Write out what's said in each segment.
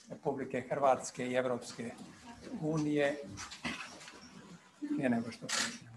Republike Hrvatske i Evropske unije. Prije nego što počnemo.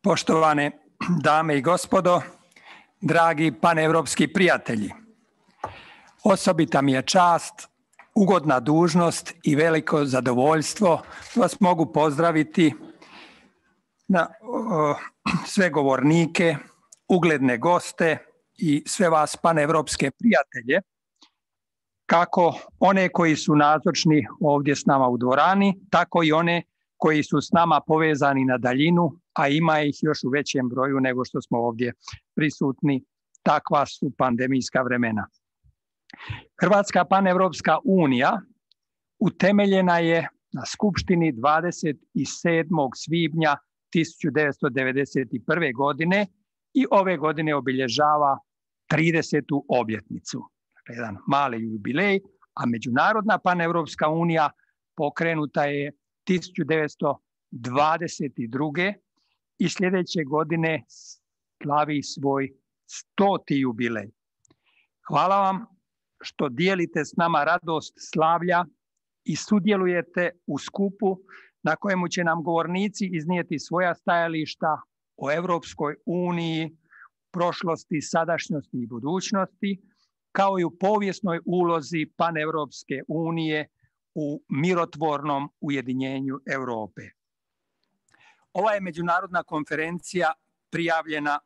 Poštovane dame i gospodo, dragi paneuropski prijatelji, osobita mi je čast, ugodna dužnost i veliko zadovoljstvo vas mogu pozdraviti na sve govornike, ugledne goste i sve vas paneuropske prijatelje, kako one koji su nazočni ovdje s nama u dvorani, tako i one koji su s nama povezani na daljinu, a ima ih još u većem broju nego što smo ovdje prisutni. Takva su pandemijska vremena. Hrvatska paneuropska unija utemeljena je na Skupštini 27. svibnja 1991. godine i ove godine obilježava 30. obljetnicu. Jedan mali jubilej, a Međunarodna paneuropska unija pokrenuta je 1922. i sljedeće godine slavi svoj 100. jubilej. Hvala vam što dijelite s nama radost slavlja i sudjelujete u skupu na kojemu će nam govornici iznijeti svoja stajališta o Europskoj uniji, prošlosti, sadašnjosti i budućnosti, kao i u povijesnoj ulozi Paneuropske unije u mirotvornom ujedinjenju Europe. Ova je međunarodna konferencija prijavljena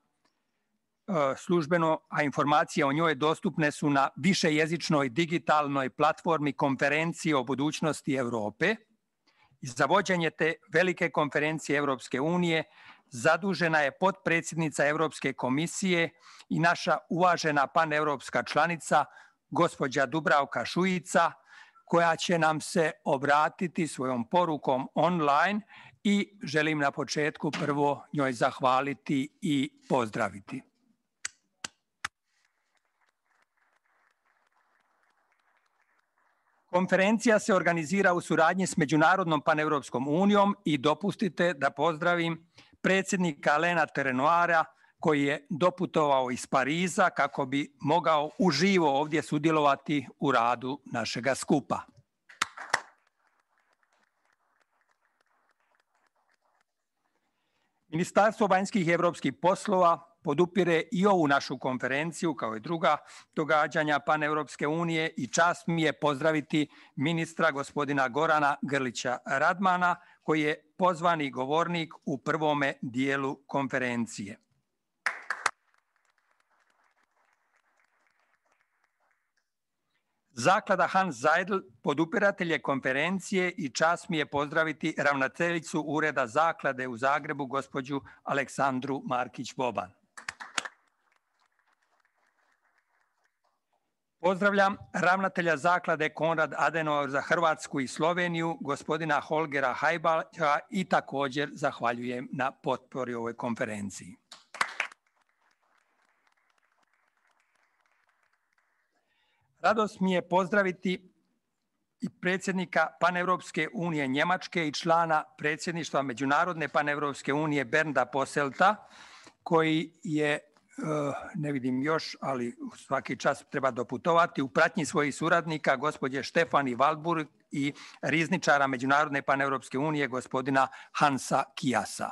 službeno, a informacije o njoj dostupne su na višejezičnoj digitalnoj platformi konferencije o budućnosti Europe. Za vođenje te velike konferencije Europske unije zadužena je potpredsjednica Europske komisije i naša uvažena paneuropska članica, gospođa Dubravka Šuica, koja će nam se obratiti svojom porukom online i želim na početku prvo njoj zahvaliti i pozdraviti. Konferencija se organizira u suradnji s Međunarodnom paneuropskom unijom i dopustite da pozdravim predsjednika Alaina Terenoira koji je doputovao iz Pariza kako bi mogao uživo ovdje sudjelovati u radu našega skupa. Ministarstvo vanjskih i europskih poslova podupire i ovu našu konferenciju kao i druga događanja Paneuropske unije i čast mi je pozdraviti ministra gospodina Gorana Grlića Radmana koji je pozvani govornik u prvome dijelu konferencije. Zaklada Hans Seidel podupiratelj je konferencije i čast mi je pozdraviti ravnateljicu Ureda Zaklade u Zagrebu, gospođu Aleksandru Markić-Boban. Pozdravljam ravnatelja Zaklade Konrad Adenauer za Hrvatsku i Sloveniju, gospodina Holgera Hajbaća i također zahvaljujem na potpori ovoj konferenciji. Radost mi je pozdraviti i predsjednika Paneuropske unije Njemačke i člana predsjedništva Međunarodne Paneuropske unije Bernda Posselta, koji je, ne vidim još, ali svaki čas treba doputovati, u pratnji svojih suradnika, gospođe Štefani Valburg i rizničara Međunarodne Paneuropske unije, gospodina Hansa Kijasa.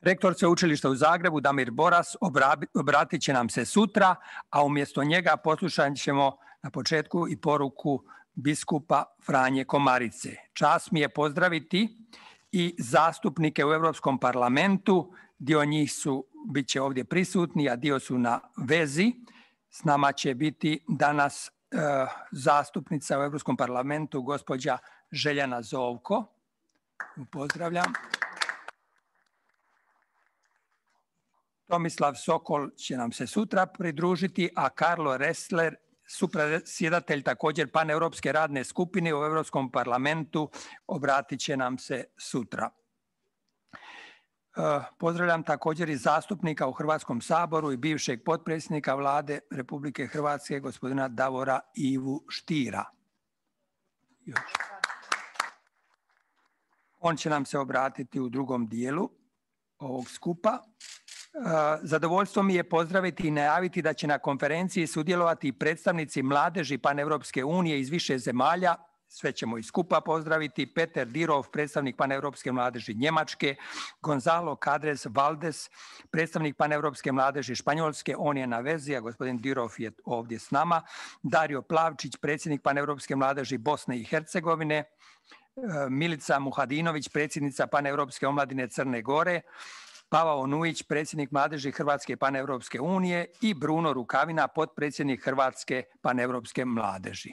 Rektor Sveučilišta u Zagrebu, Damir Boras, obratit će nam se sutra, a umjesto njega poslušat ćemo na početku i poruku biskupa Franje Komarice. Čast mi je pozdraviti i zastupnike u Europskom parlamentu. Dio njih bit će ovdje prisutni, a dio su na vezi. S nama će biti danas zastupnica u Europskom parlamentu, gospođa Željana Zovko. Pozdravljam. Tomislav Sokol će nam se sutra pridružiti, a Karlo Ressler, supredsjedatelj također Paneuropske radne skupine u Europskom parlamentu, obratit će nam se sutra. Pozdravljam također i zastupnika u Hrvatskom saboru i bivšeg potpredsjednika Vlade Republike Hrvatske, gospodina Davora Ivu Štira. On će nam se obratiti u drugom dijelu ovog skupa. Zadovoljstvo mi je pozdraviti i najaviti da će na konferenciji sudjelovati i predstavnici mladeži Paneuropske unije iz više zemalja. Sve ćemo i skupa pozdraviti. Peter Dirov, predstavnik Paneuropske mladeži Njemačke, Gonzalo Cadres Valdes, predstavnik Paneuropske mladeži Španjolske, on je na vezi, a gospodin Dirov je ovdje s nama. Dario Plavčić, predsjednik Paneuropske mladeži Bosne i Hercegovine, Milica Muhadinović, predsjednica Paneuropske omladine Crne Gore, Pavao Nujić, predsjednik mladeži Hrvatske Paneuropske unije i Bruno Rukavina, potpredsjednik Hrvatske Paneuropske mladeži.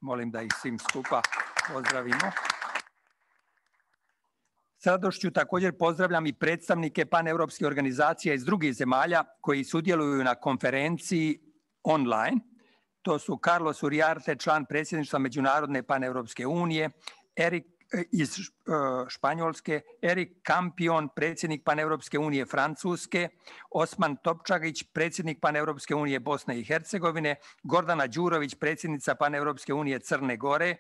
Molim da ih svim skupa pozdravimo. S radošću također pozdravljam i predstavnike paneuropskih organizacija iz drugih zemalja koji sudjeluju na konferenciji online. To su Carlos Uriarte, član predsjedništva Međunarodne Paneuropske unije, Erik iz Španjolske, Erik Kampion, predsjednik Paneuropske unije Francuske, Osman Topčagić, predsjednik Paneuropske unije Bosne i Hercegovine, Gordana Đurović, predsjednica Paneuropske unije Crne Gore,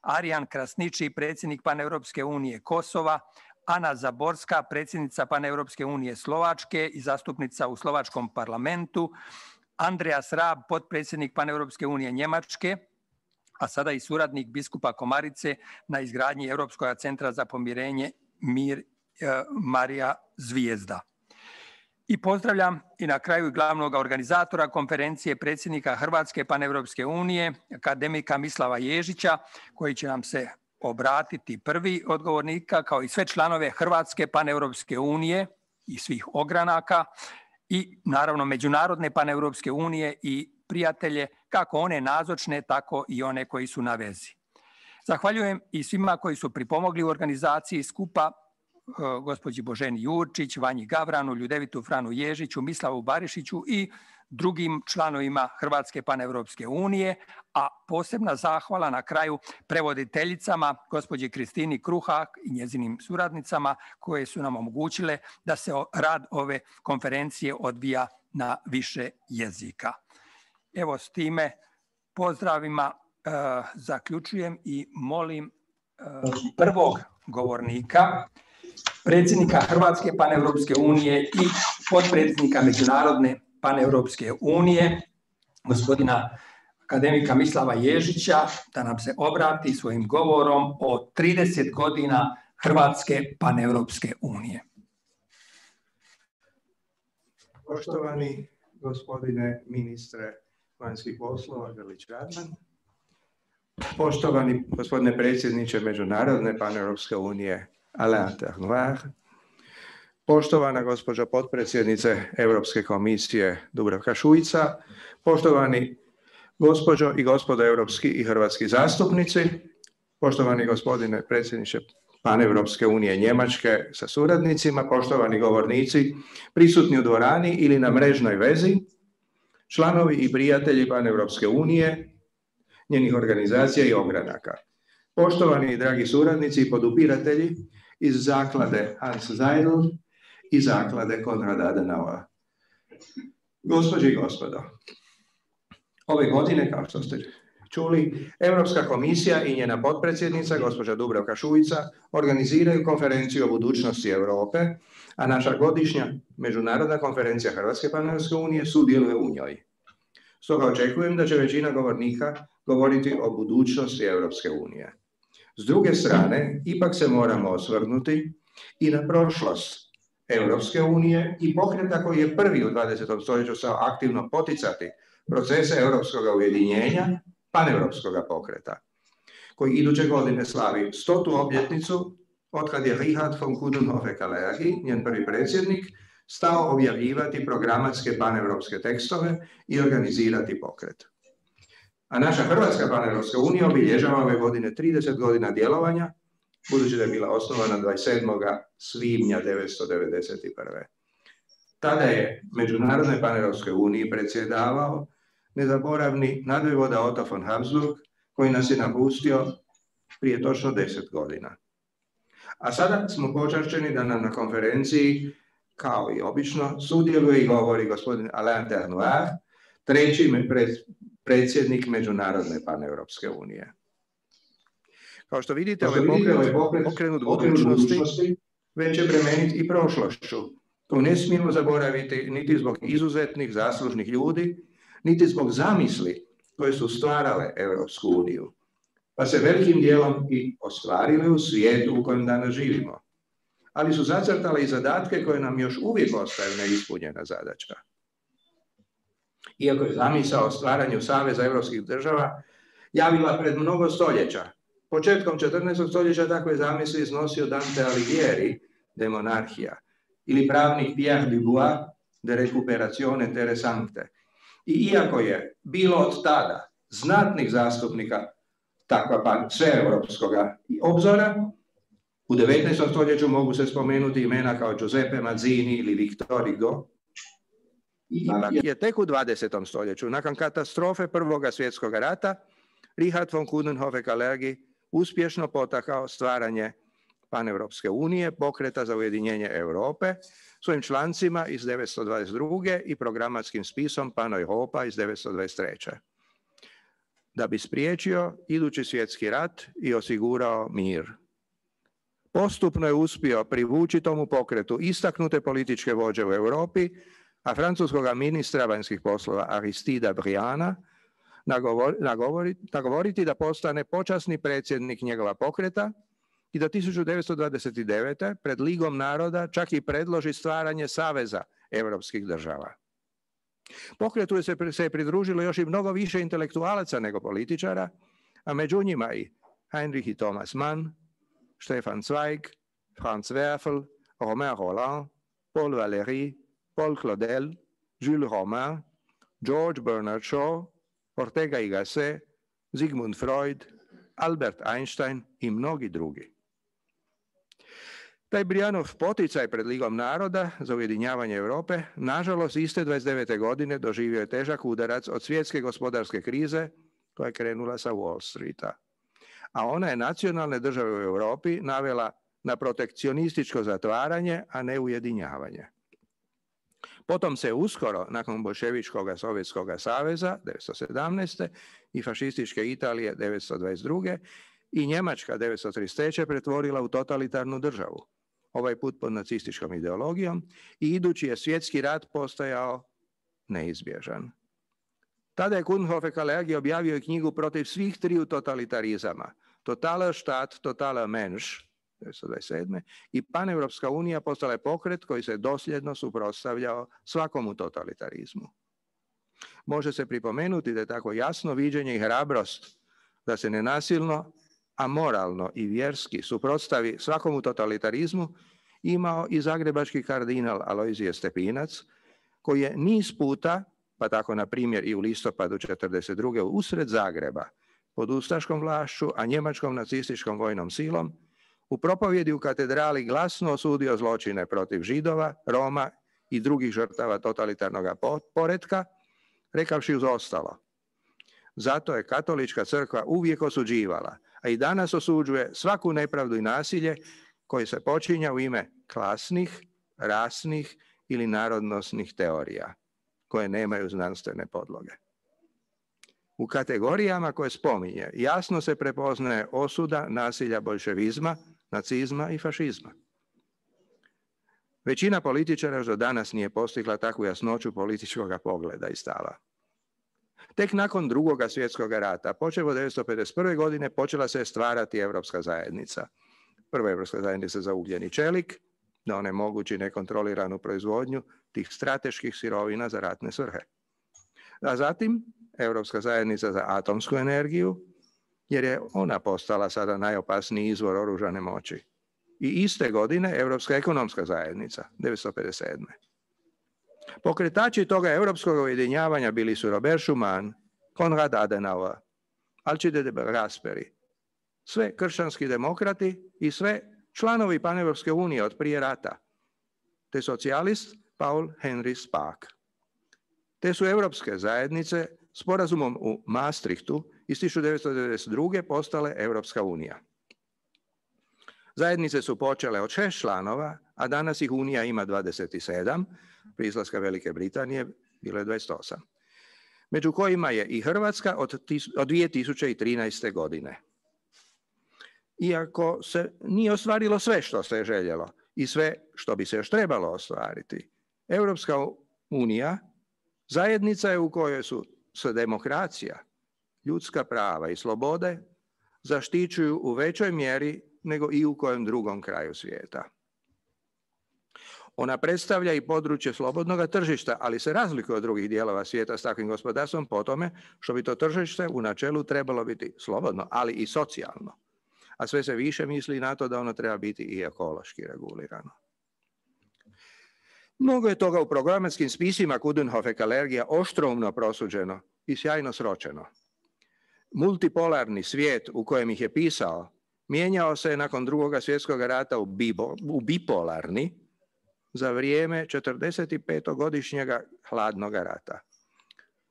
Arijan Krasniči, predsjednik Paneuropske unije Kosova, Ana Zaborska, predsjednica Paneuropske unije Slovačke i zastupnica u Slovačkom parlamentu, Andreas Raab, potpredsjednik Paneuropske unije Njemačke, a sada i suradnik biskupa Komarice na izgradnji Europskog centra za pomirenje Mir Marija Zvijezda. I pozdravljam i na kraju glavnog organizatora konferencije, predsjednika Hrvatske Paneuropske unije, akademika Mislava Ježića, koji će nam se obratiti prvi od govornika, kao i sve članove Hrvatske Paneuropske unije i svih ogranaka i naravno Međunarodne Paneuropske unije i prijatelje, kako one nazočne, tako i one koji su na vezi. Zahvaljujem i svima koji su pripomogli u organizaciji skupa, gospođi Boženi Jurčić, Vanji Gavranu, Ljudevitu Franu Ježiću, Mislavu Barišiću i drugim članovima Hrvatske Paneuropske unije, a posebna zahvala na kraju prevoditeljicama, gospođi Kristini Kruhak i njezinim suradnicama, koje su nam omogućile da se rad ove konferencije odvija na više jezika. Evo, s time pozdravima zaključujem i molim prvog govornika, predsjednika Hrvatske Paneuropske unije i potpredsjednika Međunarodne Paneuropske unije, gospodina akademika Mislava Ježića da nam se obrati svojim govorom o 30 godina Hrvatske paneuropske unije. Poštovani gospodine ministre vanjskih poslova Grlić Radman, poštovani gospodine predsjedniče Međunarodne paneuropske unije Alain Ternoir, poštovana gospođo potpredsjednice Europske komisije Dubravka Šuica, poštovani gospođo i gospodo europski i hrvatski zastupnici, poštovani gospodine predsjedniče Paneuropske unije Njemačke sa suradnicima, poštovani govornici prisutni u dvorani ili na mrežnoj vezi, članovi i prijatelji Paneuropske unije, njenih organizacija i ogranaka. Poštovani i dragi suradnici i podupiratelji iz zaklade Hans Seidel i zaklade Konrad Adenauer. Gospođe i gospodo, ove godine, kao što ste čuli, Europska komisija i njena potpredsjednica, gospođa Dubravka Šuica, organiziraju konferenciju o budućnosti Europe, a naša godišnja međunarodna konferencija Hrvatske paneuropske unije sudjeluje u njoj. Stoga očekujem da će većina govornika govoriti o budućnosti Europske unije. S druge strane, ipak se moramo osvrnuti i na prošlost Europske unije i pokreta koji je prvi u 20. stoljeću stao aktivno poticati procese europskog ujedinjenja, paneuropskog pokreta, koji iduće godine slavi 100. obljetnicu otkad je Richard von Coudenhove-Kalergi, njen prvi predsjednik, stao objavljivati programatske paneuropske tekstove i organizirati pokret. A naša Hrvatska paneuropska unija obilježava ove godine 30 godina djelovanja, budući da je bila osnovana 27. svibnja 1991. Tada je Međunarodnoj paneuropskoj uniji predsjedavao nezaboravni nadvojvoda Otto von Habsburg, koji nas je napustio prije točno 10 godina. A sada smo počašćeni da nam na konferenciji, kao i obično, sudjeluje i govori gospodin Alain Ternoir, treći predsjednik Međunarodne paneuropske unije. Kao što vidite, ovaj pokret okrenut budućnosti već je bremenit i prošlošću. To ne smijemo zaboraviti niti zbog izuzetnih zaslužnih ljudi, niti zbog zamisli koje su stvarale Europsku uniju, pa se velikim dijelom i ostvarile u svijetu u kojem danas živimo. Ali su zacrtale i zadatke koje nam još uvijek ostaju neispunjena zadaća. Iako je zamisao o stvaranju Saveza europskih država javila pred mnogo stoljeća, početkom 14. stoljeća takve zamisli iznosio Dante Alighieri, De Monarchia, ili pravnik Pierre Dubois, De Recuperazione Terre Sancte. I iako je bilo od tada znatnih zastupnika takva sveeuropskog obzora, u 19. stoljeću mogu se spomenuti imena kao Giuseppe Mazzini ili Victor Hugo. Ipak je tek u 20. stoljeću, nakon katastrofe Prvog svjetskog rata, Richard von Coudenhove-Kalergi uspješno potakao stvaranje Paneuropske unije, pokreta za ujedinjenje Europe, svojim člancima iz 1922. i programatskim spisom Pan-Europa iz 1923. Da bi spriječio idući svjetski rat i osigurao mir. Postupno je uspio privući tomu pokretu istaknute političke vođe u Europi, a francuskog ministra vanjskih poslova Aristida Briana nagovoriti da postane počasni predsjednik njegova pokreta i da 1929. pred Ligom naroda čak i predloži stvaranje Saveza europskih država. Pokretu se pridružilo još i mnogo više intelektualaca nego političara, a među njima i Heinrich i Thomas Mann, Stefan Zweig, Franz Werfel, Romain Rolland, Paul Valéry, Paul Claudel, Jules Romain, George Bernard Shaw, Ortega y Gasset, Sigmund Freud, Albert Einstein i mnogi drugi. Taj Brianov poticaj pred Ligom naroda za ujedinjavanje Europe, nažalost, iste 29. godine doživio je težak udarac od svjetske gospodarske krize koja je krenula sa Wall Streeta. A ona je nacionalne države u Europi navela na protekcionističko zatvaranje, a ne ujedinjavanje. Potom se uskoro, nakon Boljševičkog Sovjetskog saveza 1917. i fašističke Italije 1922. i Njemačka 1933. pretvorila u totalitarnu državu, ovaj put pod nacističkom ideologijom, i idući je svjetski rat postajao neizbježan. Tada je Coudenhove Kalergi objavio i knjigu protiv svih triju totalitarizama. Totaler Staat, Totaler Mensch, 1927. i Paneuropska unija postala je pokret koji se dosljedno suprotstavljao svakomu totalitarizmu. Može se pripomenuti da je tako jasno viđenje i hrabrost da se nenasilno, a moralno i vjerski suprotstavi svakomu totalitarizmu imao i zagrebački kardinal Alojzije Stepinac, koji je niz puta, pa tako na primjer i u listopadu 1942. usred Zagreba, pod ustaškom vlašću, a njemačkom nacističkom vojnom silom, u propovjedi u katedrali glasno osudio zločine protiv Židova, Roma i drugih žrtava totalitarnog poretka, rekavši uz ostalo: zato je katolička crkva uvijek osuđivala, a i danas osuđuje svaku nepravdu i nasilje koje se počinja u ime klasnih, rasnih ili narodnosnih teorija, koje nemaju znanstvene podloge. U kategorijama koje spominje jasno se prepoznaje osuda nasilja boljševizma, nacizma i fašizma. Većina političara još do danas nije postigla takvu jasnoću političkog pogleda i stava. Tek nakon Drugoga svjetskog rata, počev od 1951. godine, počela se stvarati Europska zajednica. Prva Europska zajednica za ugljen i čelik, da onemogući nekontroliranu proizvodnju tih strateških sirovina za ratne svrhe. A zatim Europska zajednica za atomsku energiju, jer je ona postala sada najopasniji izvor oružane moći. I iste godine Europska ekonomska zajednica, 1957. Pokretači toga europskog ujedinjavanja bili su Robert Schuman, Konrad Adenauer, Alcide de Gasperi, sve kršćanski demokrati i sve članovi Paneuropske unije od prije rata, te socijalist Paul Henry Spaak. Te su europske zajednice sporazumom u Maastrichtu iz 1992. postale Europska unija. Zajednice su počele od 6 članova, a danas ih Unija ima 27, prije izlaska Velike Britanije bilo je 28, među kojima je i Hrvatska od 2013. godine. Iako se nije ostvarilo sve što se je željelo i sve što bi se još trebalo ostvariti, Europska unija zajednica je u kojoj se demokracija, ljudska prava i slobode zaštićuju u većoj mjeri nego i u kojem drugom kraju svijeta. Ona predstavlja i područje slobodnog tržišta, ali se razlikuje od drugih dijelova svijeta s takvim gospodarstvom po tome što bi to tržište u načelu trebalo biti slobodno, ali i socijalno. A sve se više misli na to da ono treba biti i ekološki regulirano. Mnogo je toga u programatskim spisima Coudenhove Kalergija oštroumno prosuđeno i sjajno sročeno. Multipolarni svijet u kojem ih je pisao mijenjao se nakon Drugoga svjetskog rata u bipolarni za vrijeme 45-godišnjega hladnog rata.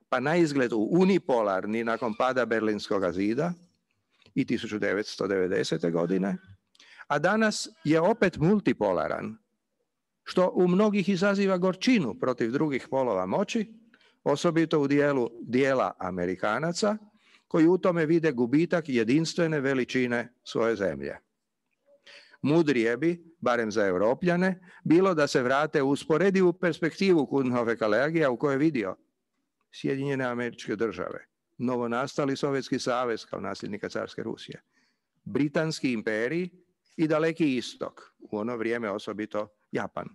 Pa na izgled u unipolarni nakon pada Berlinskog zida i 1990. godine, a danas je opet multipolaran, što u mnogih izaziva gorčinu protiv drugih polova moći, osobito u dijela Amerikanaca, koji u tome vide gubitak jedinstvene veličine svoje zemlje. Mudrije bi, barem za Europljane, bilo da se vrate u usporedivu perspektivu Coudenhove Kalergija u kojoj je vidio Sjedinjene Američke Države, novonastali Sovjetski savez kao nasljednika carske Rusije, Britanski imperij i Daleki istok, u ono vrijeme osobito Japan,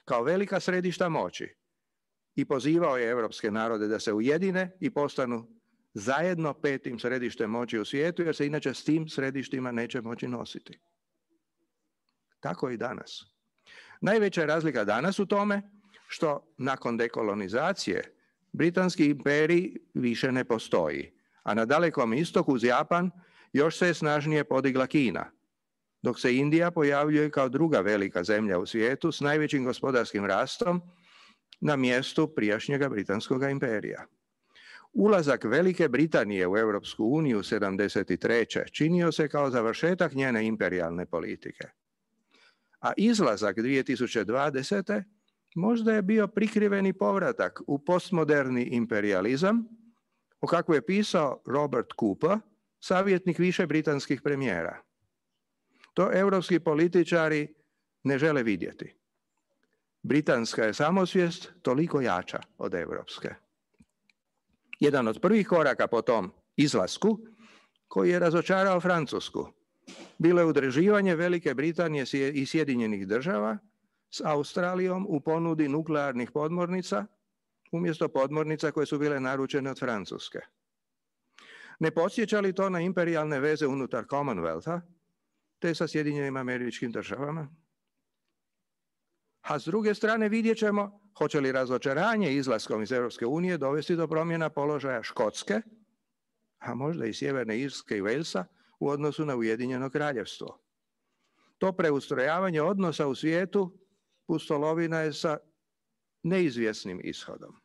kao velika središta moći, i pozivao je europske narode da se ujedine i postanu zajedno 5. središtem moći u svijetu, jer se inače s tim središtima neće moći nositi. Tako i danas. Najveća je razlika danas u tome što nakon dekolonizacije Britanski imperij više ne postoji, a na Dalekom istoku uz Japan još se je snažnije podigla Kina, dok se Indija pojavljuje kao druga velika zemlja u svijetu s najvećim gospodarskim rastom na mjestu prijašnjega Britanskog imperija. Ulazak Velike Britanije u Europsku uniju 1973. činio se kao završetak njene imperijalne politike. A izlazak 2020. možda je bio prikriveni povratak u postmoderni imperializam, o kakvu je pisao Robert Cooper, savjetnik više britanskih premijera. To europski političari ne žele vidjeti. Britanska je samosvijest toliko jača od europske. Jedan od prvih koraka po tom izlasku, koji je razočarao Francusku, bilo je udruživanje Velike Britanije i Sjedinjenih Država s Australijom u ponudi nuklearnih podmornica, umjesto podmornica koje su bile naručene od Francuske. Ne podsjeća li to na imperijalne veze unutar Commonwealtha, te sa Sjedinjenim Američkim Državama? A s druge strane vidjet ćemo hoće li razočaranje izlaskom iz Europske unije dovesti do promjena položaja Škotske, a možda i Sjeverne Irske i Walesa u odnosu na Ujedinjeno Kraljevstvo. To preustrojavanje odnosa u svijetu pustolovina je sa neizvjesnim ishodom.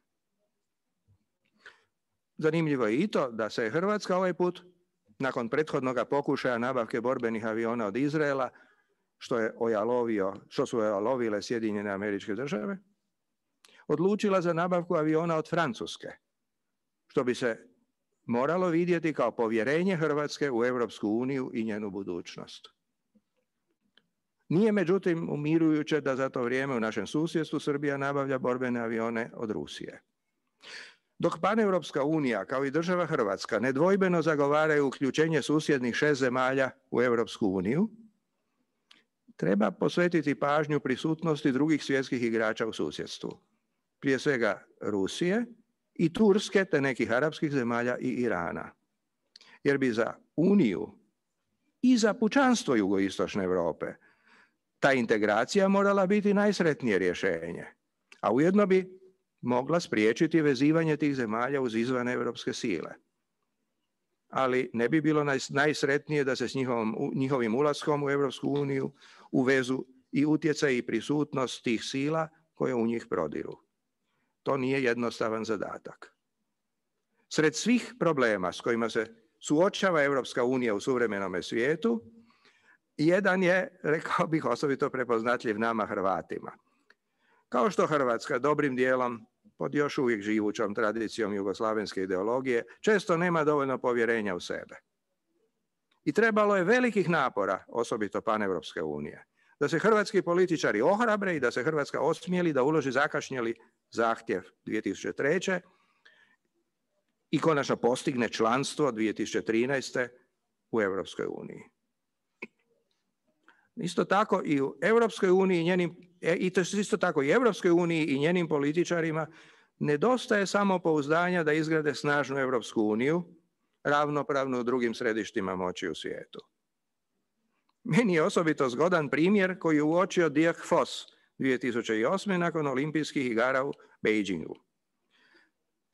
Zanimljivo je i to da se Hrvatska ovaj put, nakon prethodnog pokušaja nabavke borbenih aviona od Izraela, što su ojalovile Sjedinjene Američke Države, odlučila za nabavku aviona od Francuske, što bi se moralo vidjeti kao povjerenje Hrvatske u Europsku uniju i njenu budućnost. Nije međutim umirujuće da za to vrijeme u našem susjedstvu Srbija nabavlja borbene avione od Rusije. Dok Paneuropska unija kao i država Hrvatska nedvojbeno zagovaraju uključenje susjednih 6 zemalja u Europsku uniju, treba posvetiti pažnju prisutnosti drugih svjetskih igrača u susjedstvu. Prije svega Rusije i Turske te nekih arapskih zemalja i Irana. Jer bi za Uniju i za pučanstvo jugoistočne Europe ta integracija morala biti najsretnije rješenje, a ujedno bi mogla spriječiti vezivanje tih zemalja uz izvan europske sile. Ali ne bi bilo najsretnije da se s njihovim ulaskom u Europsku uniju uvezu i utjecaj i prisutnost tih sila koje u njih prodiru. To nije jednostavan zadatak. Sred svih problema s kojima se suočava Europska unija u suvremenome svijetu, jedan je, rekao bih, osobito prepoznatljiv nama Hrvatima. Kao što Hrvatska dobrim dijelom pod još uvijek živućom tradicijom jugoslavenske ideologije često nema dovoljno povjerenja u sebe. I trebalo je velikih napora, osobito Paneuropske unije, da se hrvatski političari ohrabre i da se Hrvatska osmijeli da uloži zakašnjeli zahtjev 2003. i konačno postigne članstvo 2013. u Europskoj uniji. Isto tako i u Europskoj uniji i njenim političarima nedostaje samopouzdanja da izgrade snažnu Europsku uniju, ravnopravnu drugim središtima moći u svijetu. Meni je osobito zgodan primjer koji je uočio Dirk Voss 2008. nakon olimpijskih igara u Beijingu.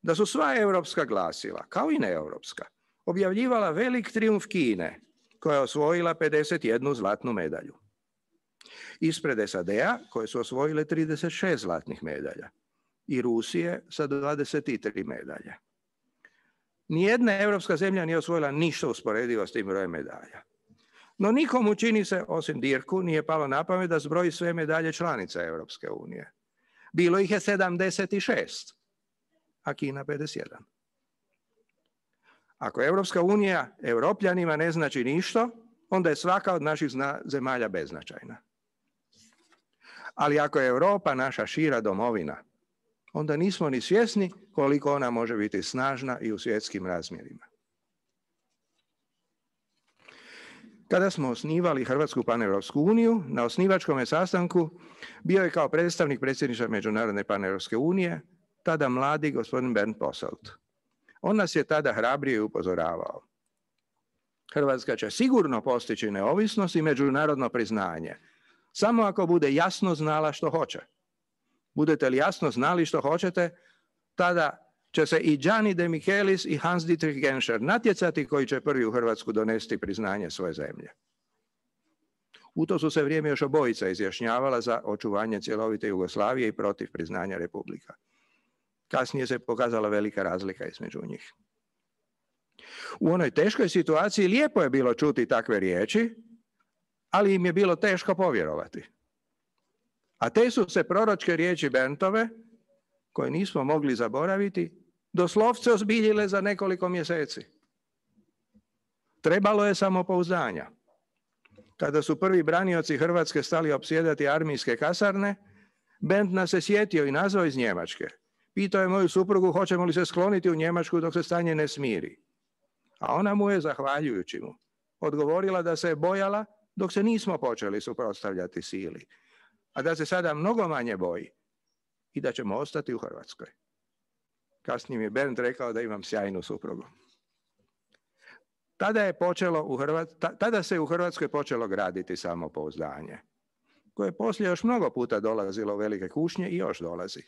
Da su sva europska glasila, kao i neeuropska, objavljivala velik trijumf Kine, koja je osvojila 51 zlatnu medalju. Ispred SAD-a, koje su osvojile 36 zlatnih medalja, i Rusije sa 23 medalje. Nijedna europska zemlja nije osvojila ništa usporedivo s tim brojem medalja. No nikomu, čini se, osim Dirku, nije palo na pamet da zbroji sve medalje članica Europske unije. Bilo ih je 76, a Kina 51. Ako Europska unija Europljanima ne znači ništa, onda je svaka od naših zemalja beznačajna. Ali ako je Europa naša šira domovina, onda nismo ni svjesni koliko ona može biti snažna i u svjetskim razmjerima. Kada smo osnivali Hrvatsku Paneuropsku uniju, na osnivačkom sastanku bio je kao predstavnik predsjedništva Međunarodne Paneuropske unije tada mladi gospodin Bernd Posselt. On nas je tada hrabrije upozoravao. Hrvatska će sigurno postići neovisnost i međunarodno priznanje, samo ako bude jasno znala što hoće. Budete li jasno znali što hoćete, tada će se i Gianni de Michelis i Hans Dietrich Genscher natjecati koji će prvi u Hrvatsku donesti priznanje svoje zemlje. U to su se vrijeme još obojica izjašnjavala za očuvanje cjelovite Jugoslavije i protiv priznanja republika. Kasnije se pokazala velika razlika između njih. U onoj teškoj situaciji lijepo je bilo čuti takve riječi, ali im je bilo teško povjerovati. A te su se proročke riječi Berntove, koje nismo mogli zaboraviti, doslovce ozbiljile za nekoliko mjeseci. Trebalo je samopouzdanja. Kada su prvi branioci Hrvatske stali opsjedati armijske kasarne, Bernd nas se sjetio i nazvao iz Njemačke. Pitao je moju suprugu hoćemo li se skloniti u Njemačku dok se stanje ne smiri. A ona mu je, zahvaljujući mu, odgovorila da se je bojala dok se nismo počeli suprotstavljati sili, a da se sada mnogo manje boji i da ćemo ostati u Hrvatskoj. Kasnije mi je Bernd rekao da imam sjajnu suprugu. Tada se u Hrvatskoj počelo graditi samopouzdanje, koje je poslije još mnogo puta dolazilo u velike kušnje i još dolazi.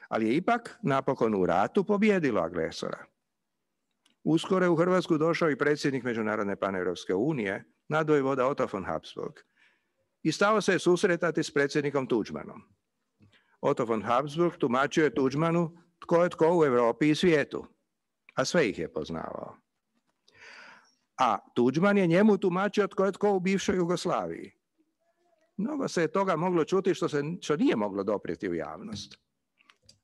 Ali je ipak napokon u ratu pobijedilo agresora. Uskoro je u Hrvatsku došao i predsjednik Međunarodne paneuropske unije, nadvojvoda Otto von Habsburg, i stao se susretati s predsjednikom Tuđmanom. Otto von Habsburg tumačio je Tuđmanu tko je tko u Europi i svijetu, a sve ih je poznavao. A Tuđman je njemu tumačio tko je tko u bivšoj Jugoslaviji. Mnogo se je toga moglo čuti što nije moglo doprijeti u javnost.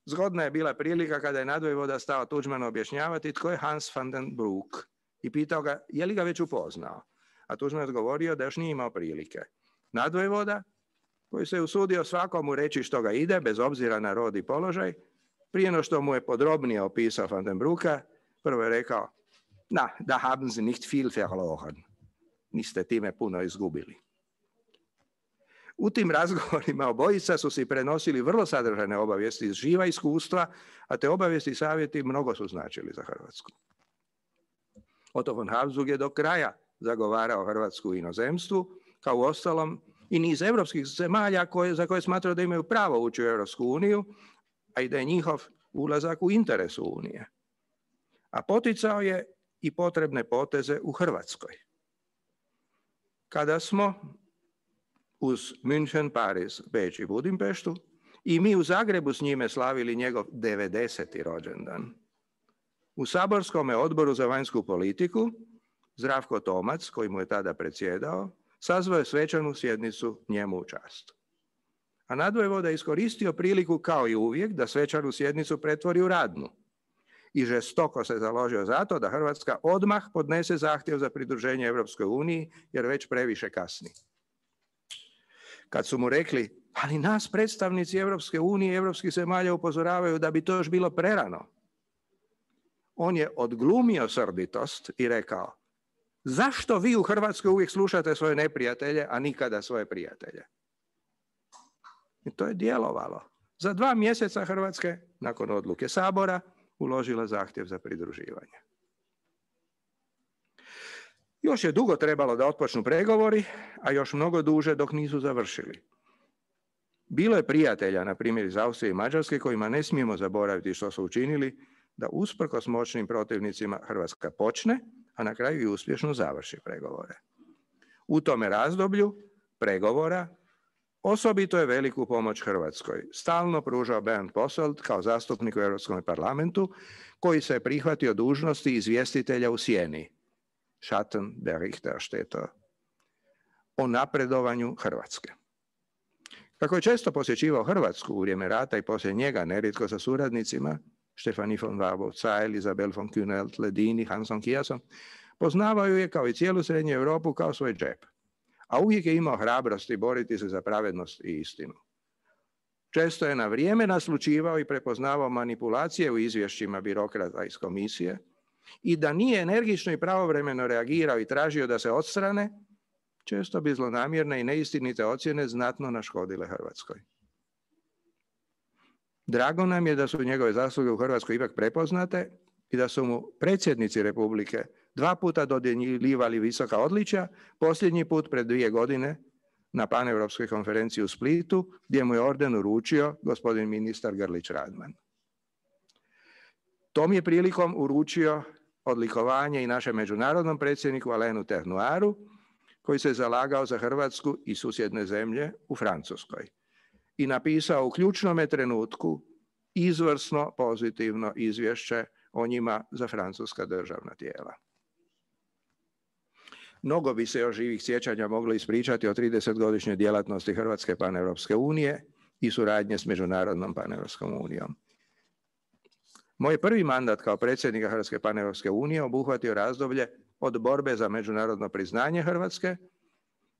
Zgodna je bila prilika kada je nadvojvoda stao Tuđmanu objašnjavati tko je Hans van den Broek i pitao ga je li ga već upoznao. A Tuđman je odgovorio da još nije imao prilike. Nadvojvoda, koji se usudio svakomu reći što ga ide, bez obzira na rod i položaj, prije no što mu je podrobnije opisao van den Broeka, prvo je rekao: "Na, da haben Sie nicht viel verloren." Niste time puno izgubili. U tim razgovorima obojica su si prenosili vrlo sadržajne obavijesti iz živa iskustva, a te obavijesti i savjeti mnogo su značili za Hrvatsku. Otto von Habsburg je do kraja zagovarao Hrvatsku u inozemstvu, kao uostalom i niz europskih zemalja za koje smatrao da imaju pravo ući u Europsku uniju, a i da je njihov ulazak u interesu Unije. A poticao je i potrebne poteze u Hrvatskoj. Kada smo uz München, Pariz, Beč i Budimpeštu i mi u Zagrebu s njime slavili njegov 90. rođendan, u Saborskom odboru za vanjsku politiku Zdravko Tomac, koji mu je tada predsjedao, sazvao je svečanu sjednicu njemu u čast. A nadvojvoda je iskoristio priliku kao i uvijek da svečanu sjednicu pretvori u radnu i žestoko se založio za to da Hrvatska odmah podnese zahtjev za pridruženje Europskoj uniji jer već previše kasni. Kad su mu rekli, ali nas predstavnici Europske unije i europskih zemalja upozoravaju da bi to još bilo prerano, on je odglumio srditost i rekao: zašto vi u Hrvatskoj uvijek slušate svoje neprijatelje, a nikada svoje prijatelje? I to je djelovalo. Za 2 mjeseca Hrvatske, nakon odluke Sabora, uložila zahtjev za pridruživanje. Još je dugo trebalo da otpočnu pregovori, a još mnogo duže dok nisu završili. Bilo je prijatelja, na primjer iz Austrije i Mađarske, kojima ne smijemo zaboraviti što su učinili, da usprkos moćnim protivnicima Hrvatska počne, a na kraju i uspješno završi pregovore. U tome razdoblju pregovora osobito je veliku pomoć Hrvatskoj stalno pružao Bernd Posselt kao zastupnik u Europskom parlamentu, koji se je prihvatio dužnosti izvjestitelja u sjeni, Schattenberichterstatter, o napredovanju Hrvatske. Kako je često posjećivao Hrvatsku u vrijeme rata i poslije njega, nerijetko sa suradnicima, Stefanie von Warburg-Zeil, Isabel von Kühnelt-Ledin, Hansom Kiasom, poznavao ju je kao i cijelu Srednju Europu kao svoj džep, a uvijek je imao hrabrosti boriti se za pravednost i istinu. Često je na vrijeme naslućivao i prepoznavao manipulacije u izvješćima birokrata iz komisije i da nije energično i pravovremeno reagirao i tražio da se odstrane, često bi zlonamjerne i neistinite ocjene znatno naškodile Hrvatskoj. Drago nam je da su njegove zasluge u Hrvatskoj ipak prepoznate i da su mu predsjednici Republike 2 puta dodjeljivali visoka odličja, posljednji put pred 2 godine na paneuropskoj konferenciji u Splitu, gdje mu je orden uručio gospodin ministar Grlić Radman. Tom je prilikom uručio odlikovanje i našem međunarodnom predsjedniku Alainu Ternuaru, koji se zalagao za Hrvatsku i susjedne zemlje u Francuskoj i napisao u ključnome trenutku izvrsno pozitivno izvješće o njima za francuska državna tijela. Mnogo bi se još živih sjećanja moglo ispričati o 30-godišnjoj djelatnosti Hrvatske paneuropske unije i suradnje s Međunarodnom paneuropskom unijom. Moj prvi mandat kao predsjednika Hrvatske paneuropske unije obuhvatio razdoblje od borbe za međunarodno priznanje Hrvatske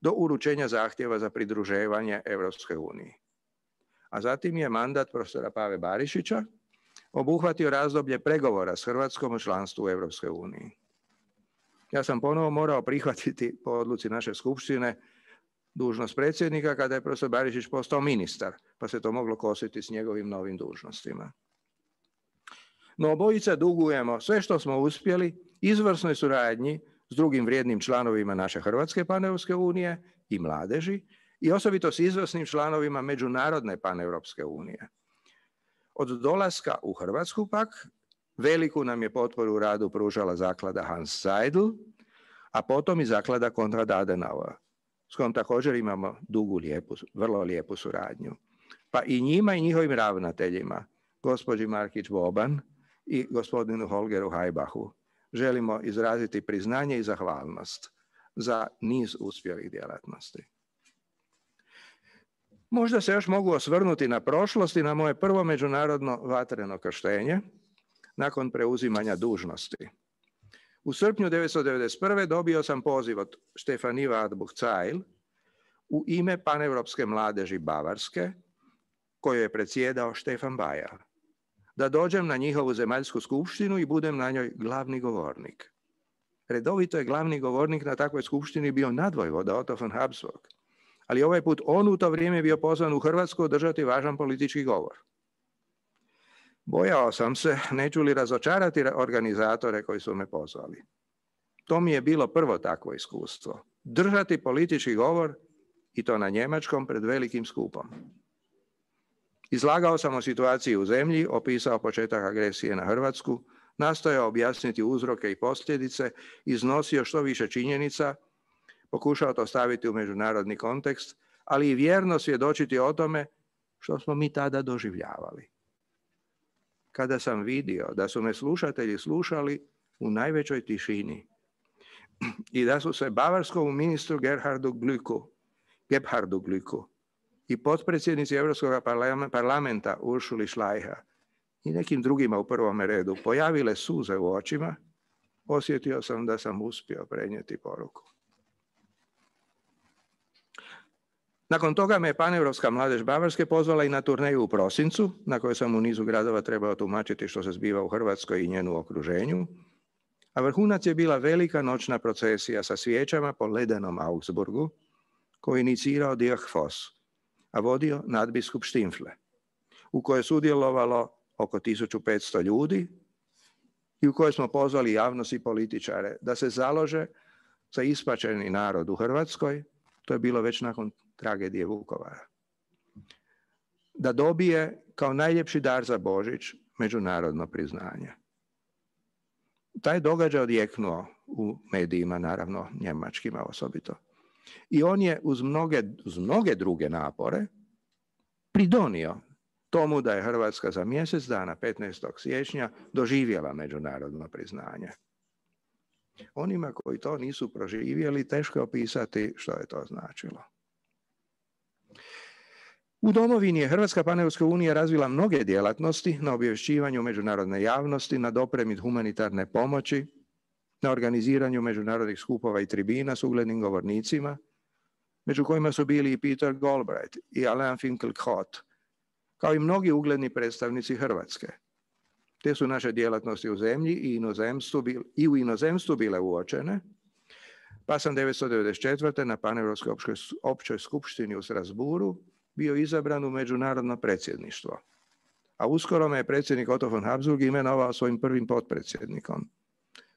do uručenja zahtjeva za pridruživanje Europskoj uniji. A zatim je mandat profesora Pave Barišića obuhvatio razdoblje pregovora s Hrvatskom o članstvu u Europskoj uniji. Ja sam ponovo morao prihvatiti po odluci naše skupštine dužnost predsjednika kada je profesor Barišić postao ministar, pa se to moglo kositi s njegovim novim dužnostima. No obojica dugujemo sve što smo uspjeli izvrsnoj suradnji s drugim vrijednim članovima naše Hrvatske paneuropske unije i mladeži i osobito s izvrsnim članovima Međunarodne paneuropske unije. Od dolaska u Hrvatsku pak veliku nam je potporu u radu pružala zaklada Hans Seidel, a potom i zaklada Konrad Adenauer, s kojom također imamo vrlo lijepu suradnju. Pa i njima i njihovim ravnateljima, gospođi Markić Boban i gospodinu Holgeru Hajbahu, želimo izraziti priznanje i zahvalnost za niz uspjelih djelatnosti. Možda se još mogu osvrnuti na prošlost i na moje prvo međunarodno vatreno krštenje nakon preuzimanja dužnosti. U srpnju 1991. dobio sam poziv od Stefanie Wartburg-Zeil u ime paneuropske mladeži Bavarske, koju je predsjedao Stefan Bayer, da dođem na njihovu zemaljsku skupštinu i budem na njoj glavni govornik. Redovito je glavni govornik na takvoj skupštini bio nadvojvoda Otto von Habsburg, ali ovaj put on u to vrijeme bio pozvan u Hrvatsku održati važan politički govor. Bojao sam se, neću li razočarati organizatore koji su me pozvali. To mi je bilo prvo takvo iskustvo. Držati politički govor i to na njemačkom pred velikim skupom. Izlagao sam o situaciji u zemlji, opisao početak agresije na Hrvatsku, nastojao objasniti uzroke i posljedice, iznosio što više činjenica, pokušao to staviti u međunarodni kontekst, ali i vjerno svjedočiti o tome što smo mi tada doživljavali. Kada sam vidio da su me slušatelji slušali u najvećoj tišini i da su se bavarskom ministru Gebhardu Glücku i potpredsjednici Europskog parlamenta Uršuli Schleicher i nekim drugima u prvome redu pojavile suze u očima, osjetio sam da sam uspio prenijeti poruku. Nakon toga me je paneuropska mladež Bavarske pozvala i na turneju u prosincu, na kojoj sam u nizu gradova trebao tumačiti što se zbiva u Hrvatskoj i njenu okruženju, a vrhunac je bila velika noćna procesija sa svijećama po ledenom Augsburgu, koju je inicirao Dirk Voss, a vodio nadbiskup Štimfle, u kojoj je sudjelovalo oko 1500 ljudi i u kojoj smo pozvali javnost i političare da se založe za ispačeni narod u Hrvatskoj, to je bilo već nakon tragedije Vukovara, da dobije kao najljepši dar za Božić međunarodno priznanje. Taj događaj odjeknuo u medijima, naravno njemačkima osobito. I on je uz mnoge druge napore pridonio tomu da je Hrvatska za mjesec dana, 15. siječnja, doživjela međunarodno priznanje. Onima koji to nisu proživjeli, teško je opisati što je to značilo. U domovini je Hrvatska paneuropska unija razvila mnoge djelatnosti na obavješćivanju međunarodne javnosti, na dopremi humanitarne pomoći, na organiziranju međunarodnih skupova i tribina s uglednim govornicima, među kojima su bili i Peter Galbraith i Alain Finkielkraut, kao i mnogi ugledni predstavnici Hrvatske. Te su naše djelatnosti u zemlji i u inozemstvu bile uočene, pa sam 1994. na Paneuropskoj općoj skupštini u Strasbourgu bio izabran u međunarodno predsjedništvo. A uskoro me je predsjednik Otto von Habsburg imenovao svojim prvim potpredsjednikom.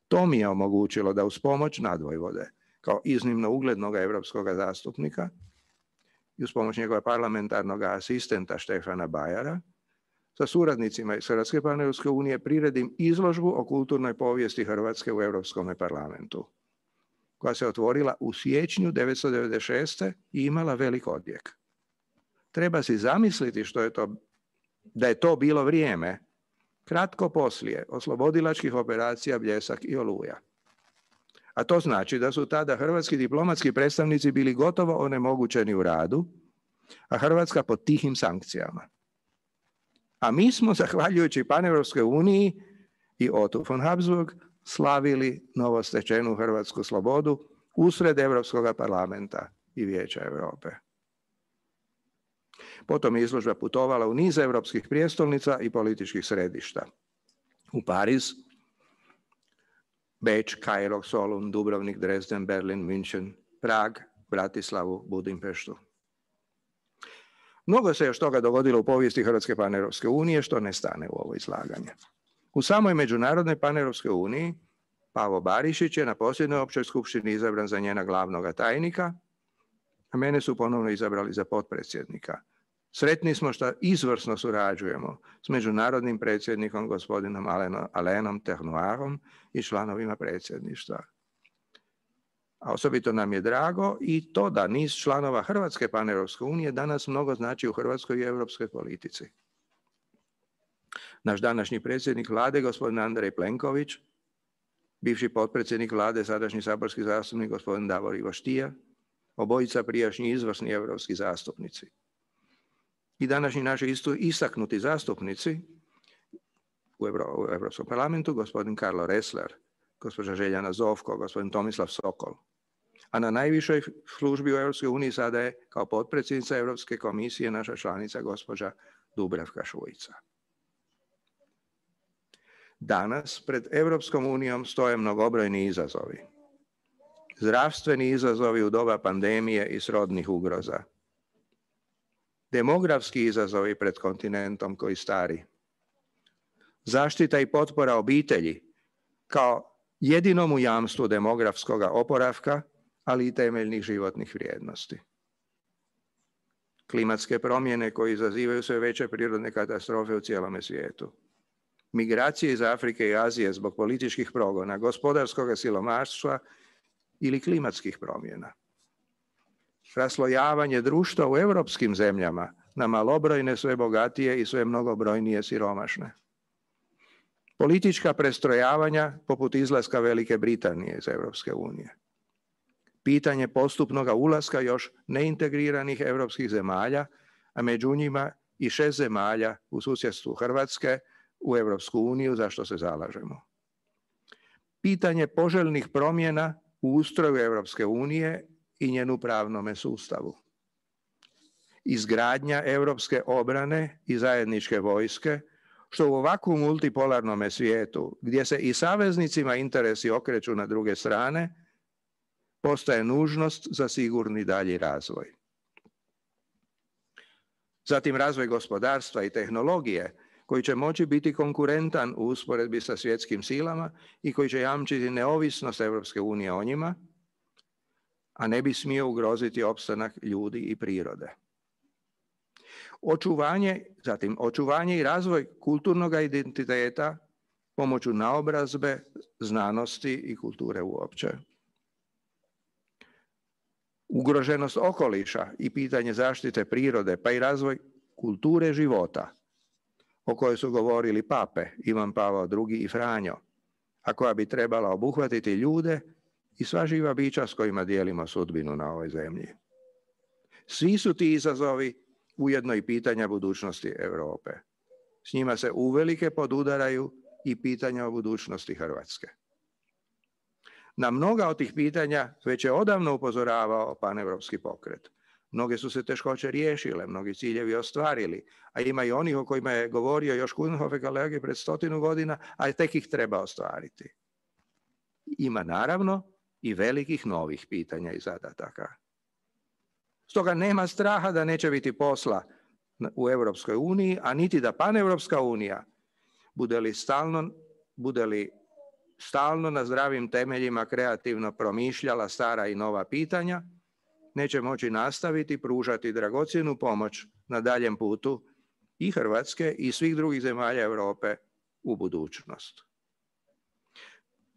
To mi je omogućilo da uz pomoć nadvojvode, kao iznimno uglednog europskog zastupnika i uz pomoć njegova parlamentarnog asistenta Stefana Bayera, sa suradnicima iz Hrvatske paneuropske unije priredim izložbu o kulturnoj povijesti Hrvatske u Europskom parlamentu, koja se otvorila u siječnju 1996. i imala velik odjek. Treba si zamisliti da je to bilo vrijeme kratko poslije oslobodilačkih operacija Bljesak i Oluja. A to znači da su tada hrvatski diplomatski predstavnici bili gotovo onemogućeni u radu, a Hrvatska pod tihim sankcijama. A mi smo, zahvaljujući Paneuropskoj uniji i Otto von Habsburg, slavili novostečenu hrvatsku slobodu usred Europskog parlamenta i Vijeća Europe. Potom je izložba putovala u niz europskih prijestolnica i političkih središta. U Pariz, Beč, Kairo, Solun, Dubrovnik, Dresden, Berlin, München, Prag, Bratislavu, Budimpeštu. Mnogo se još toga dogodilo u povijesti Hrvatske paneuropske unije, što ne stane u ovo izlaganje. U samoj Međunarodnoj paneuropskoj uniji Pavo Barišić je na posljednjoj općoj skupštini izabran za njena glavnoga tajnika, a mene su ponovno izabrali za potpredsjednika. Sretni smo što izvrsno surađujemo s međunarodnim predsjednikom gospodinom Alainem Ternoirom i članovima predsjedništva. A osobito nam je drago i to da niz članova Hrvatske paneuropske unije danas mnogo znači u hrvatskoj i europskoj politici. Naš današnji predsjednik vlade, gospodin Andrej Plenković, bivši potpredsjednik vlade, sadašnji saborski zastupnik gospodin Davor Ivo Stier, obojica prijašnji izvrsni europski zastupnici. I današnji naši istaknuti zastupnici u Europskom parlamentu, gospodin Karlo Ressler, gospođa Željana Zovko, gospodin Tomislav Sokol. A na najvišoj službi u EU sada je kao potpredsjednica Europske komisije naša članica gospođa Dubravka Šuica. Danas pred Europskom unijom stoje mnogobrojni izazovi. Zdravstveni izazovi u doba pandemije i srodnih ugroza. Demografski izazovi pred kontinentom koji stari. Zaštita i potpora obitelji kao jedinomu jamstvu demografskog oporavka, ali i temeljnih životnih vrijednosti. Klimatske promjene koje izazivaju sve veće prirodne katastrofe u cijelome svijetu. Migracije iz Afrike i Azije zbog političkih progona, gospodarskog siromaštva ili klimatskih promjena. Raslojavanje društva u europskim zemljama na malobrojne, sve bogatije i sve mnogobrojnije siromašne. Politička prestrojavanja poput izlaska Velike Britanije iz Europske unije. Pitanje postupnog ulaska još neintegriranih europskih zemalja, a među njima i 6 zemalja u susjedstvu Hrvatske u Europsku uniju, za što se zalažemo. Pitanje poželjnih promjena u ustroju Europske unije i njenu pravnome sustavu. Izgradnja europske obrane i zajedničke vojske, što u ovakvom multipolarnom svijetu, gdje se i saveznicima interesi okreću na druge strane, postaje nužnost za sigurni dalji razvoj. Zatim razvoj gospodarstva i tehnologije, koji će moći biti konkurentan u usporedbi sa svjetskim silama i koji će jamčiti neovisnost Europske unije o njima, a ne bi smio ugroziti opstanak ljudi i prirode. Očuvanje i razvoj kulturnog identiteta pomoću naobrazbe, znanosti i kulture uopće. Ugroženost okoliša i pitanje zaštite prirode, pa i razvoj kulture života, o kojoj su govorili pape Ivan Pavao II i Franjo, a koja bi trebala obuhvatiti ljude i sva živa bića s kojima dijelimo sudbinu na ovoj zemlji. Svi su ti izazovi ujedno i pitanja budućnosti Europe. S njima se uvelike podudaraju i pitanja o budućnosti Hrvatske. Na mnoga od tih pitanja već je odavno upozoravao paneuropski pokret. Mnoge su se teškoće riješile, mnogi ciljevi ostvarili, a ima i onih o kojima je govorio još Kunhofe kolege pred 100 godina, a tek ih treba ostvariti. Ima naravno i velikih novih pitanja i zadataka. Stoga nema straha da neće biti posla u Europskoj uniji, a niti da paneuropska unija bude li stalno na zdravim temeljima kreativno promišljala stara i nova pitanja, neće moći nastaviti pružati dragocjenu pomoć na daljem putu i Hrvatske i svih drugih zemalja Europe u budućnost.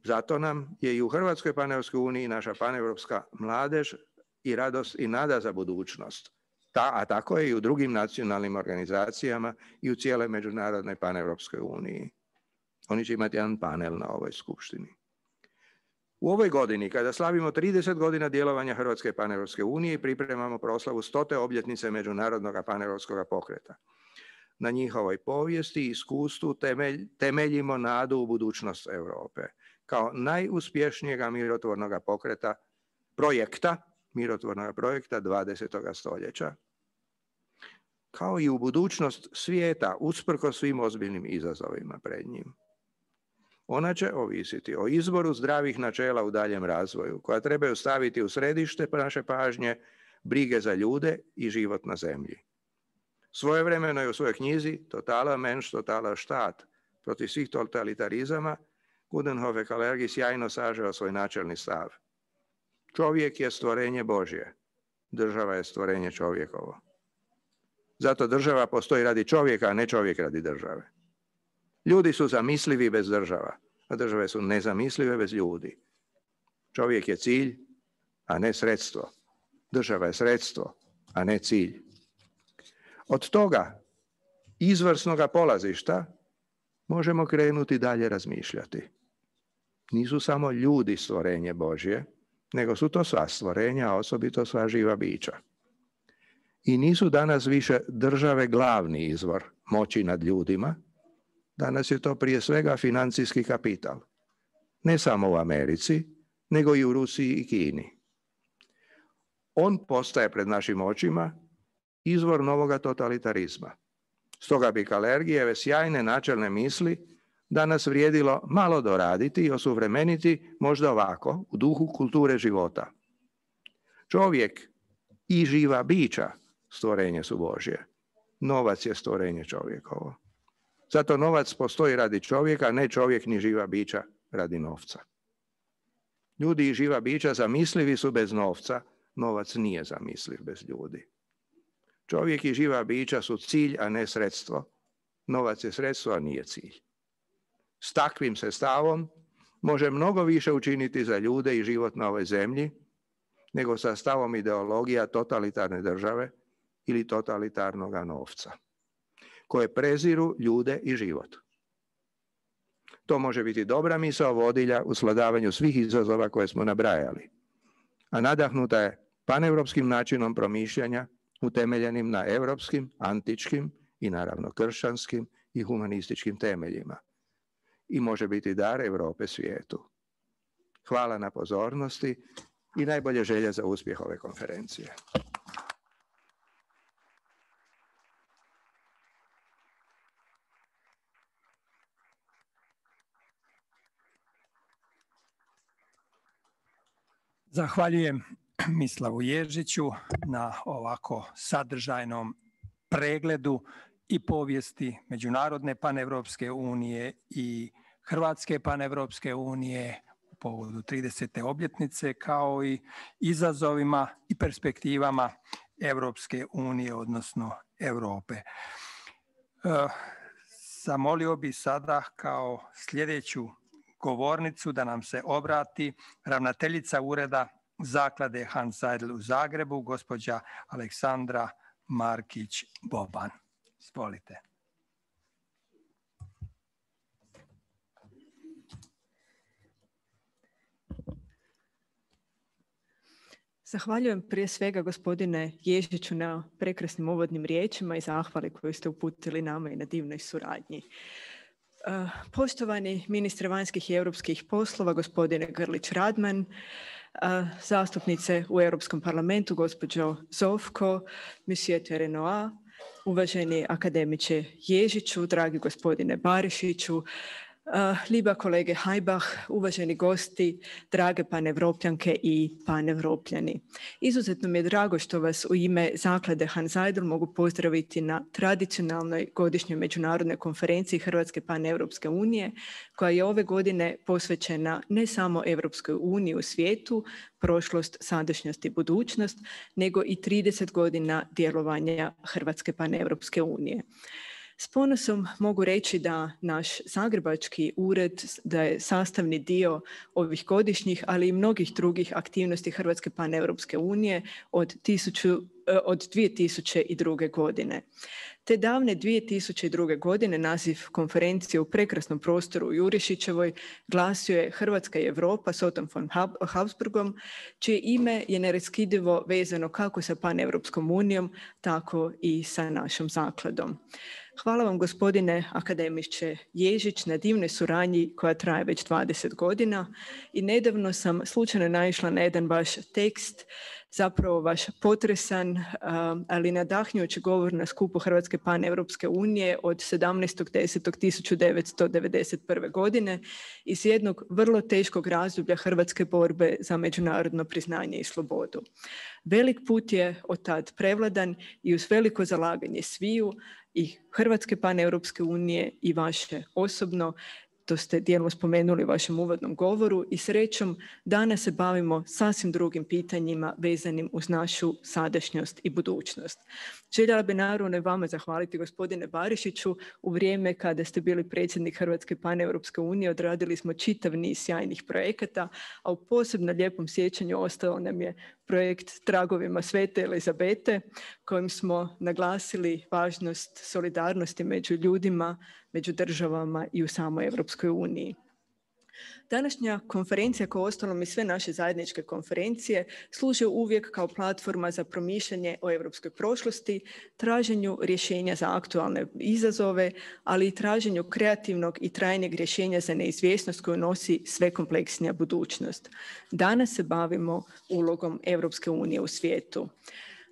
Zato nam je i u Hrvatskoj paneuropskoj uniji naša paneuropska mladež i radost i nada za budućnost. A tako je i u drugim nacionalnim organizacijama i u cijeloj međunarodnoj paneuropskoj uniji. Oni će imati jedan panel na ovoj skupštini. U ovoj godini, kada slavimo 30 godina djelovanja Hrvatske paneuropske unije i pripremamo proslavu 100. obljetnice Međunarodnog paneuropskog pokreta, na njihovoj povijesti i iskustvu temeljimo nadu u budućnost Europe kao najuspješnijega mirotvornog projekta 20. stoljeća. kao i u budućnost svijeta usprkos svim ozbiljnim izazovima pred njim. Ona će ovisiti o izboru zdravih načela u daljem razvoju, koja trebaju staviti u središte naše pažnje brige za ljude i život na zemlji. Svojevremeno je u svojoj knjizi Totaler Mensch, Totaler Staat protiv svih totalitarizama Coudenhove Kalergi sjajno sažeo svoj načelni stav. Čovjek je stvorenje Božje, država je stvorenje čovjekovo. Zato država postoji radi čovjeka, a ne čovjek radi države. Ljudi su zamislivi bez država, a države su nezamislive bez ljudi. Čovjek je cilj, a ne sredstvo. Država je sredstvo, a ne cilj. Od toga izvrsnoga polazišta možemo krenuti dalje razmišljati. Nisu samo ljudi stvorenje Božje, nego su to sva stvorenja, a osobito sva živa bića. I nisu danas više države glavni izvor moći nad ljudima, danas je to prije svega financijski kapital. Ne samo u Americi, nego i u Rusiji i Kini. On postaje pred našim očima izvor novoga totalitarizma. Stoga bi Kalergijeve sjajne načelne misli danas vrijedilo malo doraditi i osuvremeniti možda ovako, u duhu kulture života. Čovjek i živa bića stvorenje su Božje. Novac je stvorenje čovjekovo. Zato novac postoji radi čovjeka, ne čovjek ni živa bića radi novca. Ljudi i živa bića zamislivi su bez novca, novac nije zamisliv bez ljudi. Čovjek i živa bića su cilj, a ne sredstvo. Novac je sredstvo, a nije cilj. S takvim se stavom može mnogo više učiniti za ljude i život na ovoj zemlji, nego sa stavom ideologija totalitarne države ili totalitarnog novca, koje preziru ljude i život. To može biti dobra misao vodilja u svladavanju svih izazova koje smo nabrajali, a nadahnuta je paneuropskim načinom promišljanja utemeljenim na europskim, antičkim i naravno kršćanskim i humanističkim temeljima i može biti dar Europe svijetu. Hvala na pozornosti i najbolje želje za uspjeh ove konferencije. Zahvaljujem Mislavu Ježiću na ovako sadržajnom pregledu i povijesti Međunarodne paneuropske unije i Hrvatske paneuropske unije u povodu 30. obljetnice, kao i izazovima i perspektivama Europske unije, odnosno Europe. Zamolio bi sada kao sljedeću govornicu da nam se obrati ravnateljica Ureda Zaklade Hans Seidel u Zagrebu, gospođa Aleksandra Markić-Boban. Izvolite. Zahvaljujem prije svega gospodine Ježiću na prekrasnim uvodnim riječima i zahvali koju ste uputili nama i na divnoj suradnji. Poštovani ministre vanjskih i europskih poslova, gospodine Grlić Radman, zastupnice u Europskom parlamentu, gospođo Zovko, monsieur Terenoa, uvaženi akademiče Ježiću, dragi gospodine Barišiću, liba kolege Hajbah, uvaženi gosti, drage panevropljanke i panevropljani. Izuzetno mi je drago što vas u ime Zaklade Hans Seidel mogu pozdraviti na tradicionalnoj godišnjoj međunarodnoj konferenciji Hrvatske paneuropske unije, koja je ove godine posvećena ne samo Europskoj uniji u svijetu, prošlost, sadašnjost i budućnost, nego i 30 godina djelovanja Hrvatske paneuropske unije. S ponosom mogu reći da naš zagrebački ured da je sastavni dio ovih godišnjih, ali i mnogih drugih aktivnosti Hrvatske paneuropske unije od 2002. godine. Te davne 2002. godine naziv konferencije u prekrasnom prostoru u Jurišićevoj glasio je Hrvatska i Europa s Ottom von Habsburgom, čije ime je neraskidivo vezano kako sa paneuropskom unijom, tako i sa našom zakladom. Hvala vam, gospodine akademiče Ježić, na divnoj suradnji koja traje već 20 godina i nedavno sam slučajno naišla na jedan vaš tekst, zapravo vaš potresan, ali nadahnjujući govor na skupu Hrvatske paneuropske unije od 17.10.1991. godine iz jednog vrlo teškog razdoblja hrvatske borbe za međunarodno priznanje i slobodu. Velik put je od tad prevladan i uz veliko zalaganje sviju i Hrvatske paneuropske unije i vaše osobno, to ste dijelom spomenuli u vašem uvodnom govoru, i srećom danas se bavimo sasvim drugim pitanjima vezanim uz našu sadašnjost i budućnost. Željela bi naravno i vama zahvaliti, gospodine Barišiću. U vrijeme kada ste bili predsjednik Hrvatske paneuropske unije odradili smo čitav niz sjajnih projekata, a u posebno lijepom sjećanju ostao nam je projekt Tragovima Svete Elizabete, kojim smo naglasili važnost solidarnosti među ljudima, među državama i u samoj Europskoj uniji. Današnja konferencija, kao uostalom i sve naše zajedničke konferencije, služe uvijek kao platforma za promišljanje o europskoj prošlosti, traženju rješenja za aktualne izazove, ali i traženju kreativnog i trajnijeg rješenja za neizvjesnost koju nosi sve kompleksnija budućnost. Danas se bavimo ulogom Europske unije u svijetu.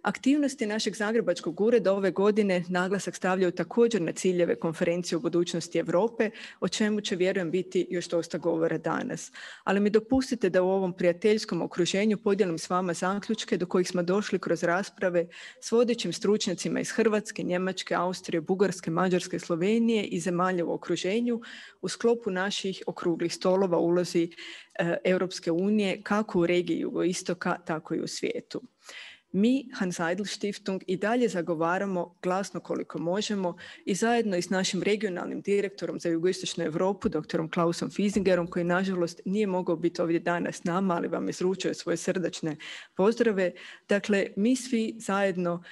Aktivnosti našeg zagrebačkog ureda ove godine naglasak stavljaju također na ciljeve konferencije o budućnosti Europe, o čemu će, vjerujem, biti još dosta govora danas. Ali mi dopustite da u ovom prijateljskom okruženju podijelim s vama zaključke do kojih smo došli kroz rasprave s vodećim stručnjacima iz Hrvatske, Njemačke, Austrije, Bugarske, Mađarske, Slovenije i zemalja u okruženju u sklopu naših okruglih stolova ulozi Europske unije kako u regiji jugoistoka, tako i u svijetu. Mi, Hans Eidl Stiftung, i dalje zagovaramo glasno koliko možemo i zajedno i s našim regionalnim direktorom za jugoistočnu Europu, doktorom Klausom Fiesingerom, koji nažalost nije mogao biti ovdje danas s nama, ali vam izručuje svoje srdačne pozdrave. Dakle, mi svi zajedno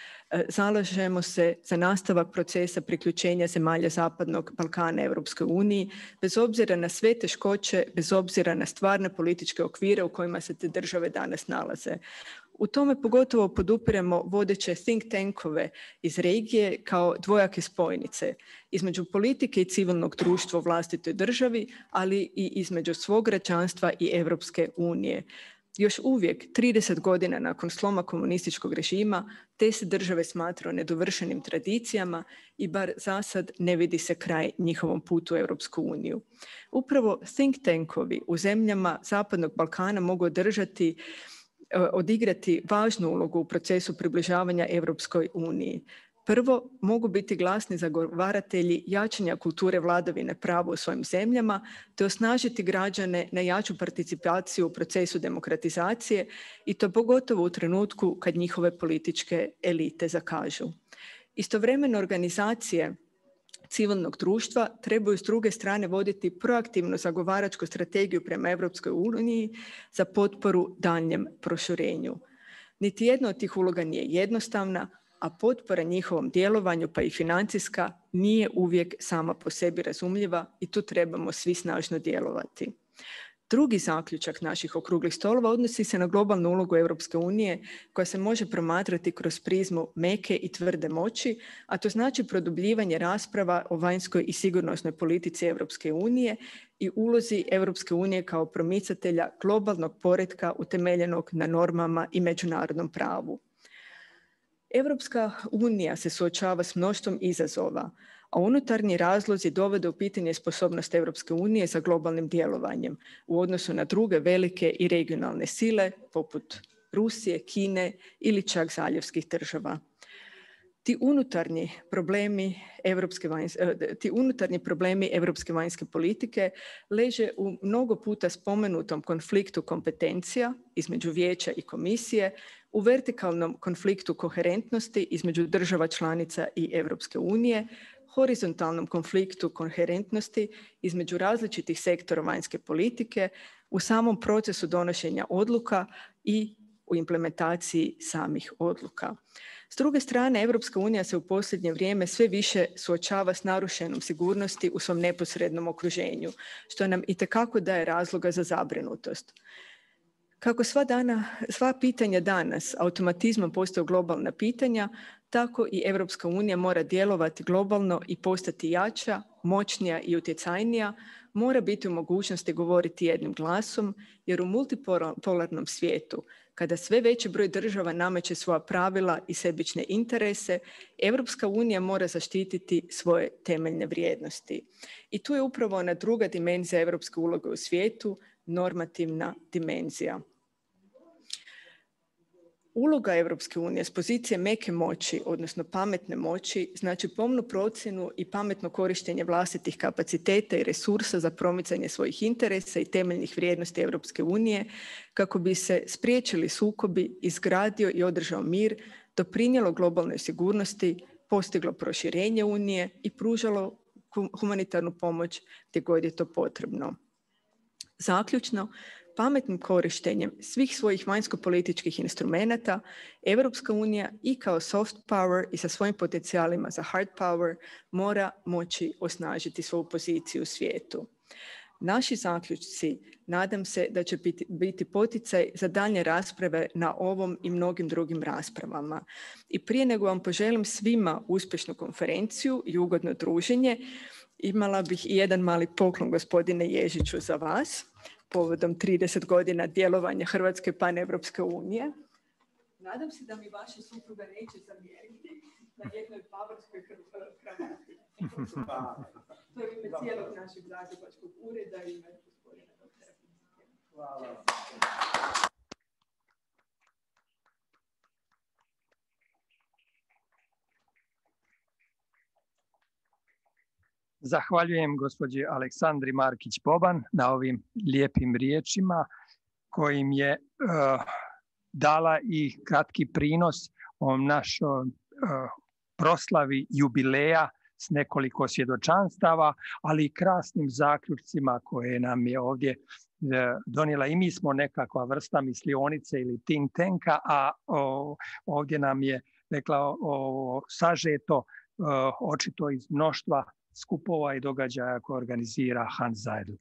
zalažemo se za nastavak procesa priključenja zemalja Zapadnog Balkana Europskoj uniji, bez obzira na sve teškoće, bez obzira na stvarne političke okvire u kojima se te države danas nalaze. U tome pogotovo podupiremo vodeće think tankove iz regije kao dvojake spojnice između politike i civilnog društva u vlastitoj državi, ali i između svog građanstva i Europske unije. Još uvijek, 30 godina nakon sloma komunističkog režima, te se države smatraju nedovršenim tradicijama i bar za sad ne vidi se kraj njihovom putu u Europsku uniju. Upravo think tankovi u zemljama Zapadnog Balkana mogu odigrati važnu ulogu u procesu približavanja Europskoj uniji. Prvo, mogu biti glasni zagovaratelji jačanja kulture vladavine prava u svojim zemljama, te osnažiti građane na jaču participaciju u procesu demokratizacije i to pogotovo u trenutku kad njihove političke elite zakažu. Istovremeno organizacije civilnog društva trebaju s druge strane voditi proaktivnu zagovaračku strategiju prema Europskoj uniji za potporu daljnjem proširenju. Niti jedna od tih uloga nije jednostavna, a potpora njihovom djelovanju, pa i financijska, nije uvijek sama po sebi razumljiva i tu trebamo svi snažno djelovati. Drugi zaključak naših okruglih stolova odnosi se na globalnu ulogu Europske unije koja se može promatrati kroz prizmu meke i tvrde moći, a to znači produbljivanje rasprava o vanjskoj i sigurnosnoj politici Europske unije i ulozi Europske unije kao promicatelja globalnog poretka utemeljenog na normama i međunarodnom pravu. Europska unija se suočava s mnoštvom izazova, a unutarnji razlozi dovode u pitanje sposobnost Europske unije za globalnim djelovanjem u odnosu na druge velike i regionalne sile poput Rusije, Kine ili čak zaljevskih država. Ti unutarnji problemi europske vanjske politike leže u mnogo puta spomenutom konfliktu kompetencija između Vijeća i Komisije, u vertikalnom konfliktu koherentnosti između država članica i Europske unije, horizontalnom konfliktu koherentnosti između različitih sektora vanjske politike, u samom procesu donošenja odluka i u implementaciji samih odluka. S druge strane, Europska unija se u posljednje vrijeme sve više suočava s narušenom sigurnosti u svom neposrednom okruženju, što nam itekako daje razloga za zabrinutost. Kako sva pitanja danas automatizmom postaju globalna pitanja, tako i Europska unija mora djelovati globalno i postati jača, moćnija i utjecajnija, mora biti u mogućnosti govoriti jednim glasom, jer u multipolarnom svijetu, kada sve veći broj država nameće svoja pravila i sebične interese, Europska unija mora zaštititi svoje temeljne vrijednosti. I tu je upravo ona druga dimenzija europske uloge u svijetu, normativna dimenzija. Uloga Europske unije s pozicije meke moći, odnosno pametne moći, znači pomnu procjenu i pametno korištenje vlastitih kapaciteta i resursa za promicanje svojih interesa i temeljnih vrijednosti Europske unije kako bi se spriječili sukobi, izgradio i održao mir, doprinijelo globalnoj sigurnosti, postiglo proširenje Unije i pružalo humanitarnu pomoć gdje god je to potrebno. Zaključno, pametnim korištenjem svih svojih vanjsko-političkih instrumenata, Europska unija i kao soft power i sa svojim potencijalima za hard power mora moći osnažiti svoju poziciju u svijetu. Naši zaključci, nadam se da će biti poticaj za daljnje rasprave na ovom i mnogim drugim raspravama. I prije nego vam poželim svima uspješnu konferenciju i ugodno druženje, imala bih i jedan mali poklon, gospodine Ježiću, za vas povodom 30 godina djelovanja Hrvatske paneuropske unije. Nadam se da mi vaša supruga neće zamjeriti na jednoj bavarskoj kravati. To je ime cijelog našeg zagrebačkog ureda i ime gospodina doktora. Hvala. Zahvaljujem gospođi Aleksandri Markić-Boban na ovim lijepim riječima kojim je dala i kratki prinos o našoj proslavi jubileja s nekoliko svjedočanstava, ali i krasnim zaključcima koje nam je ovdje donijela. I mi smo nekakva vrsta mislionice ili think tanka, a ovdje nam je rekla sažeto očito iz mnoštva skupova i događaja koje organizira Hans Seidel.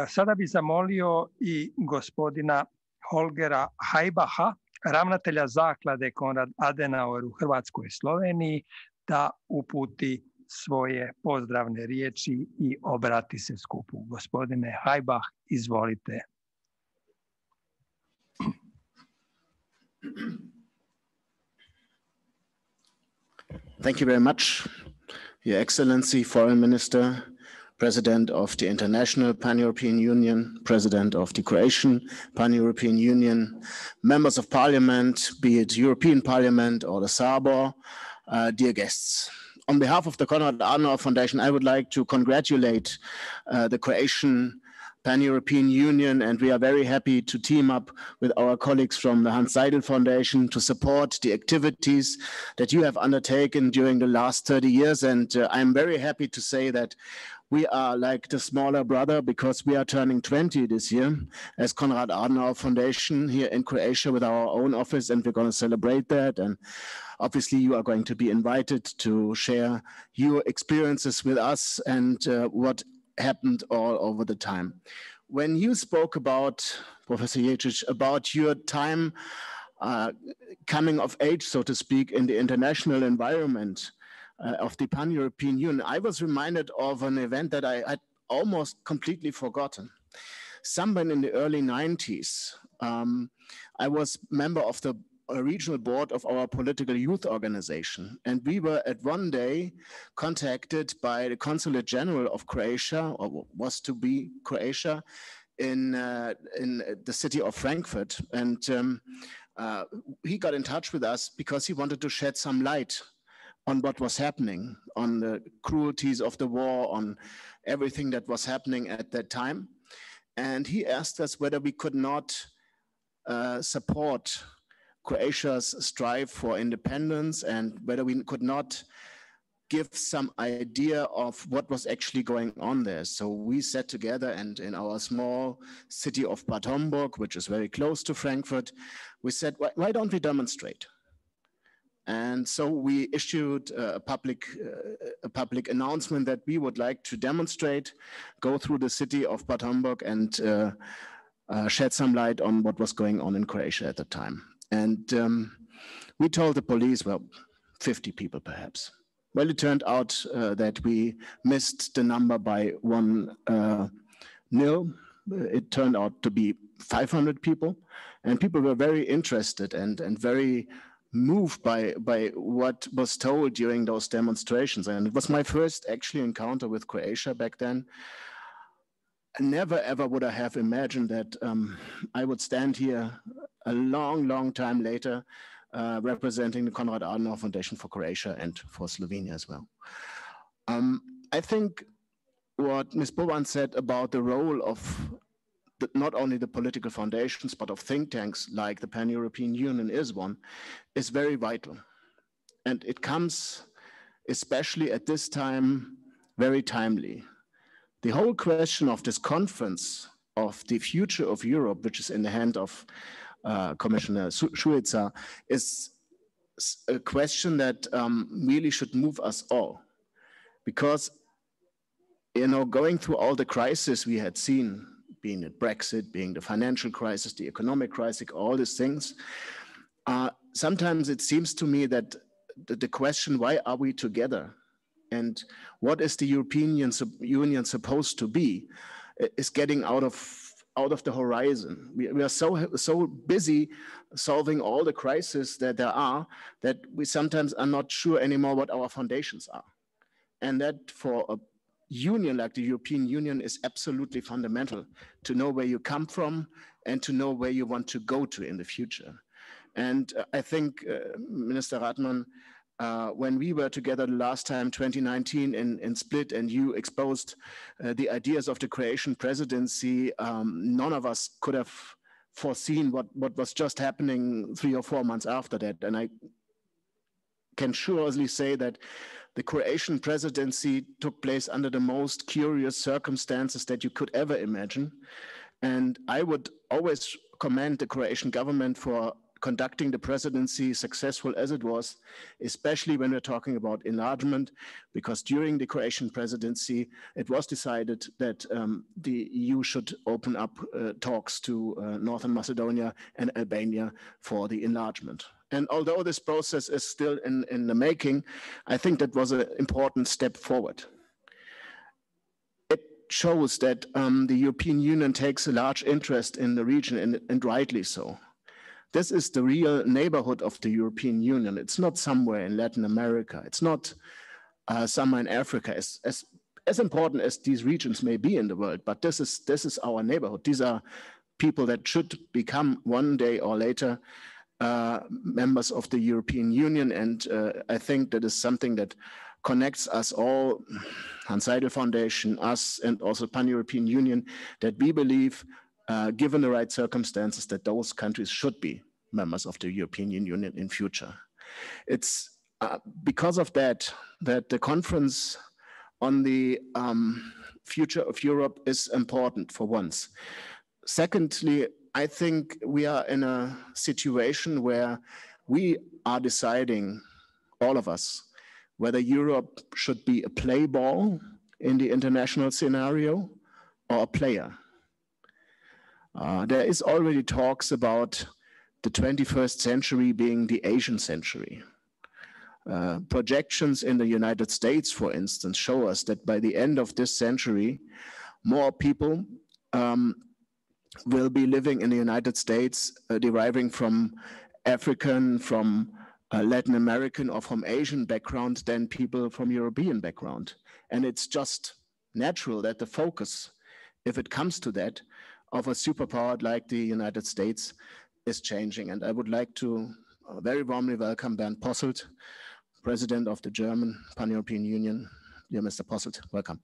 Sada bih zamolio i gospodina Holgera Hajbaha, ravnatelja zaklade Konrad Adenauer u Hrvatskoj i Sloveniji, da uputi svoje pozdravne riječi i obrati se skupu. Gospodine Hajbah, izvolite. Thank you very much, Your Excellency, Foreign Minister, President of the International Pan-European Union, President of the Croatian Pan-European Union, members of Parliament, be it European Parliament or the Sabor, dear guests. On behalf of the Konrad Adenauer Foundation, I would like to congratulate the Croatian Pan-European Union, and we are very happy to team up with our colleagues from the Hans Seidel Foundation to support the activities that you have undertaken during the last 30 years. And I'm very happy to say that we are like the smaller brother because we are turning 20 this year as Konrad Adenauer Foundation here in Croatia with our own office, and we're going to celebrate that. And obviously you are going to be invited to share your experiences with us and what happened all over the time. When you spoke about, Professor Ježić, about your time coming of age, so to speak, in the international environment of the Pan-European Union, I was reminded of an event that I had almost completely forgotten. Somewhere in the early 90s, I was member of the regional board of our political youth organization. And we were at one day contacted by the Consulate General of Croatia, or was to be Croatia, in the city of Frankfurt. And he got in touch with us because he wanted to shed some light on what was happening, on the cruelties of the war, on everything that was happening at that time. And he asked us whether we could not support Croatia's strive for independence and whether we could not give some idea of what was actually going on there. So we sat together, and in our small city of Bad Homburg, which is very close to Frankfurt, we said, why don't we demonstrate? And so we issued a public announcement that we would like to demonstrate, go through the city of Bad Homburg and shed some light on what was going on in Croatia at the time. And we told the police, well, 50 people perhaps. Well, it turned out that we missed the number by 1 nil. It turned out to be 500 people, and people were very interested and very moved by what was told during those demonstrations. And it was my first actually encounter with Croatia back then. Never ever would I have imagined that I would stand here a long time later representing the Konrad Adenauer Foundation for Croatia and for Slovenia as well. I think what Ms. Bovan said about the role of not only the political foundations, but of think tanks like the Pan-European Union is very vital. And it comes, especially at this time, very timely. The whole question of this conference of the future of Europe, which is in the hand of Commissioner Šuica, is a question that really should move us all. Because, going through all the crises we had seen, being it Brexit, being the financial crisis, the economic crisis, all these things, sometimes it seems to me that the question, why are we together? And what is the European Union supposed to be, is getting out of the horizon. We are so busy solving all the crises that there are, that we sometimes are not sure anymore what our foundations are. And that for a union like the European Union is absolutely fundamental, to know where you come from and to know where you want to go to in the future. And I think, Minister Radman, when we were together the last time, 2019 in Split, and you exposed the ideas of the Croatian presidency, none of us could have foreseen what was just happening 3 or 4 months after that. And I can surely say that the Croatian presidency took place under the most curious circumstances that you could ever imagine. And I would always commend the Croatian government for conducting the presidency successful as it was, especially when we're talking about enlargement, because during the Croatian presidency, it was decided that the EU should open up talks to Northern Macedonia and Albania for the enlargement. And although this process is still in the making, I think that was an important step forward. It shows that the European Union takes a large interest in the region, and rightly so. This is the real neighborhood of the European Union. It's not somewhere in Latin America. It's not somewhere in Africa. As important as these regions may be in the world, but this is our neighborhood. These are people that should become one day or later members of the European Union. And I think that is something that connects us all, Hans Seidel Foundation, us, and also Pan-European Union, that we believe, given the right circumstances, that those countries should be members of the European Union in future. It's because of that the conference on the future of Europe is important for once. Secondly, I think we are in a situation where we are deciding, all of us, whether Europe should be a play ball in the international scenario or a player. There is already talks about the 21st century being the Asian century. Projections in the United States, for instance, show us that by the end of this century, more people will be living in the United States deriving from African, from Latin American, or from Asian background than people from European background. And it's just natural that the focus, if it comes to that, of a superpower like the United States is changing. And I would like to very warmly welcome Bernd Posselt, President of the German Pan-European Union. Dear Mr. Posselt, welcome.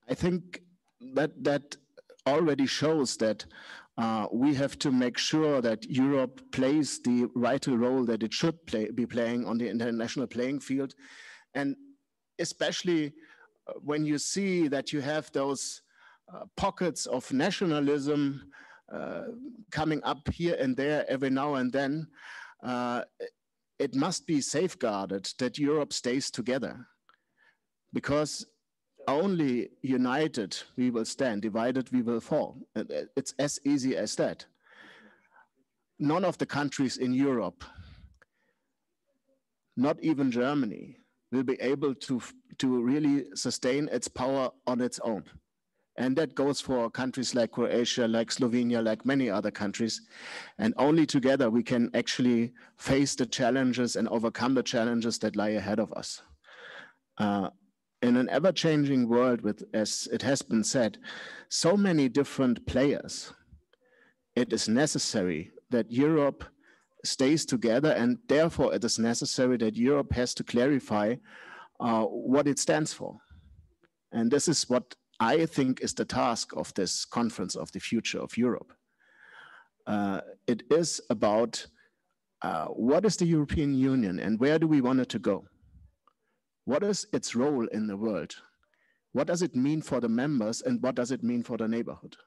I think that already shows that we have to make sure that Europe plays the vital role that it should be playing on the international playing field. And especially when you see that you have those pockets of nationalism coming up here and there every now and then, it must be safeguarded that Europe stays together. Because only united we will stand, divided we will fall. It's as easy as that. None of the countries in Europe, not even Germany, will be able to really sustain its power on its own. And that goes for countries like Croatia, like Slovenia, like many other countries. And only together we can actually face the challenges and overcome the challenges that lie ahead of us. In an ever-changing world with, as it has been said, so many different players, it is necessary that Europe stays together, and therefore it is necessary that Europe has to clarify what it stands for. And this is what I think is the task of this conference of the future of Europe. It is about what is the European Union and where do we want it to go? What is its role in the world? What does it mean for the members and what does it mean for the neighborhood?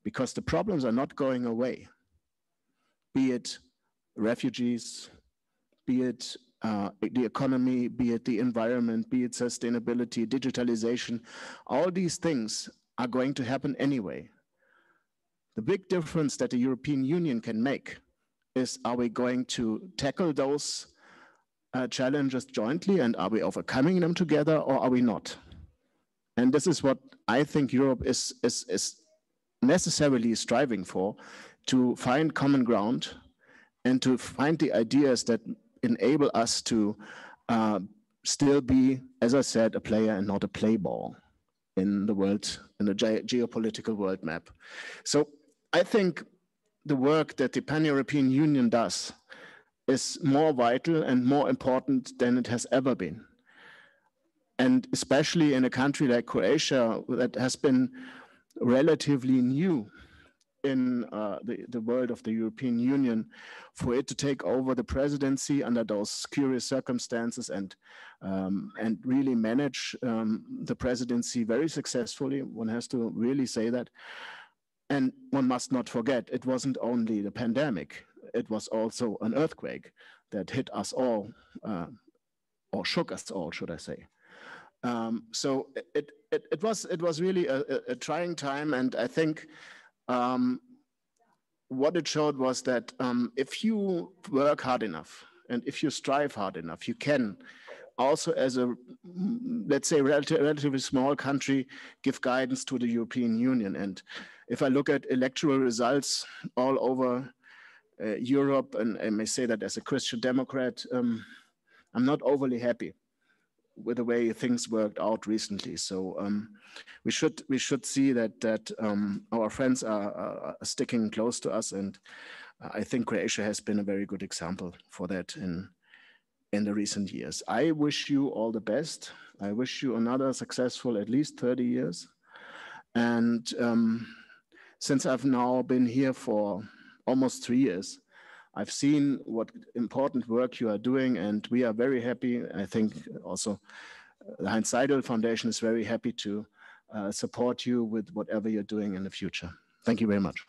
Because the problems are not going away, be it refugees, be it the economy, be it the environment, be it sustainability, digitalization, all these things are going to happen anyway. The big difference that the European Union can make is, are we going to tackle those challenges jointly and are we overcoming them together or are we not? And this is what I think Europe is necessarily striving for, to find common ground and to find the ideas that enable us to still be, as I said, a player and not a play ball in the world, in the geopolitical world map. So I think the work that the Pan-European Union does is more vital and more important than it has ever been. And especially in a country like Croatia that has been relatively new in the world of the European Union, for it to take over the presidency under those curious circumstances and really manage the presidency very successfully. One has to really say that. And one must not forget, it wasn't only the pandemic, it was also an earthquake that hit us all, or shook us all, should I say. So it was really a trying time, and I think what it showed was that if you work hard enough and if you strive hard enough, you can also, as a, let's say, relatively small country, give guidance to the European Union. And if I look at electoral results all over Europe, and I may say that as a Christian Democrat, I'm not overly happy with the way things worked out recently. So we should see that our friends are sticking close to us, and I think Croatia has been a very good example for that in the recent years. I wish you all the best. I wish you another successful at least 30 years. And since I've now been here for almost 3 years, I've seen what important work you are doing, and we are very happy. I think also the Heinz Seidel Foundation is very happy to support you with whatever you're doing in the future. Thank you very much.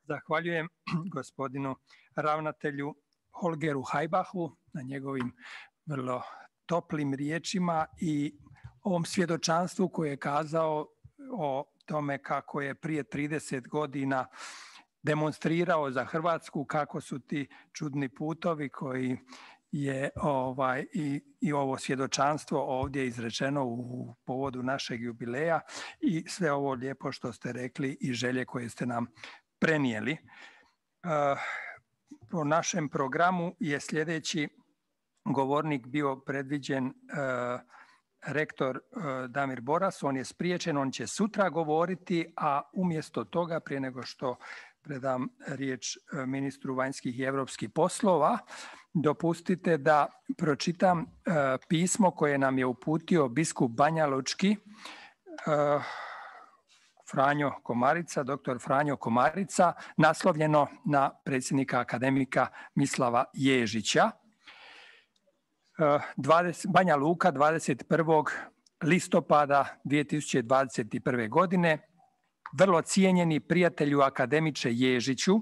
Zahvaljujem gospodinu ravnatelju Holgeru Hajbahu na njegovim vrlo toplim riječima i ovom svjedočanstvu koje je kazao o tome kako je prije 30 godina demonstrirao za Hrvatsku, kako su ti čudni putovi koji je i ovo svjedočanstvo ovdje izrečeno u povodu našeg jubileja i sve ovo lijepo što ste rekli i želje koje ste nam prenijeli. Po našem programu je sljedeći govornik bio predviđen rektor Damir Boras. On je spriječen, on će sutra govoriti, a umjesto toga, prije nego što predam riječ ministru vanjskih i europskih poslova, dopustite da pročitam pismo koje nam je uputio biskup Banjalučki, Franjo Komarica, doktor Franjo Komarica, naslovljeno na predsjednika akademika Mislava Ježića. Banja Luka, 21. listopada 2021. godine. Vrlo cijenjeni prijatelju akademiče Ježiću,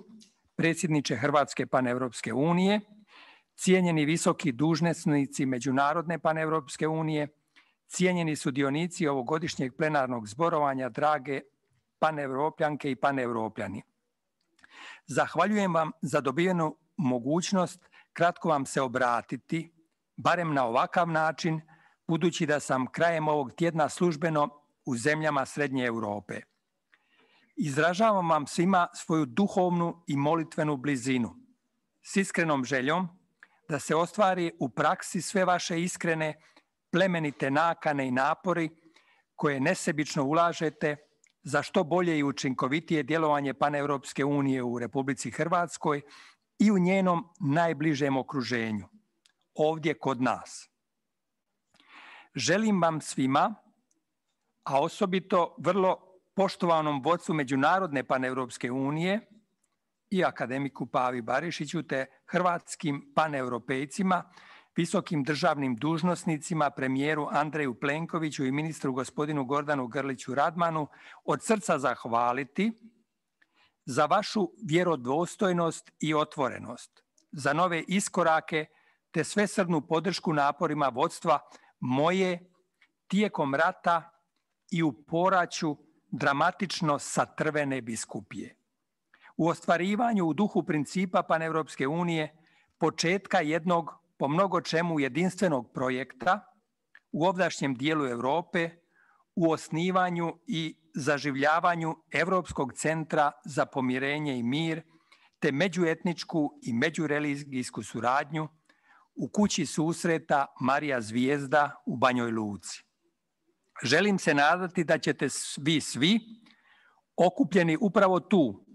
predsjedniče Hrvatske paneuropske unije, cijenjeni visoki dužnosnici Međunarodne paneuropske unije, cijenjeni sudionici ovogodišnjeg plenarnog zborovanja, drage paneuropljanke i paneuropljani. Zahvaljujem vam za dobivenu mogućnost kratko vam se obratiti, barem na ovakav način, budući da sam krajem ovog tjedna službeno u zemljama Srednje Europe. Izražavam vam svima svoju duhovnu i molitvenu blizinu, s iskrenom željom da se ostvari u praksi sve vaše iskrene, plemenite nakane i napori koje nesebično ulažete za što bolje i učinkovitije djelovanje Paneuropske unije u Republici Hrvatskoj i u njenom najbližem okruženju, ovdje kod nas. Želim vam svima, a osobito vrlo poštovanom vodstvu Međunarodne paneuropske unije i akademiku Pavi Barišiću te hrvatskim paneuropejcima, visokim državnim dužnosnicima, premijeru Andreju Plenkoviću i ministru gospodinu Gordanu Grliću Radmanu od srca zahvaliti za vašu vjerodostojnost i otvorenost, za nove iskorake te svesrdnu podršku naporima vodstva moje tijekom rata i u poraću dramatično satrvene biskupije. U ostvarivanju u duhu principa Paneuropske unije početka jednog po mnogo čemu jedinstvenog projekta u ovdašnjem dijelu Europe u osnivanju i zaživljavanju Europskog centra za pomirenje i mir te međuetničku i međureligijsku suradnju u kući susreta Marija Zvijezda u Banjoj Luci. Želim se nadati da ćete vi svi okupljeni upravo tu,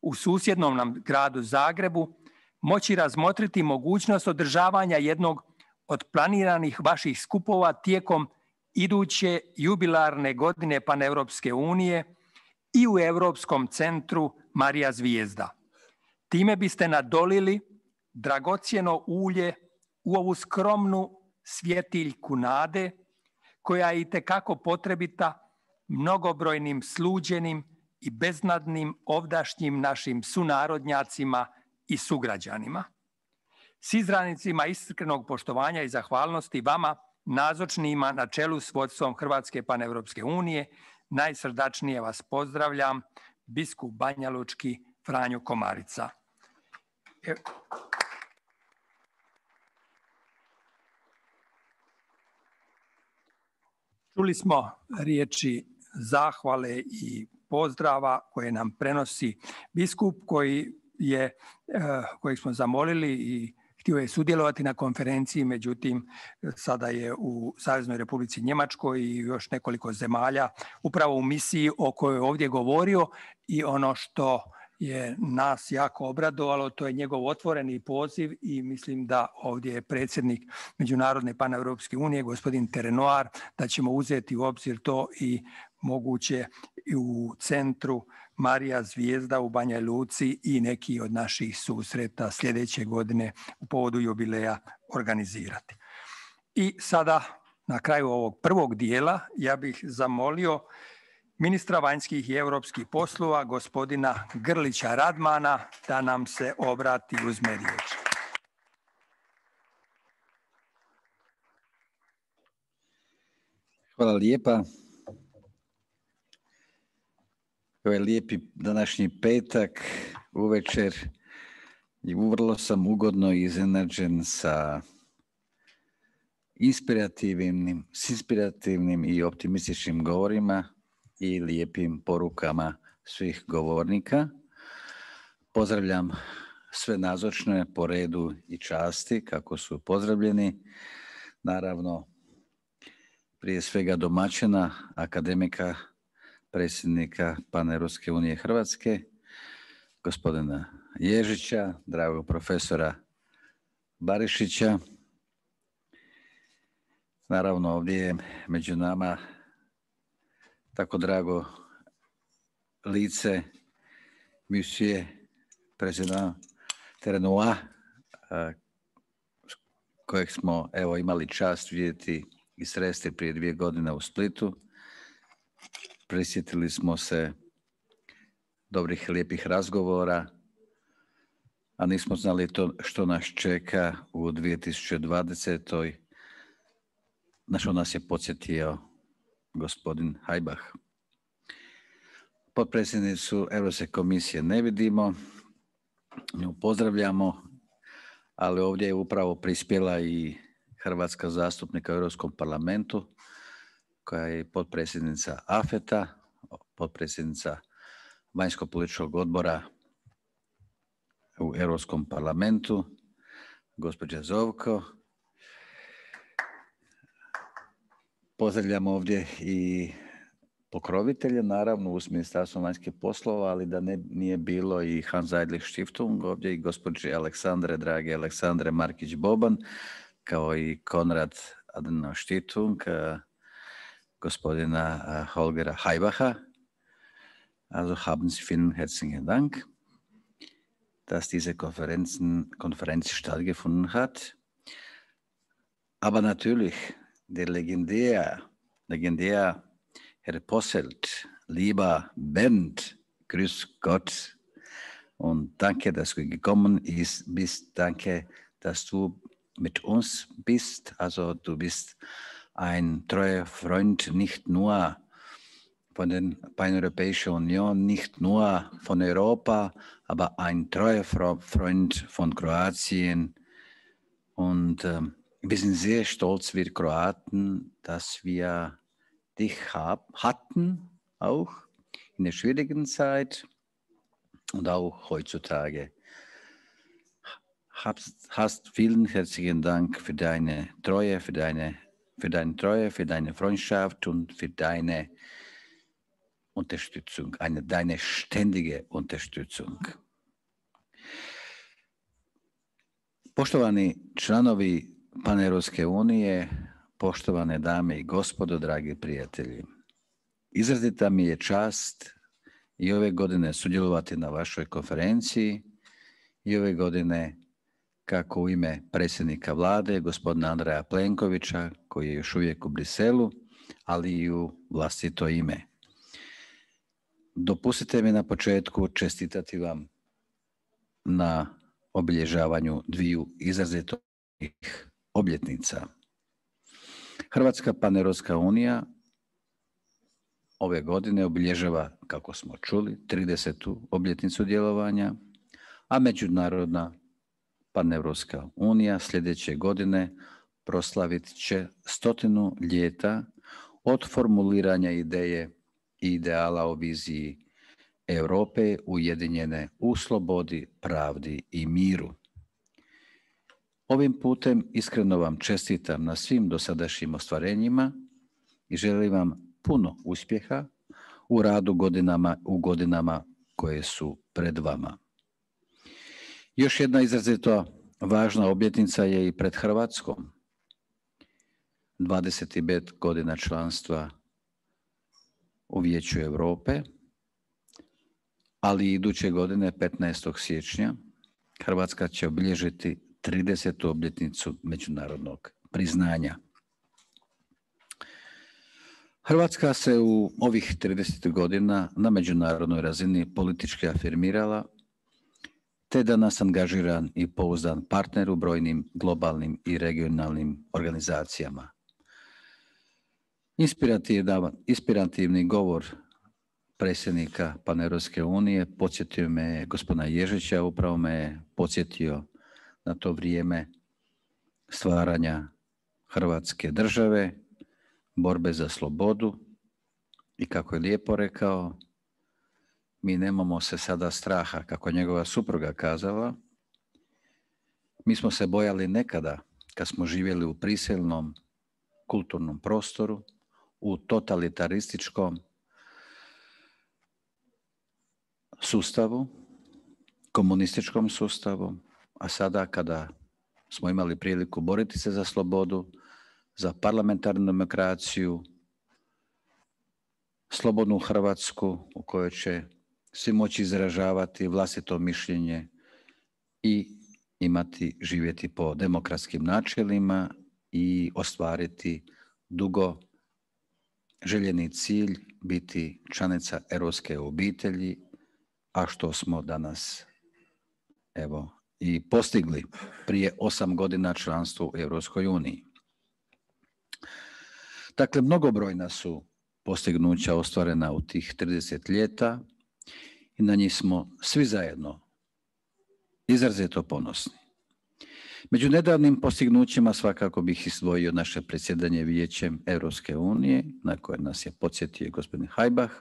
u susjednom nam gradu Zagrebu, moći razmotriti mogućnost održavanja jednog od planiranih vaših skupova tijekom iduće jubilarne godine Paneuropske unije i u Europskom centru Marija Zvijezda. Time biste nadolili dragocjeno ulje u ovu skromnu svjetiljku nade koja je itekako potrebita mnogobrojnim sluđenim i beznadnim ovdašnjim našim sunarodnjacima i sugrađanima. S izrazima iskrenog poštovanja i zahvalnosti vama, nazočnima na čelu s vodstvom Hrvatske paneuropske unije, najsrdačnije vas pozdravljam, biskup banjalučki Franjo Komarica. Čuli smo riječi zahvale i pozdrava koje nam prenosi biskup kojeg smo zamolili i htio je sudjelovati na konferenciji, međutim sada je u Saveznoj Republici Njemačkoj i još nekoliko zemalja upravo u misiji o kojoj je ovdje govorio i ono što je nas jako obradovalo, to je njegov otvoreni poziv i mislim da ovdje je predsjednik Međunarodne paneuropske unije, gospodin Terenoir, da ćemo uzeti u obzir to i moguće i u centru Marija Zvijezda u Banjoj Luci i neki od naših susreta sljedeće godine u povodu jubileja organizirati. I sada na kraju ovog prvog dijela ja bih zamolio ministra vanjskih i europskih poslova, gospodina Grlića Radmana, da nam se obrati i uzme riječ. Hvala lijepa. Ovaj lijepi današnji petak uvečer i vrlo sam ugodno iznenađen sa inspirativnim i optimističnim govorima i lijepim porukama svih govornika. Pozdravljam sve nazočne po redu i časti kako su pozdravljeni. Naravno, prije svega domaćina, akademika, predsjednika Paneuropske unije Hrvatske, gospodina Ježića, dragog profesora Barišića. Naravno, ovdje je među nama tako drago lice monsieur president Terenoir, kojeg smo imali čast vidjeti i sresti prije 2 godine u Splitu. Prisjetili smo se dobrih, lijepih razgovora a nismo znali to što nas čeka u 2020. Na što nas je podsjetio gospodin Hajbah. Potpredsjednicu Europske komisije ne vidimo, nju pozdravljamo, ali ovdje je upravo prispjela i hrvatska zastupnika u Europskom parlamentu, koja je potpredsjednica AFET-a, potpredsjednica vanjsko-političkog odbora u Europskom parlamentu, gospođa Zovko. Pozdravljam ovdje i pokrovitelje, naravno uz Ministarstvo vanjskih poslova, ali da nije bilo i Hans Zeidlich Stiftung ovdje i gospođe Aleksandre, drage Aleksandre Markić-Boban, kao i Konrad Adenauer Stiftung, gospodina Holgera Hajbaha. Also haben Sie vielen herzlichen Dank, dass diese Konferenz stattgefunden hat. Aber natürlich, der legendär Herr Posselt, lieber Bernd, grüß Gott und danke, dass du gekommen bist. Danke, dass du mit uns bist. Also du bist ein treuer Freund, nicht nur von der Paneuropäischen Union, nicht nur von Europa, aber ein treuer Freund von Kroatien. Und wir sind sehr stolz, wir Kroaten, dass wir dich hatten, auch in der schwierigen Zeit und auch heutzutage. Hast vielen herzlichen Dank für deine Treue, für deine Freundschaft und für deine Unterstützung, deine ständige Unterstützung. Poštovani članovi Paneuropske unije, poštovane dame i gospodo, dragi prijatelji. Izrazita mi je čast i ove godine sudjelovati na vašoj konferenciji i ove godine kako u ime predsjednika vlade, gospodina Andreja Plenkovića, koji je još uvijek u Briselu, ali i u vlastito ime. Dopustite mi na početku čestitati vam na obilježavanju dviju izrazitih obljetnica. Hrvatska Paneuropska unija ove godine obilježava, kako smo čuli, 30. obljetnicu djelovanja, a Međunarodna Paneuropska unija sljedeće godine proslavit će 100 ljeta od formuliranja ideje i ideala o viziji Europe ujedinjene u slobodi, pravdi i miru. Ovim putem iskreno vam čestitam na svim dosadašnjim ostvarenjima i želim vam puno uspjeha u radu u godinama koje su pred vama. Još jedna izrazito važna obljetnica je i pred Hrvatskom. 25 godina članstva u Vijeću Europe, ali iduće godine, 15. siječnja, Hrvatska će obilježiti 30. obljetnicu međunarodnog priznanja. Hrvatska se u ovih 30 godina na međunarodnoj razini politički afirmirala, te danas angažiran i pouzdan partner u brojnim globalnim i regionalnim organizacijama. Inspirativni govor predsjednika Paneuropske unije podsjetio me gospodina Ježića, upravo me podsjetio na to vrijeme stvaranja Hrvatske države, borbe za slobodu i kako je lijepo rekao, mi nemamo se sada straha, kako je njegova supruga kazala. Mi smo se bojali nekada kad smo živjeli u prisilnom kulturnom prostoru, u totalitarističkom sustavu, komunističkom sustavu, a sada kada smo imali priliku boriti se za slobodu, za parlamentarnu demokraciju, slobodnu Hrvatsku u kojoj će svi moći izražavati vlastito mišljenje i živjeti po demokratskim načelima i ostvariti dugo željeni cilj biti članica europske obitelji, a što smo danas i postigli prije 8 godina članstva u Europskoj uniji. Dakle, mnogobrojna su postignuća ostvarena u tih 30 ljeta i na njih smo svi zajedno izrazito ponosni. Među nedavnim postignućima svakako bih izdvojio naše predsjedanje Vijećem Europske unije, na koje nas je podsjetio gospodin Hajbah,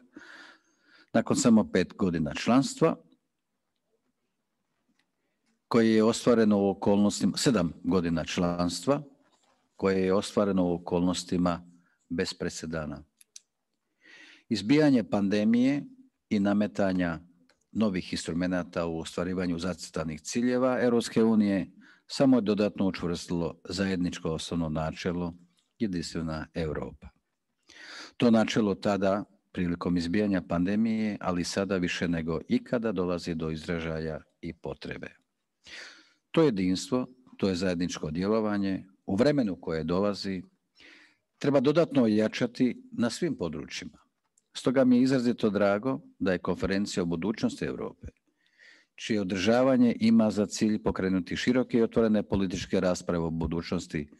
nakon samo 5 godina članstva, koje je ostvareno u okolnostima, 7 godina članstva, koje je ostvareno u okolnostima bez presedana. Izbijanje pandemije i nametanja novih instrumenata u ostvarivanju zacrtanih ciljeva Europske unije samo je dodatno učvrstilo zajedničko osnovno načelo jedinstvena Europa. To načelo tada, prilikom izbijanja pandemije, ali sada više nego ikada dolazi do izražaja i potrebe. To jedinstvo, to je zajedničko djelovanje u vremenu koje dolazi, treba dodatno ojačati na svim područjima. Stoga mi je izrazito drago da je konferencija o budućnosti Europe, čije održavanje ima za cilj pokrenuti široke i otvorene političke rasprave o budućnosti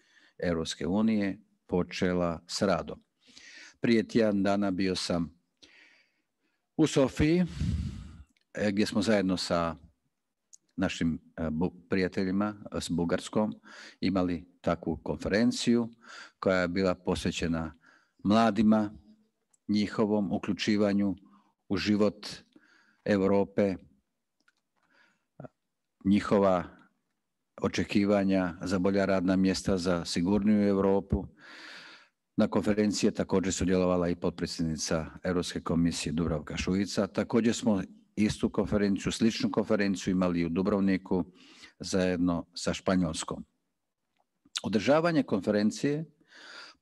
Europske unije, počela s radom. Prije tjedan dana bio sam u Sofiji, gdje smo zajedno sa našim prijateljima s Bugarskom imali takvu konferenciju koja je bila posvećena mladima, njihovom uključivanju u život Europe, njihova očekivanja za bolja radna mjesta, za sigurniju Europu. Na konferenciji je također sudjelovala i potpredsjednica Europske komisije Dubravka Šuica. Također smo istu konferenciju, sličnu konferenciju imali u Dubrovniku zajedno sa Španjolskom. Održavanje konferencije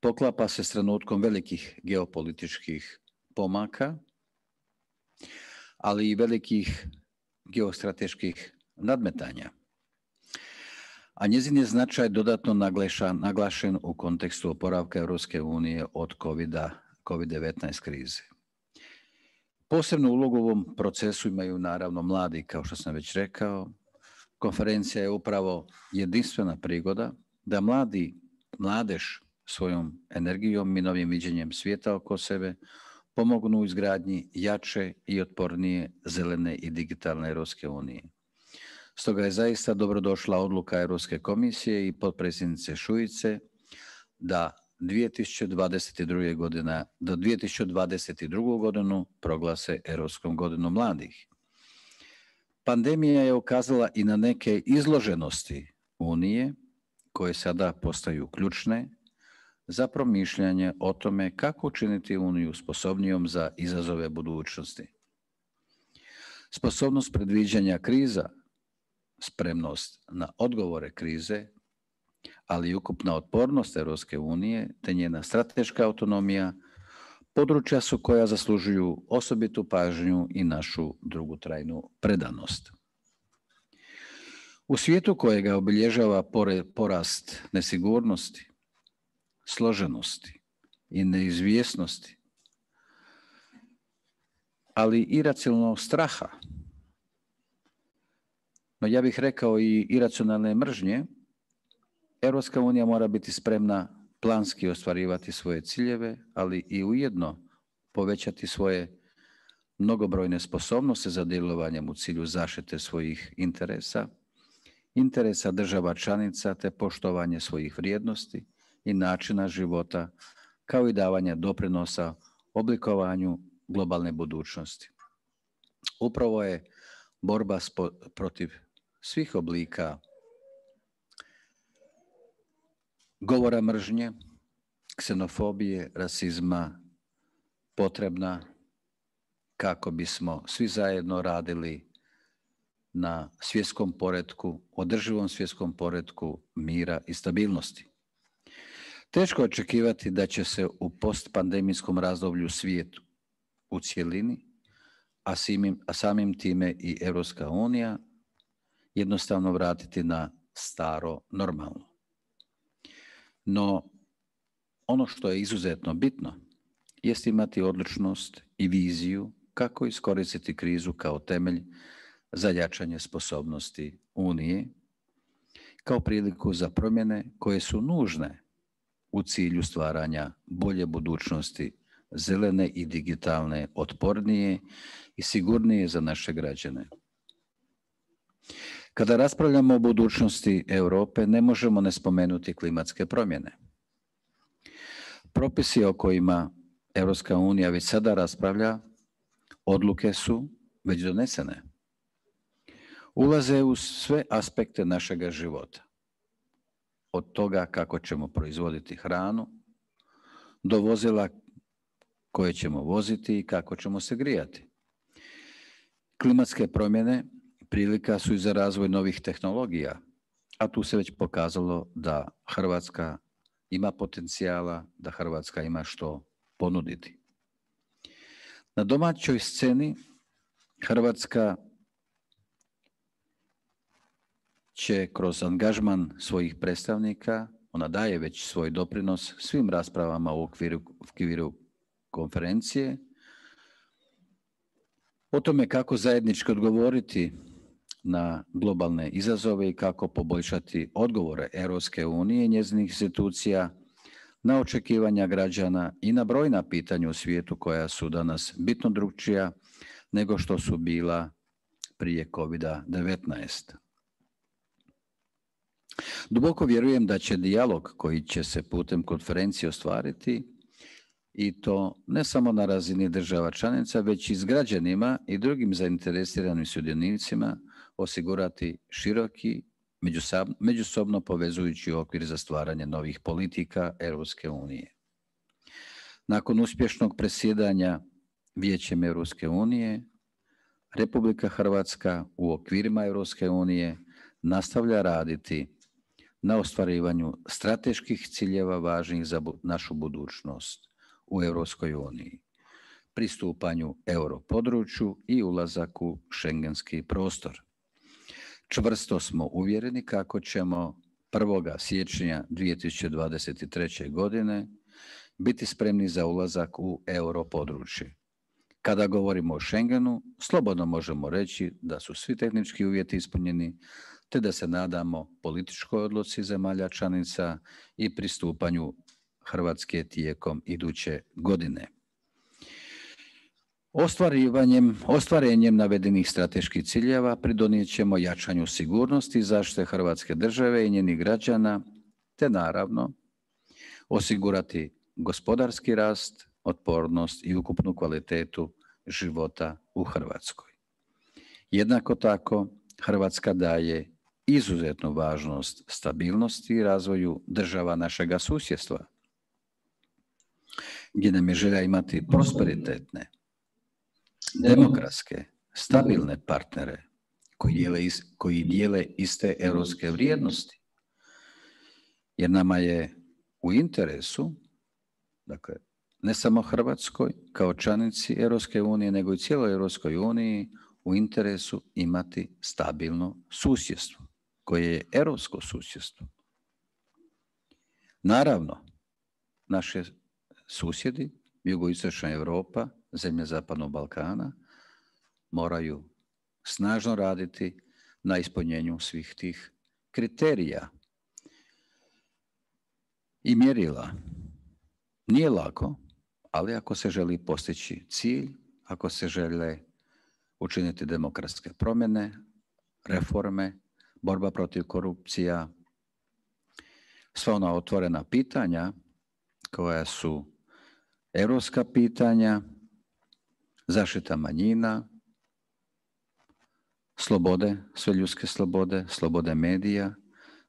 poklapa se s trenutkom velikih geopolitičkih pomaka, ali i velikih geostrateških nadmetanja. A njezin je značaj dodatno naglašen u kontekstu oporavka Europske unije od COVID-19 krize. Posebnu ulogu u ovom procesu imaju naravno mladi, kao što sam već rekao. Konferencija je upravo jedinstvena prigoda da mladež svojom energijom i novim viđenjem svijeta oko sebe pomognu u izgradnji jače i otpornije zelene i digitalne Europske unije. Stoga je zaista dobrodošla odluka Europske komisije i potpredsjednice Šuice da 2022. godinu proglase Europskom godinom mladih. Pandemija je ukazala i na neke izloženosti Unije koje sada postaju ključne za promišljanje o tome kako učiniti Uniju sposobnijom za izazove budućnosti. Sposobnost predviđanja kriza, spremnost na odgovore krize, ali i ukupna otpornost Europske unije te njena strateška autonomija područja su koja zaslužuju osobitu pažnju i našu dugotrajnu predanost. U svijetu kojega obilježava porast nesigurnosti, složenosti i neizvjesnosti, ali i iracionalnog straha, no ja bih rekao i iracionalne mržnje, Europska unija mora biti spremna planski ostvarivati svoje ciljeve, ali i ujedno povećati svoje mnogobrojne sposobnosti za djelovanjem u cilju zaštite svojih interesa država članica te poštovanje svojih vrijednosti i načina života, kao i davanje doprinosa oblikovanju globalne budućnosti. Upravo je borba protiv svih oblika govora mržnje, ksenofobije, rasizma potrebna kako bismo svi zajedno radili na svjetskom poretku, održivom svjetskom poretku mira i stabilnosti. Teško očekivati da će se u postpandemijskom razdoblju svijetu u cjelini, a samim time i Europska unija, jednostavno vratiti na staro normalno. No, ono što je izuzetno bitno jest imati odlučnost i viziju kako iskoristiti krizu kao temelj za jačanje sposobnosti unije kao priliku za promjene koje su nužne u cilju stvaranja bolje budućnosti, zelene i digitalne, otpornije i sigurnije za naše građane. Kada raspravljamo o budućnosti Europe, ne možemo ne spomenuti klimatske promjene. Propisi o kojima Europska unija već sada raspravlja, odluke su već donesene. Ulaze u sve aspekte našega života. Od toga kako ćemo proizvoditi hranu, do vozila koje ćemo voziti i kako ćemo se grijati. Klimatske promjene prilika su i za razvoj novih tehnologija, a tu se već pokazalo da Hrvatska ima potencijala, da Hrvatska ima što ponuditi. Na domaćoj sceni Hrvatska će kroz angažman svojih predstavnika, ona daje već svoj doprinos svim raspravama u okviru konferencije, o tome kako zajednički odgovoriti na globalne izazove i kako poboljšati odgovore Europske unije i njezinih institucija na očekivanja građana i na brojna pitanja u svijetu koja su danas bitno drukčija nego što su bila prije COVID-19. Duboko vjerujem da će dijalog koji će se putem konferencije ostvariti, i to ne samo na razini država članica, već i s građanima i drugim zainteresiranim sudionicima, osigurati široki, međusobno povezujući okvir za stvaranje novih politika Europske unije. Nakon uspješnog predsjedanja Vijećem Europske unije, Republika Hrvatska u okvirima Europske unije nastavlja raditi na ostvarivanju strateških ciljeva važnih za našu budućnost u Europskoj uniji, pristupanju europodručju i ulazak u šengenski prostor. Čvrsto smo uvjereni kako ćemo 1. siječnja 2023. godine biti spremni za ulazak u europodručje. Kada govorimo o Schengenu, slobodno možemo reći da su svi tehnički uvjeti ispunjeni, te da se nadamo političkoj odluci zemalja članica i pristupanju Hrvatske tijekom iduće godine. Ostvarenjem navedenih strateških ciljeva pridonijet ćemo jačanju sigurnosti i zaštite Hrvatske države i njenih građana, te naravno osigurati gospodarski rast, otpornost i ukupnu kvalitetu života u Hrvatskoj. Jednako tako, Hrvatska daje izuzetnu važnost stabilnosti i razvoju država našega susjedstva, gdje nam je želja imati prosperitetne, demokratske, stabilne partnere koji dijele iste europske vrijednosti. Jer nama je u interesu, dakle, ne samo Hrvatskoj kao članici Europske unije, nego i cijeloj Europskoj uniji u interesu imati stabilno susjedstvo, koje je europsko susjedstvo. Naravno, naše susjedi, jugoistočna Europa, zemlje Zapadnog Balkana, moraju snažno raditi na ispunjenju svih tih kriterija i mjerila. Nije lako, ali ako se želi postići cilj, ako se žele učiniti demokratske promjene, reforme, borba protiv korupcija, sva ona otvorena pitanja koja su europska pitanja, zaštita manjina, slobode, sve ljudske slobode, slobode medija,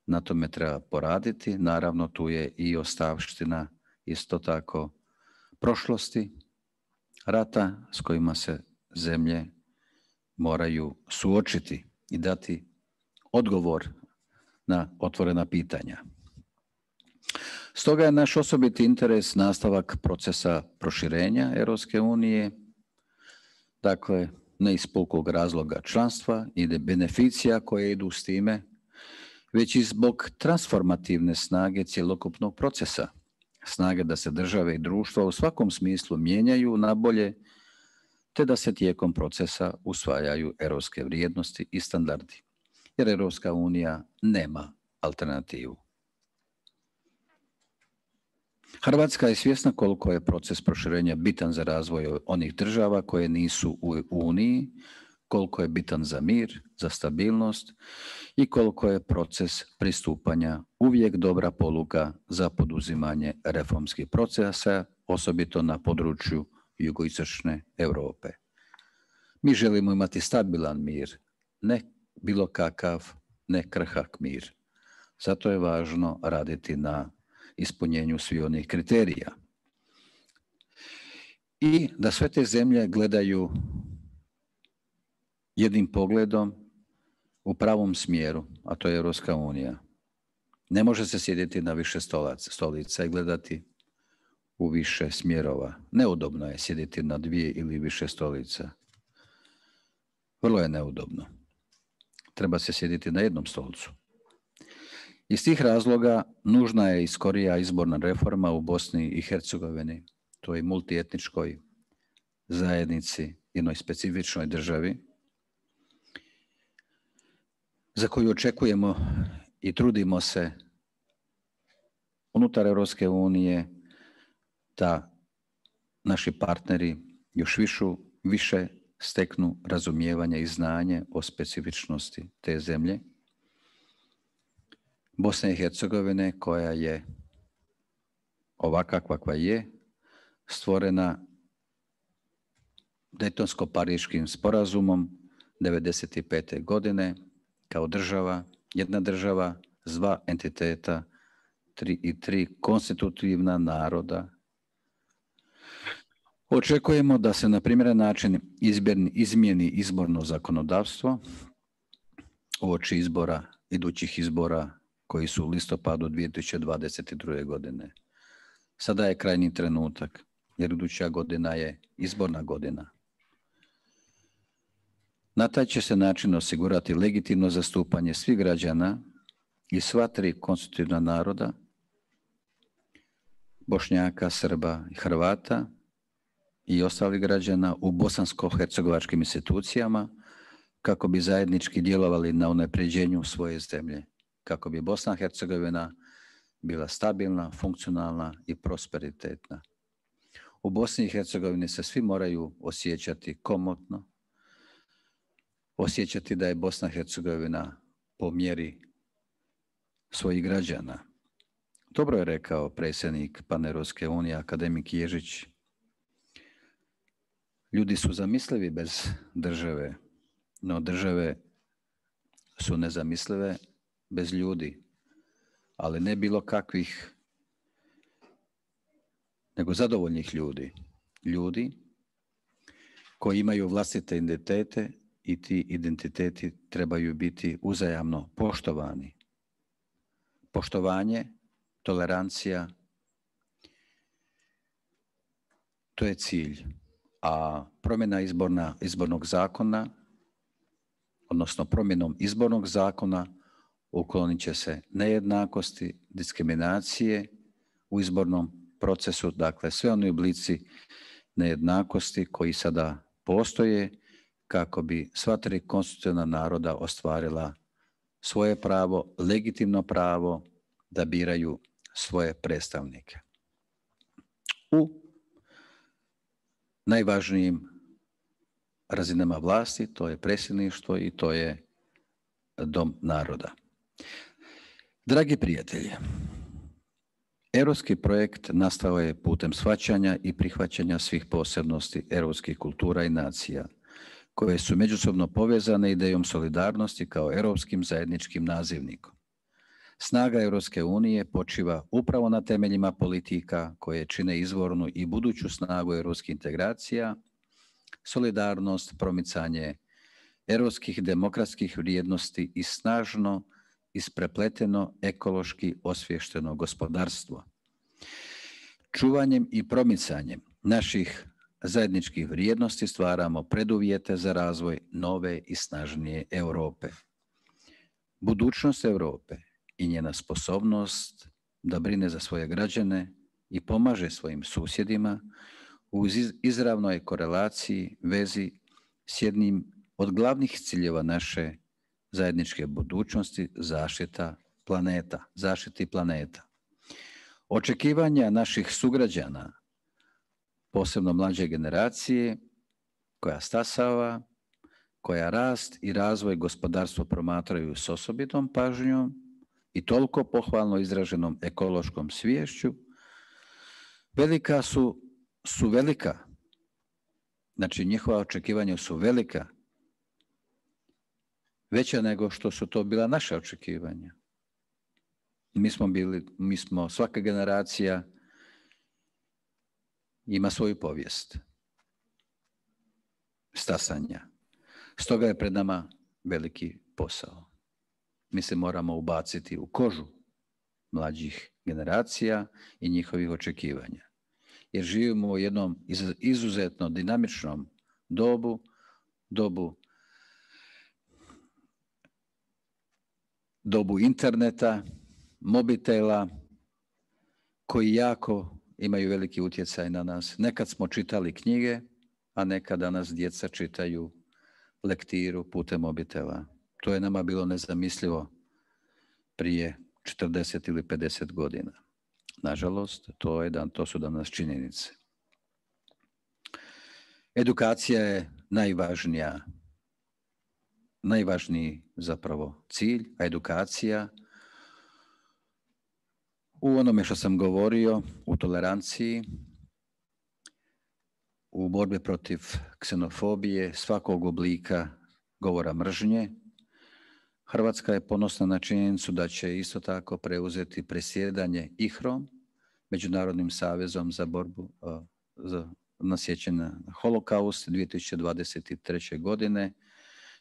na tome treba poraditi. Naravno, tu je i ostavština isto tako prošlosti, rata s kojima se zemlje moraju suočiti i dati odgovor na otvorena pitanja. Stoga je naš osobiti interes nastavak procesa proširenja Europske unije, dakle ne iz pukog razloga članstva i beneficija koje idu s time, već i zbog transformativne snage cjelokupnog procesa, snage da se države i društva u svakom smislu mijenjaju na bolje, te da se tijekom procesa usvajaju europske vrijednosti i standardi. jer Europska unija nema alternativu. Hrvatska je svjesna koliko je proces proširenja bitan za razvoj onih država koje nisu u Uniji, koliko je bitan za mir, za stabilnost i koliko je proces pristupanja uvijek dobra poluga za poduzimanje reformskih procesa, osobito na području jugoistočne Europe. Mi želimo imati stabilan mir, ne bilo kakav, ne krhak mir. Zato je važno raditi na ispunjenju svih onih kriterija. I da sve te zemlje gledaju jednim pogledom u pravom smjeru, a to je Europska unija. Ne može se sjediti na više stolica i gledati u više smjerova. Neudobno je sjediti na 2 ili više stolica. Vrlo je neudobno. Treba se sjediti na jednom stolcu. Iz tih razloga nužna je i skorija izborna reforma u Bosni i Hercegovini, toj multietničkoj zajednici, jednoj specifičnoj državi, za koju očekujemo i trudimo se unutar Europske unije da naši partneri još više steknu razumijevanje i znanje o specifičnosti te zemlje. Bosne i Hercegovine, koja je ovakva kakva je, stvorena Dejtonsko-Pariškim sporazumom 1995. godine kao država, jedna država s 2 entiteta i 3 konstitutivna naroda. Očekujemo da se na primjeren način izmijeni izborno zakonodavstvo uoči idućih izbora koji su u listopadu 2022. godine. Sada je krajnji trenutak, jer iduća godina je izborna godina. Na taj će se način osigurati legitimno zastupanje svih građana i sva 3 konstitutivna naroda, Bošnjaka, Srba i Hrvata i ostalih građana u bosansko-hercegovačkim institucijama kako bi zajednički djelovali na unapređenju svoje zemlje, kako bi Bosna i Hercegovina bila stabilna, funkcionalna i prosperitetna. U Bosni i Hercegovini se svi moraju osjećati komotno, osjećati da je Bosna i Hercegovina po mjeri svojih građana. Dobro je rekao predsjednik Paneuropske unije, akademik Ježić. Ljudi su zamislivi bez države, no države su nezamislive bez ljudi, ali ne bilo kakvih, nego zadovoljnih ljudi. Ljudi koji imaju vlastite identitete i ti identiteti trebaju biti uzajamno poštovani. Poštovanje, tolerancija, to je cilj. A promjena izbornog zakona, odnosno promjenom izbornog zakona, uklonit će se nejednakosti, diskriminacije u izbornom procesu, dakle sve oni oblici nejednakosti koji sada postoje kako bi sva 3 konstitutivna naroda ostvarila svoje pravo, legitimno pravo da biraju svoje predstavnike u najvažnijim razinama vlasti, to je predsjedništvo i to je dom naroda. Dragi prijatelji, europski projekt nastao je putem shvaćanja i prihvaćanja svih posebnosti europskih kultura i nacija, koje su međusobno povezane idejom solidarnosti kao europskim zajedničkim nazivnikom. Snaga Europske unije počiva upravo na temeljima politika koje čine izvornu i buduću snagu europskih integracija, solidarnost, promicanje europskih demokratskih vrijednosti i snažno isprepleteno ekološki osviješteno gospodarstvo. Čuvanjem i promicanjem naših zajedničkih vrijednosti stvaramo preduvjete za razvoj nove i snažnije Europe. Budućnost Europe i njena sposobnost da brine za svoje građane i pomaže svojim susjedima u izravnoj korelaciji, vezi s jednim od glavnih ciljeva naše zajedničke budućnosti, zaštiti planeta. Očekivanja naših sugrađana, posebno mlađe generacije, koja stasava, koja rast i razvoj gospodarstva promatraju s osobitom pažnjom i toliko pohvalno izraženom ekološkom sviješću, velika su velika. Znači, njihova očekivanja su velika, veća nego što su to bila naša očekivanja. Mi smo, svaka generacija ima svoju povijest stasanja. Stoga je pred nama veliki posao. Mi se moramo ubaciti u kožu mlađih generacija i njihovih očekivanja. Jer živimo u jednom izuzetno dinamičnom dobu interneta, mobitela, koji jako imaju veliki utjecaj na nas. Nekad smo čitali knjige, a nekad danas djeca čitaju lektiru putem mobitela. To je nama bilo nezamislivo prije 40 ili 50 godina. Nažalost, to su danas činjenice. Edukacija je najvažniji zapravo cilj, a edukacija u onome što sam govorio, u toleranciji, u borbi protiv ksenofobije, svakog oblika govora mržnje. Hrvatska je ponosna na činjenicu da će isto tako preuzeti predsjedanje IHRA-om, Međunarodnim savezom za borbu na sjećanje na holokaust 2023. godine,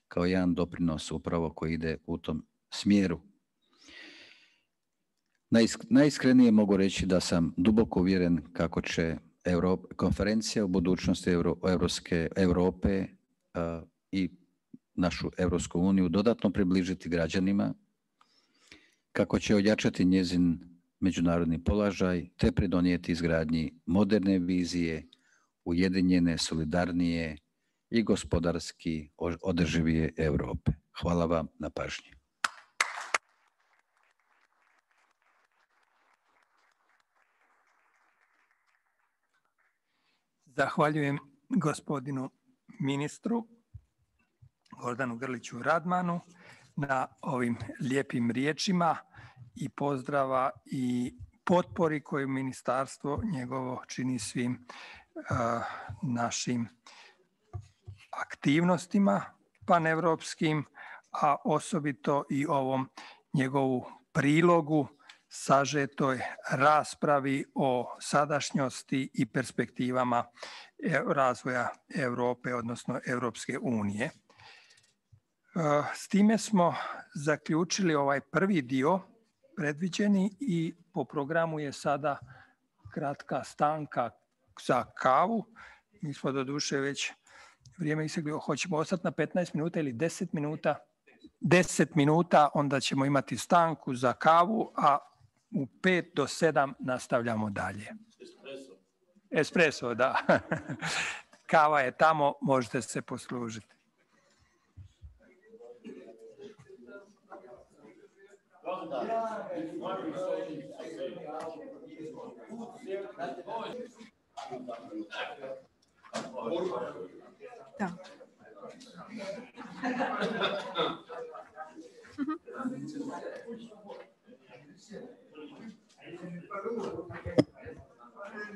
kao jedan doprinos upravo koji ide u tom smjeru. Najiskrenije mogu reći da sam duboko uvjeren kako će konferencija o budućnosti Europe i našu Europsku uniju dodatno približiti građanima, kako će ojačati njezin međunarodni položaj te pridonijeti izgradnji moderne vizije, ujedinjene, solidarnije i gospodarski održivije Europe. Hvala vam na pažnji. Zahvaljujem gospodinu ministru Gordanu Grliću Radmanu na ovim lijepim riječima i pozdrava i potpori koju ministarstvo njegovo čini svim našim aktivnostima paneuropskim, a osobito i ovom njegovu prilogu sažetoj raspravi o sadašnjosti i perspektivama razvoja Europe, odnosno Europske unije. S time smo zaključili ovaj prvi dio predviđeni i po programu je sada kratka stanka za kavu. Mi smo doduše već vrijeme istekli, hoćemo ostati na 15 minuta ili 10 minuta? 10 minuta, onda ćemo imati stanku za kavu, a u 5 do 7 nastavljamo dalje. Espresso, da. Kava je tamo, možete se poslužiti. Da.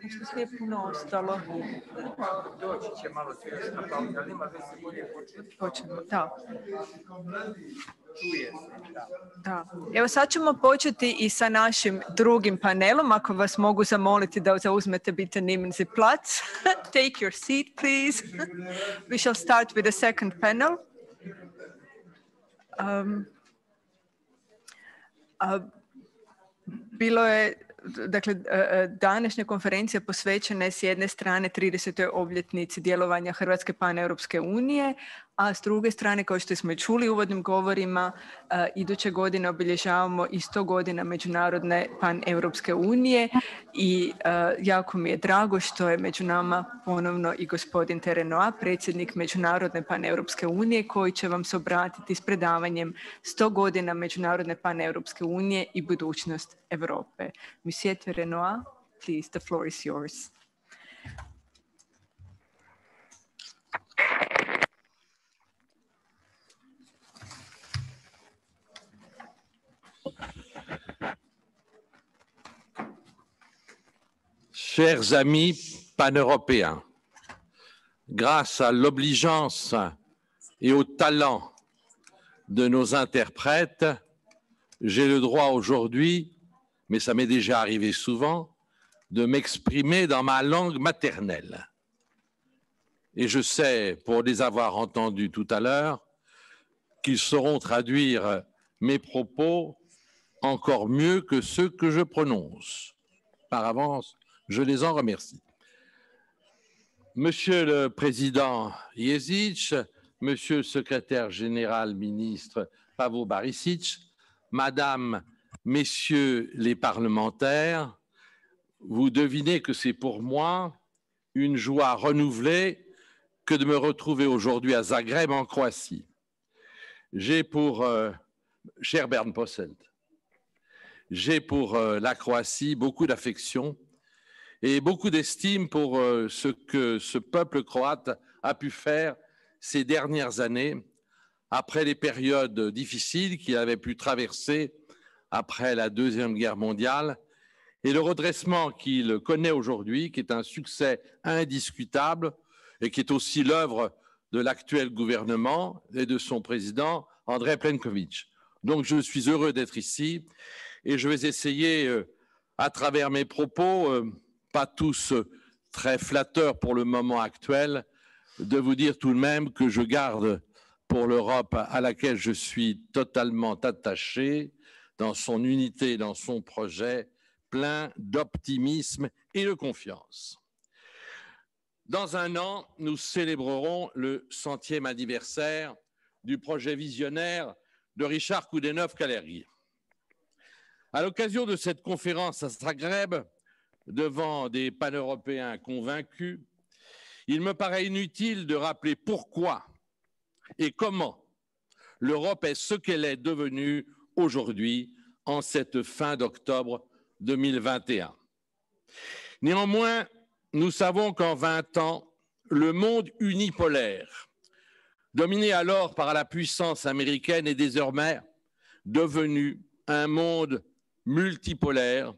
Nešto nije puno ostalo. Doći će malo svjesna pauza, ali ima već se bolje početi. Počnemo, da. Čuje se, da. Da. Evo sad ćemo početi i sa našim drugim panelom. Ako vas mogu zamoliti da zauzmete bitte nehmen Sie Platz. Take your seat, please. We shall start with the second panel. Bilo je, dakle, današnja konferencija posvećena je s jedne strane 30. obljetnici djelovanja Hrvatske paneuropske unije, a s druge strane, kao što smo i čuli u uvodnim govorima, iduće godine obilježavamo i 100 godina Međunarodne paneuropske unije i jako mi je drago što je među nama ponovno i gospodin Terenoa, predsjednik Međunarodne paneuropske unije, koji će vam se obratiti s predavanjem 100 godina Međunarodne paneuropske unije i budućnost Europe. Monsieur Terenoa, please, the floor is yours. Chers amis paneuropéens, grâce à l'obligeance et au talent de nos interprètes, j'ai le droit aujourd'hui, mais ça m'est déjà arrivé souvent, de m'exprimer dans ma langue maternelle. Et je sais, pour les avoir entendus tout à l'heure, qu'ils sauront traduire mes propos encore mieux que ceux que je prononce. Par avance, je les en remercie. Monsieur le Président Ježić, Monsieur le Secrétaire général ministre Pavo Barisic, Madame, Messieurs les parlementaires, vous devinez que c'est pour moi une joie renouvelée que de me retrouver aujourd'hui à Zagreb en Croatie. J'ai pour, cher Bernd Posselt, j'ai pour la Croatie beaucoup d'affection et beaucoup d'estime pour ce que ce peuple croate a pu faire ces dernières années, après les périodes difficiles qu'il avait pu traverser après la Deuxième Guerre mondiale, et le redressement qu'il connaît aujourd'hui, qui est un succès indiscutable et qui est aussi l'œuvre de l'actuel gouvernement et de son président, Andrej Plenković. Donc je suis heureux d'être ici et je vais essayer, à travers mes propos, pas tous très flatteurs pour le moment actuel, de vous dire tout de même que je garde pour l'Europe à laquelle je suis totalement attaché, dans son unité, dans son projet, plein d'optimisme et de confiance. Dans un an, nous célébrerons le 100e anniversaire du projet visionnaire de Richard Coudenhove-Kalergi. À l'occasion de cette conférence à Zagreb, devant des paneuropéens convaincus, il me paraît inutile de rappeler pourquoi et comment l'Europe est ce qu'elle est devenue aujourd'hui en cette fin d'octobre 2021. Néanmoins, nous savons qu'en 20 ans, le monde unipolaire, dominé alors par la puissance américaine, est désormais devenu un monde multipolaire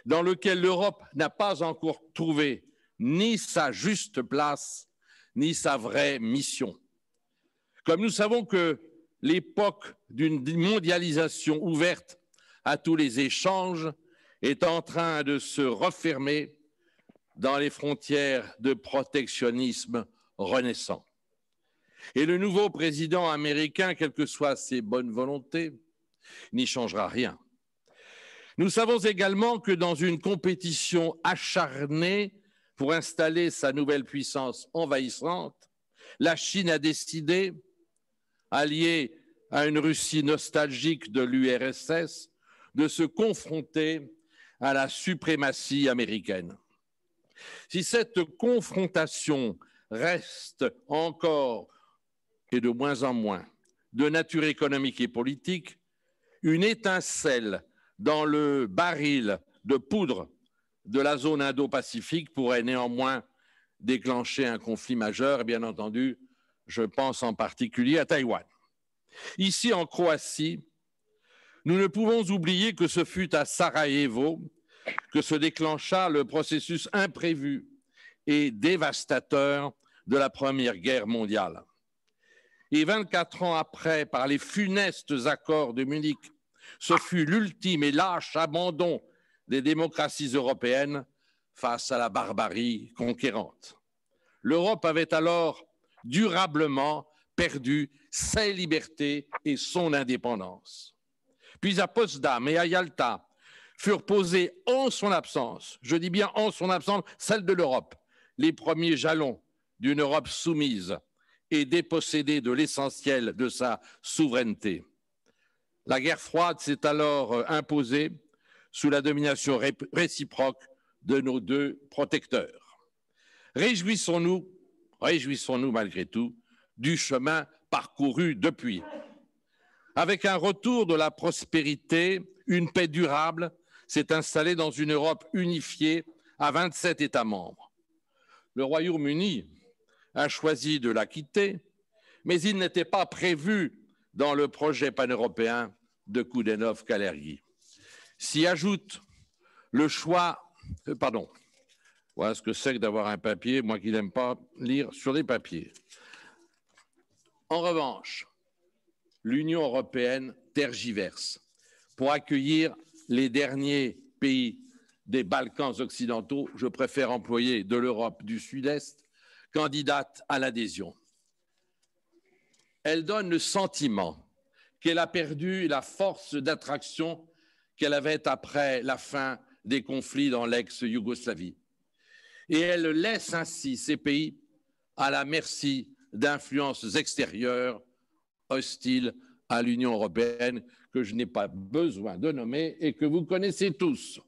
dans lequel l'Europe n'a pas encore trouvé ni sa juste place, ni sa vraie mission. Comme nous savons que l'époque d'une mondialisation ouverte à tous les échanges est en train de se refermer dans les frontières de protectionnisme renaissant. Et le nouveau président américain, quelles que soient ses bonnes volontés, n'y changera rien. Nous savons également que dans une compétition acharnée pour installer sa nouvelle puissance envahissante, la Chine a décidé, alliée à une Russie nostalgique de l'URSS, de se confronter à la suprématie américaine. Si cette confrontation reste encore et de moins en moins de nature économique et politique, une étincelle dans le baril de poudre de la zone Indo-Pacifique pourrait néanmoins déclencher un conflit majeur, et bien entendu, je pense en particulier à Taïwan. Ici, en Croatie, nous ne pouvons oublier que ce fut à Sarajevo que se déclencha le processus imprévu et dévastateur de la Première Guerre mondiale. Et 24 ans après, par les funestes accords de Munich, ce fut l'ultime et lâche abandon des démocraties européennes face à la barbarie conquérante. L'Europe avait alors durablement perdu ses libertés et son indépendance. Puis à Potsdam et à Yalta furent posés en son absence, je dis bien en son absence, celle de l'Europe, les premiers jalons d'une Europe soumise et dépossédée de l'essentiel de sa souveraineté. La guerre froide s'est alors imposée sous la domination réciproque de nos deux protecteurs. Réjouissons-nous malgré tout du chemin parcouru depuis. Avec un retour de la prospérité, une paix durable s'est installée dans une Europe unifiée à 27 États membres. Le Royaume-Uni a choisi de la quitter, mais il n'était pas prévu dans le projet pan-européen de Coudenhove-Kalergi. S'y ajoute le choix... Voilà ce que c'est que d'avoir un papier, moi qui n'aime pas lire sur des papiers. En revanche, l'Union européenne tergiverse pour accueillir les derniers pays des Balkans occidentaux, je préfère employer de l'Europe du Sud-Est, candidates à l'adhésion. Elle donne le sentiment qu'elle a perdu la force d'attraction qu'elle avait après la fin des conflits dans l'ex-Yougoslavie. Et elle laisse ainsi ces pays à la merci d'influences extérieures hostiles à l'Union européenne que je n'ai pas besoin de nommer et que vous connaissez tous.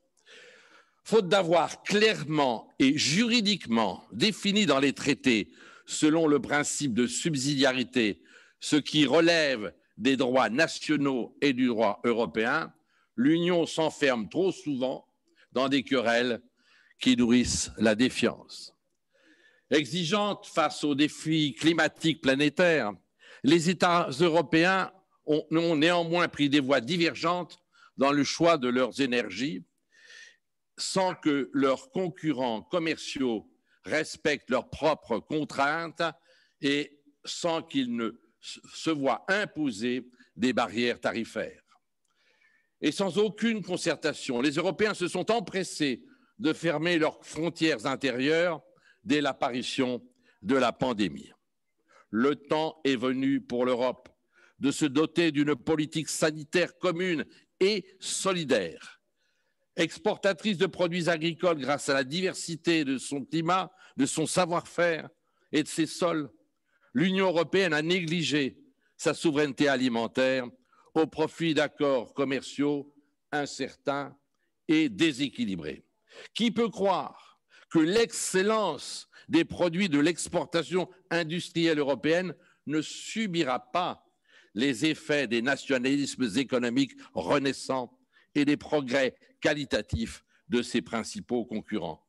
Faute d'avoir clairement et juridiquement défini dans les traités, selon le principe de subsidiarité, ce qui relève des droits nationaux et du droit européen, l'Union s'enferme trop souvent dans des querelles qui nourrissent la défiance. Exigeante face aux défis climatiques planétaires, les États européens ont néanmoins pris des voies divergentes dans le choix de leurs énergies, sans que leurs concurrents commerciaux respectent leurs propres contraintes et sans qu'ils ne se voient imposer des barrières tarifaires. Et sans aucune concertation, les Européens se sont empressés de fermer leurs frontières intérieures dès l'apparition de la pandémie. Le temps est venu pour l'Europe de se doter d'une politique sanitaire commune et solidaire. Exportatrice de produits agricoles grâce à la diversité de son climat, de son savoir-faire et de ses sols, l'Union européenne a négligé sa souveraineté alimentaire au profit d'accords commerciaux incertains et déséquilibrés. Qui peut croire que l'excellence des produits de l'exportation industrielle européenne ne subira pas les effets des nationalismes économiques renaissants et des progrès qualitatifs de ses principaux concurrents?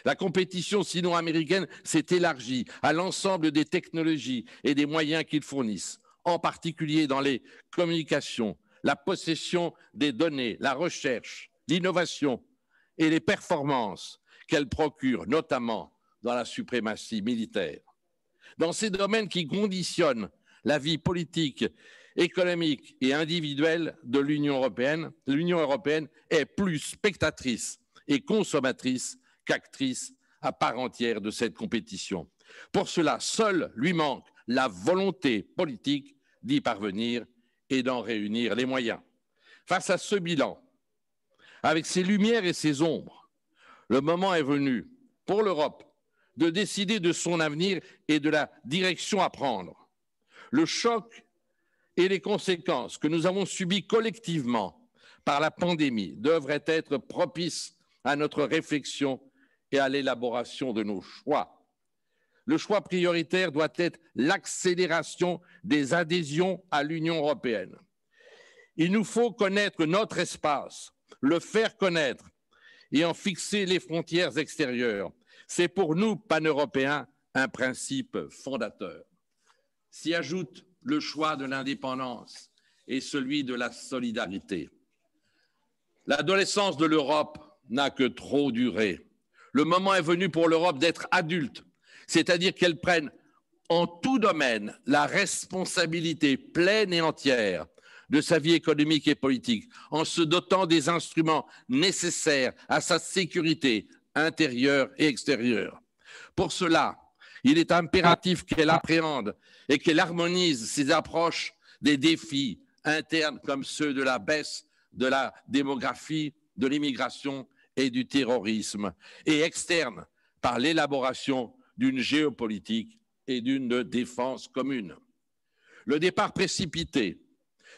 La compétition sino-américaine s'est élargie à l'ensemble des technologies et des moyens qu'ils fournissent, en particulier dans les communications, la possession des données, la recherche, l'innovation et les performances qu'elle procure, notamment dans la suprématie militaire. Dans ces domaines qui conditionnent la vie politique, économique et individuelle de l'Union européenne est plus spectatrice et consommatrice qu'actrice à part entière de cette compétition. Pour cela, seul lui manque la volonté politique d'y parvenir et d'en réunir les moyens. Face à ce bilan, avec ses lumières et ses ombres, le moment est venu pour l'Europe de décider de son avenir et de la direction à prendre. Le choc et les conséquences que nous avons subies collectivement par la pandémie devraient être propices à notre réflexion et à l'élaboration de nos choix. Le choix prioritaire doit être l'accélération des adhésions à l'Union européenne. Il nous faut connaître notre espace, le faire connaître et en fixer les frontières extérieures. C'est pour nous, pan-européens, un principe fondateur. S'y ajoute le choix de l'indépendance et celui de la solidarité. L'adolescence de l'Europe n'a que trop duré. Le moment est venu pour l'Europe d'être adulte, c'est-à-dire qu'elle prenne en tout domaine la responsabilité pleine et entière de sa vie économique et politique, en se dotant des instruments nécessaires à sa sécurité intérieure et extérieure. Pour cela, il est impératif qu'elle appréhende et qu'elle harmonise ses approches des défis internes comme ceux de la baisse de la démographie, de l'immigration et du terrorisme, et externes par l'élaboration d'une géopolitique et d'une défense commune. Le départ précipité,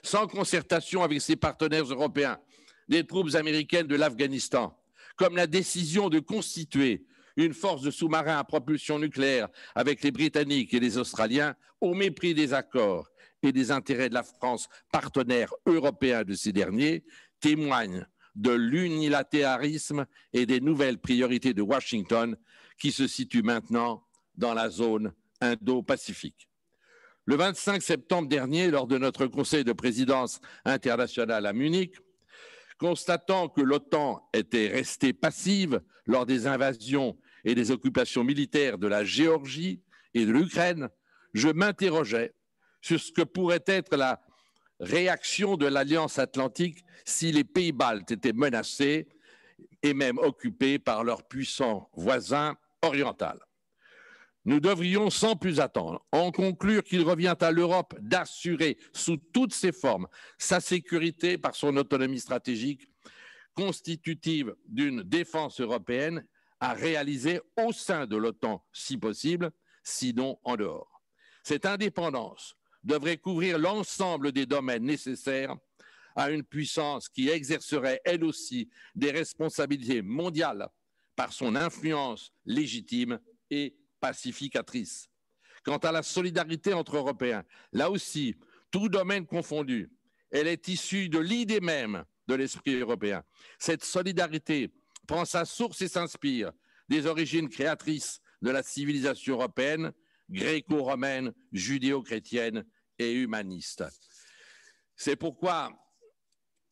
sans concertation avec ses partenaires européens, des troupes américaines de l'Afghanistan, comme la décision de constituer une force de sous-marins à propulsion nucléaire avec les Britanniques et les Australiens, au mépris des accords et des intérêts de la France, partenaire européen de ces derniers, témoignent de l'unilatérisme et des nouvelles priorités de Washington qui se situent maintenant dans la zone Indo-Pacifique. Le 25 septembre dernier, lors de notre conseil de présidence internationale à Munich, constatant que l'OTAN était restée passive lors des invasions et des occupations militaires de la Géorgie et de l'Ukraine, je m'interrogeais sur ce que pourrait être la réaction de l'Alliance atlantique si les pays baltes étaient menacés et même occupés par leurs puissants voisins orientaux. Nous devrions sans plus attendre en conclure qu'il revient à l'Europe d'assurer sous toutes ses formes sa sécurité par son autonomie stratégique constitutive d'une défense européenne à réaliser au sein de l'OTAN si possible, sinon en dehors. Cette indépendance devrait couvrir l'ensemble des domaines nécessaires à une puissance qui exercerait elle aussi des responsabilités mondiales par son influence légitime et pacificatrice. Quant à la solidarité entre Européens, là aussi, tout domaine confondu, elle est issue de l'idée même de l'esprit européen. Cette solidarité prend sa source et s'inspire des origines créatrices de la civilisation européenne, gréco-romaine, judéo-chrétienne et humaniste. C'est pourquoi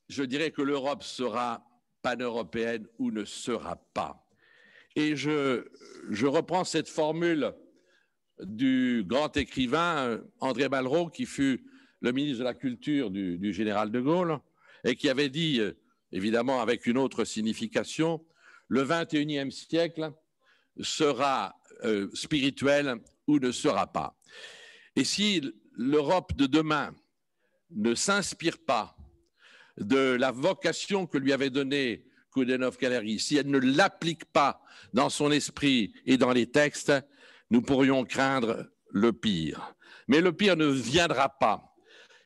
je dirais que l'Europe sera pan-européenne ou ne sera pas. Et je reprends cette formule du grand écrivain André Malraux, qui fut le ministre de la Culture du général de Gaulle, et qui avait dit, évidemment avec une autre signification, le 21e siècle sera spirituel ou ne sera pas. Et si l'Europe de demain ne s'inspire pas de la vocation que lui avait donnée Coudenhove-Kaleri, si elle ne l'applique pas dans son esprit et dans les textes, nous pourrions craindre le pire. Mais le pire ne viendra pas.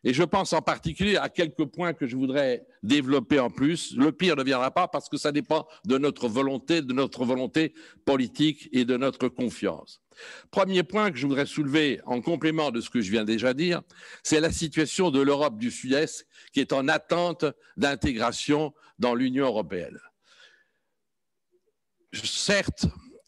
Et je pense en particulier à quelques points que je voudrais développer en plus. Le pire ne viendra pas parce que ça dépend de notre volonté politique et de notre confiance. Premier point que je voudrais soulever en complément de ce que je viens déjà de dire, c'est la situation de l'Europe du Sud-Est qui est en attente d'intégration dans l'Union européenne. Certes,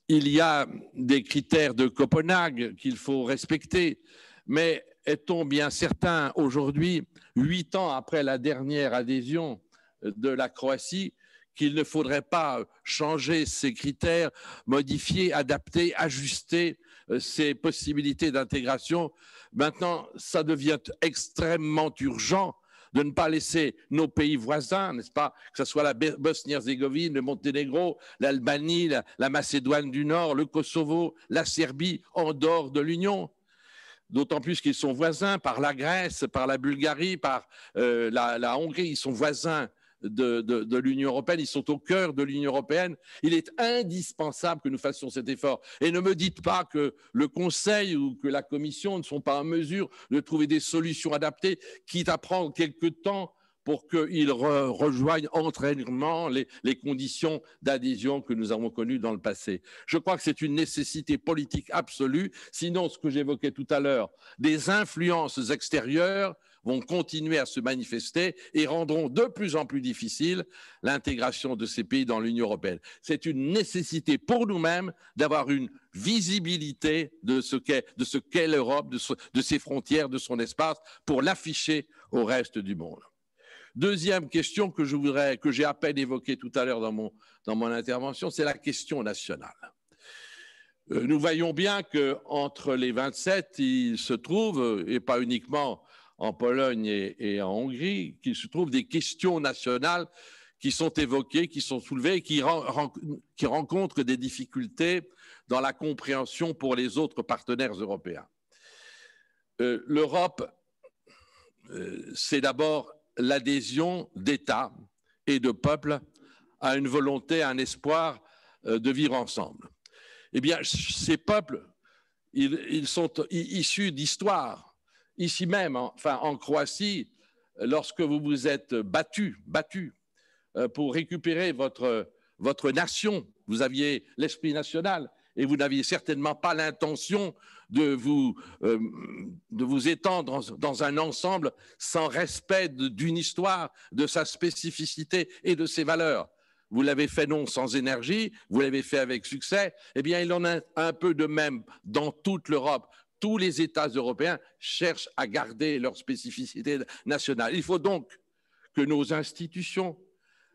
il y a des critères de Copenhague qu'il faut respecter, mais est-on bien certain aujourd'hui, 8 ans après la dernière adhésion de la Croatie, qu'il ne faudrait pas changer ces critères, modifier, adapter, ajuster ces possibilités d'intégration? Maintenant, ça devient extrêmement urgent de ne pas laisser nos pays voisins, n'est-ce pas, que ce soit la Bosnie-Herzégovine, le Monténégro, l'Albanie, la Macédoine du Nord, le Kosovo, la Serbie, en dehors de l'Union. D'autant plus qu'ils sont voisins par la Grèce, par la Bulgarie, par la Hongrie, ils sont voisins de l'Union européenne, ils sont au cœur de l'Union européenne. Il est indispensable que nous fassions cet effort. Et ne me dites pas que le Conseil ou que la Commission ne sont pas en mesure de trouver des solutions adaptées, quitte à prendre quelques temps pour qu'ils rejoignent entraînement les conditions d'adhésion que nous avons connues dans le passé. Je crois que c'est une nécessité politique absolue, sinon ce que j'évoquais tout à l'heure, des influences extérieures vont continuer à se manifester et rendront de plus en plus difficile l'intégration de ces pays dans l'Union européenne. C'est une nécessité pour nous-mêmes d'avoir une visibilité de ce qu'est l'Europe, de ses frontières, de son espace, pour l'afficher au reste du monde. Deuxième question que j'ai à peine évoquée tout à l'heure dans mon intervention, c'est la question nationale. Nous voyons bien qu'entre les 27, il se trouve, et pas uniquement en Pologne et en Hongrie, qu'il se trouve des questions nationales qui sont évoquées, qui sont soulevées, qui rencontrent des difficultés dans la compréhension pour les autres partenaires européens. L'Europe, c'est d'abord l'adhésion d'États et de peuples à une volonté, à un espoir de vivre ensemble. Eh bien, ces peuples, ils sont issus d'histoire. Ici même, en Croatie, lorsque vous vous êtes battu pour récupérer votre nation, vous aviez l'esprit national et vous n'aviez certainement pas l'intention de vous étendre dans un ensemble sans respect d'une histoire, de sa spécificité et de ses valeurs. Vous l'avez fait non sans énergie, vous l'avez fait avec succès. Eh bien, il en a un peu de même dans toute l'Europe. Tous les États européens cherchent à garder leur spécificité nationale. Il faut donc que nos institutions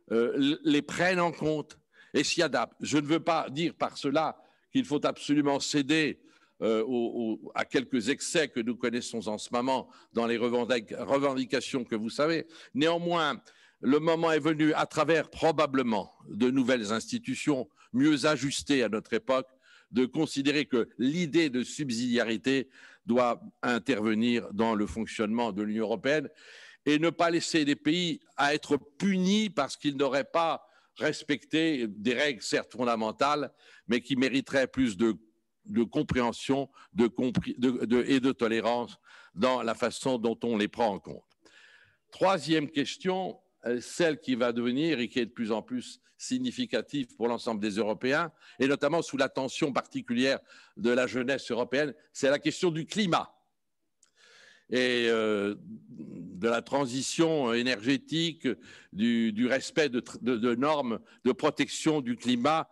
les prennent en compte et s'y adaptent. Je ne veux pas dire par cela qu'il faut absolument céder à quelques excès que nous connaissons en ce moment dans les revendications que vous savez. Néanmoins, le moment est venu, à travers probablement de nouvelles institutions mieux ajustées à notre époque, de considérer que l'idée de subsidiarité doit intervenir dans le fonctionnement de l'Union européenne et ne pas laisser les pays à être punis parce qu'ils n'auraient pas respecté des règles certes fondamentales, mais qui mériteraient plus de compréhension et de tolérance dans la façon dont on les prend en compte. Troisième question, celle qui va devenir et qui est de plus en plus significative pour l'ensemble des Européens, et notamment sous l'attention particulière de la jeunesse européenne, c'est la question du climat et de la transition énergétique, du respect de normes de protection du climat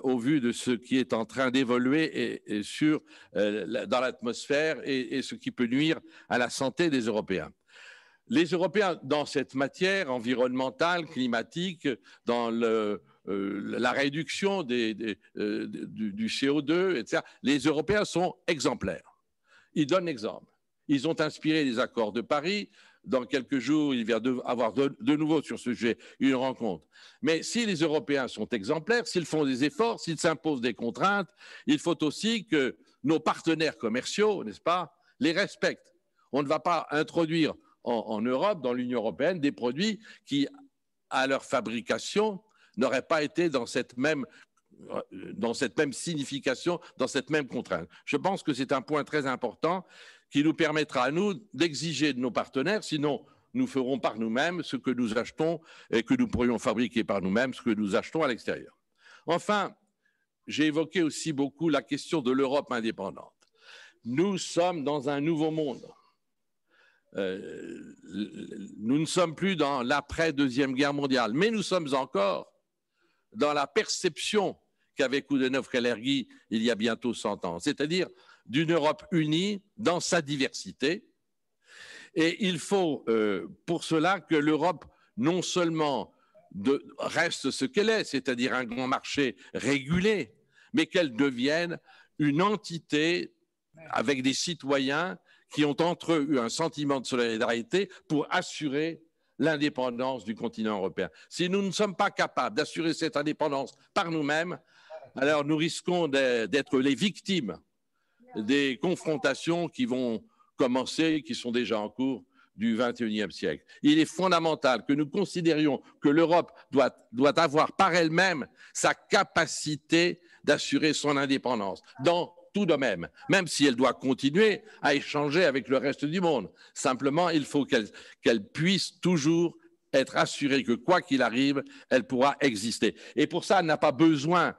au vu de ce qui est en train d'évoluer dans l'atmosphère et ce qui peut nuire à la santé des Européens. Les Européens, dans cette matière environnementale, climatique, dans la réduction du CO2, etc., les Européens sont exemplaires. Ils donnent l'exemple. Ils ont inspiré les accords de Paris. Dans quelques jours, il va y avoir de nouveau sur ce sujet une rencontre. Mais si les Européens sont exemplaires, s'ils font des efforts, s'ils s'imposent des contraintes, il faut aussi que nos partenaires commerciaux, n'est-ce pas, les respectent. On ne va pas introduire en Europe, dans l'Union européenne, des produits qui, à leur fabrication, n'auraient pas été dans cette même signification, dans cette même contrainte. Je pense que c'est un point très important qui nous permettra à nous d'exiger de nos partenaires, sinon nous ferons par nous-mêmes ce que nous achetons et que nous pourrions fabriquer par nous-mêmes, ce que nous achetons à l'extérieur. Enfin, j'ai évoqué aussi beaucoup la question de l'Europe indépendante. Nous sommes dans un nouveau monde. Nous ne sommes plus dans l'après-deuxième guerre mondiale, mais nous sommes encore dans la perception qu'avait Coudenhove-Kalergi il y a bientôt 100 ans, c'est-à-dire d'une Europe unie dans sa diversité. Et il faut pour cela que l'Europe non seulement reste ce qu'elle est, c'est-à-dire un grand marché régulé, mais qu'elle devienne une entité avec des citoyens qui ont entre eux eu un sentiment de solidarité pour assurer l'indépendance du continent européen. Si nous ne sommes pas capables d'assurer cette indépendance par nous-mêmes, alors nous risquons d'être les victimes des confrontations qui vont commencer, qui sont déjà en cours du XXIe siècle. Il est fondamental que nous considérions que l'Europe doit avoir par elle-même sa capacité d'assurer son indépendance dans tout domaine, même si elle doit continuer à échanger avec le reste du monde. Simplement, il faut qu'elle puisse toujours être assurée que quoi qu'il arrive, elle pourra exister. Et pour ça, elle n'a pas besoin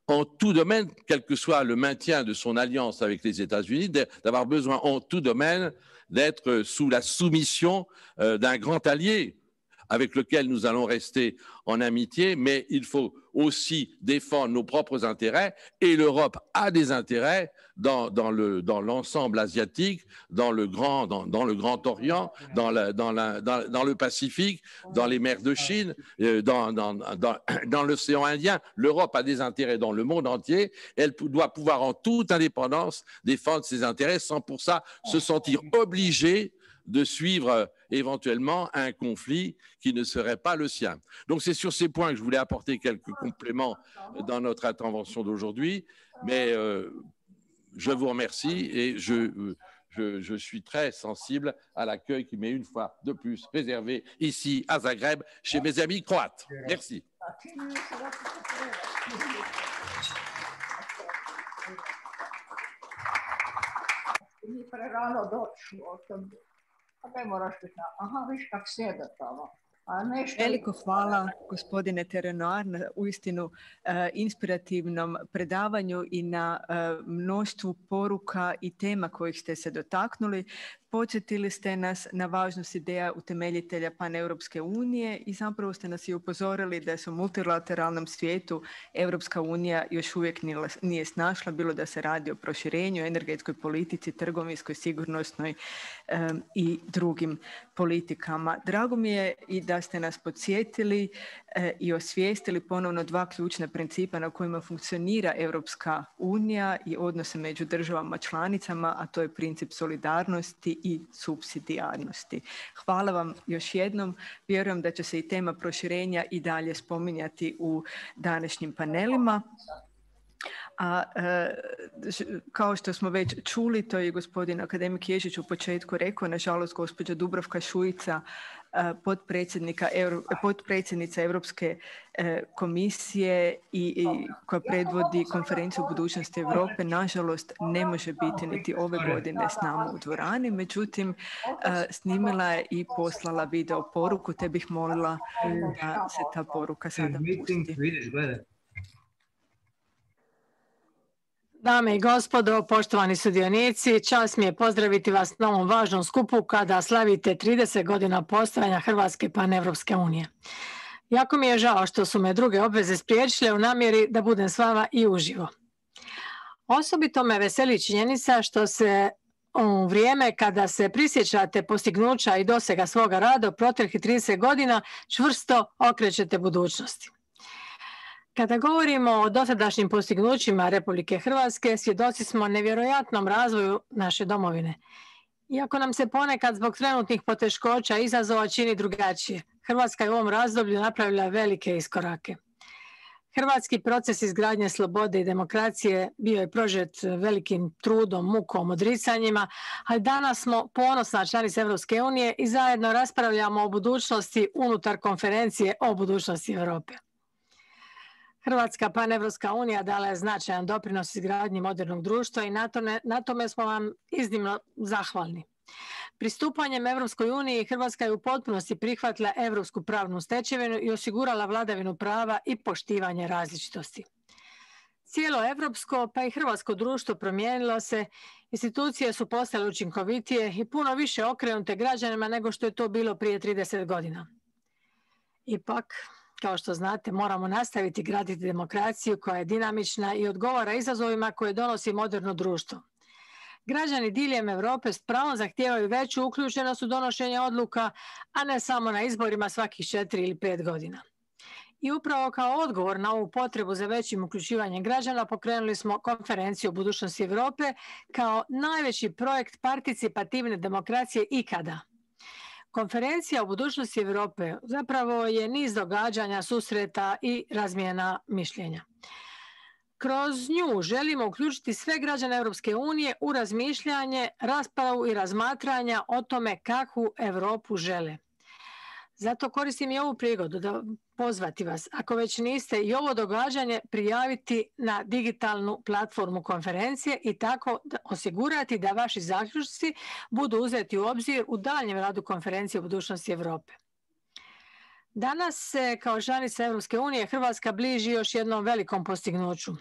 en tout domaine, quel que soit le maintien de son alliance avec les États-Unis, d'avoir besoin en tout domaine d'être sous la soumission d'un grand allié avec lequel nous allons rester en amitié, mais il faut aussi défendre nos propres intérêts et l'Europe a des intérêts dans l'ensemble asiatique, dans le Grand Orient, dans le Pacifique, dans les mers de Chine, dans l'océan Indien. L'Europe a des intérêts dans le monde entier. Elle doit pouvoir en toute indépendance défendre ses intérêts sans pour ça se sentir obligée de suivre éventuellement un conflit qui ne serait pas le sien. Donc c'est sur ces points que je voulais apporter quelques compléments dans notre intervention d'aujourd'hui, mais je vous remercie et je suis très sensible à l'accueil qui m'est une fois de plus réservé ici à Zagreb chez mes amis croates. Merci. ni prerano doći u osobi. A ne moraš biti, aha, viš kak sjede tamo. Veliko hvala gospodine Terenoir na uistinu inspirativnom predavanju i na mnoštvu poruka i tema kojih ste se dotaknuli. Podsjetili ste nas na važnost ideja utemeljitelja Paneuropske unije i zapravo ste nas i upozorili da se u multilateralnom svijetu Europska unija još uvijek nije snašla, bilo da se radi o proširenju, energetskoj politici, trgovinskoj, sigurnosnoj i drugim politikama. Drago mi je i da ste nas podsjetili i osvijestili ponovno dva ključna principa na kojima funkcionira Europska unija i odnose među državama članicama, a to je princip solidarnosti i supsidijarnosti. Hvala vam još jednom. Vjerujem da će se i tema proširenja i dalje spominjati u današnjim panelima. A kao što smo već čuli, to je gospodin akademik Ježić u početku rekao, nažalost gospođa Dubravka Šuica, potpredsjednica Europske komisije i koja predvodi konferenciju o budućnosti Europe, nažalost ne može biti niti ove godine s nama u dvorani, međutim snimila je i poslala video poruku, te bih molila da se ta poruka sada pusti. Dame i gospodo, poštovani sudionici, čast mi je pozdraviti vas na ovom važnom skupu kada slavite 30 godina postojanja Hrvatske Paneuropske unije. Jako mi je žao što su me druge obveze spriječile u namjeri da budem s vama i uživo. Osobito me veseli činjenica što se u vrijeme kada se prisjećate postignuća i dosega svoga rada u proteklih 30 godina čvrsto okrećete budućnosti. Kada govorimo o dosadašnjim postignućima Republike Hrvatske, svjedoci smo nevjerojatnom razvoju naše domovine. Iako nam se ponekad zbog trenutnih poteškoća i izazova čini drugačije, Hrvatska je u ovom razdoblju napravila velike iskorake. Hrvatski proces izgradnje slobode i demokracije bio je prožet velikim trudom, mukom, odricanjima, ali danas smo ponosna članica Europske unije i zajedno raspravljamo o budućnosti unutar konferencije o budućnosti Europe. Hrvatska Paneuropska unija dala je značajan doprinos izgradnji modernog društva i na tome smo vam iznimno zahvalni. Pristupanjem Europskoj uniji Hrvatska je u potpunosti prihvatila europsku pravnu stečevinu i osigurala vladavinu prava i poštivanje različitosti. Cijelo europsko pa i hrvatsko društvo promijenilo se, institucije su postale učinkovitije i puno više okrenute građanima nego što je to bilo prije 30 godina. Ipak, kao što znate, moramo nastaviti graditi demokraciju koja je dinamična i odgovara izazovima koje donosi moderno društvo. Građani diljem Europe s pravom zahtijevaju veću uključenost u donošenje odluka, a ne samo na izborima svakih 4 ili 5 godina. I upravo kao odgovor na ovu potrebu za većim uključivanjem građana pokrenuli smo konferenciju o budućnosti Europe kao najveći projekt participativne demokracije ikada. Konferencija o budućnosti Europe zapravo je niz događanja, susreta i razmjena mišljenja. Kroz nju želimo uključiti sve građane Europske unije u razmišljanje, raspravu i razmatranja o tome kakvu Europu žele. Zato koristim i ovu prigodu da pozvati vas, ako već niste, i ovo događanje prijaviti na digitalnu platformu konferencije i tako osigurati da vaši zaključci budu uzeti u obzir u daljnjem radu konferencije o budućnosti Europe. Danas se kao članica Europske unije Hrvatska bliži još jednom velikom postignuću.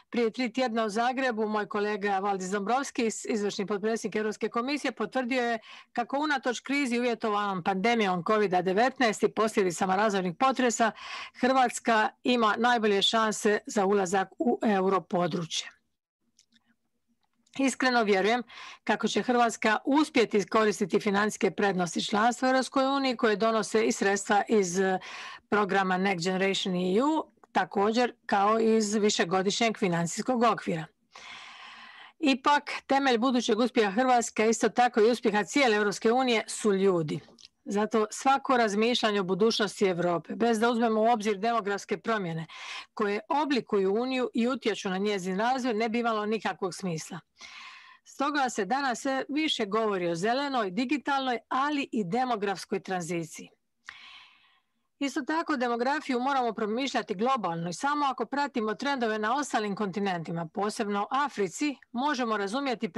Prije 3 tjedna u Zagrebu moj kolega Valdis Dombrovskis, izvršni potpredsjednik Europske komisije, potvrdio je kako unatoč krizi uvjetovanom pandemijom COVID-19 i posljedicama razornih potresa Hrvatska ima najbolje šanse za ulazak u europodručje. Iskreno vjerujem kako će Hrvatska uspjeti iskoristiti financijske prednosti članstva u Europskoj uniji koje donose i sredstva iz programa Next Generation EU, također kao iz višegodišnjeg financijskog okvira. Ipak, temelj budućeg uspjeha Hrvatske, isto tako i uspjeha cijele Europske unije, su ljudi. Zato svako razmišljanje o budućnosti Europe, bez da uzmemo u obzir demografske promjene koje oblikuju Uniju i utječu na njezin razvoj, ne bi imalo nikakvog smisla. Stoga se danas sve više govori o zelenoj, digitalnoj, ali i demografskoj tranziciji. Isto tako, demografiju moramo promišljati globalno i samo ako pratimo trendove na ostalim kontinentima, posebno Africi, možemo razumjeti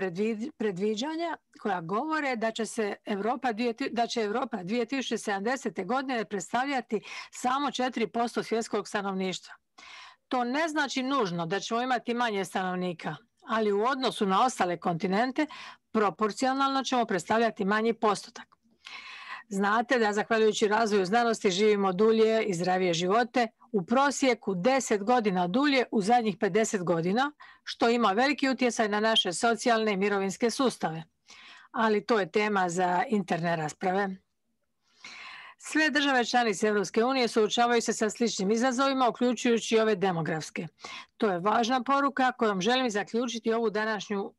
predviđanja koja govore da će Europa 2070. godine predstavljati samo 4% svjetskog stanovništva. To ne znači nužno da ćemo imati manje stanovnika, ali u odnosu na ostale kontinente proporcionalno ćemo predstavljati manji postotak. Znate da zahvaljujući razvoju znanosti živimo dulje i zdravije živote, u prosjeku 10 godina dulje u zadnjih 50 godina, što ima veliki utjecaj na naše socijalne i mirovinske sustave. Ali to je tema za interne rasprave. Sve države članice Europske unije suočavaju se sa sličnim izazovima, uključujući i ove demografske. To je važna poruka kojom želim zaključiti ovu današnju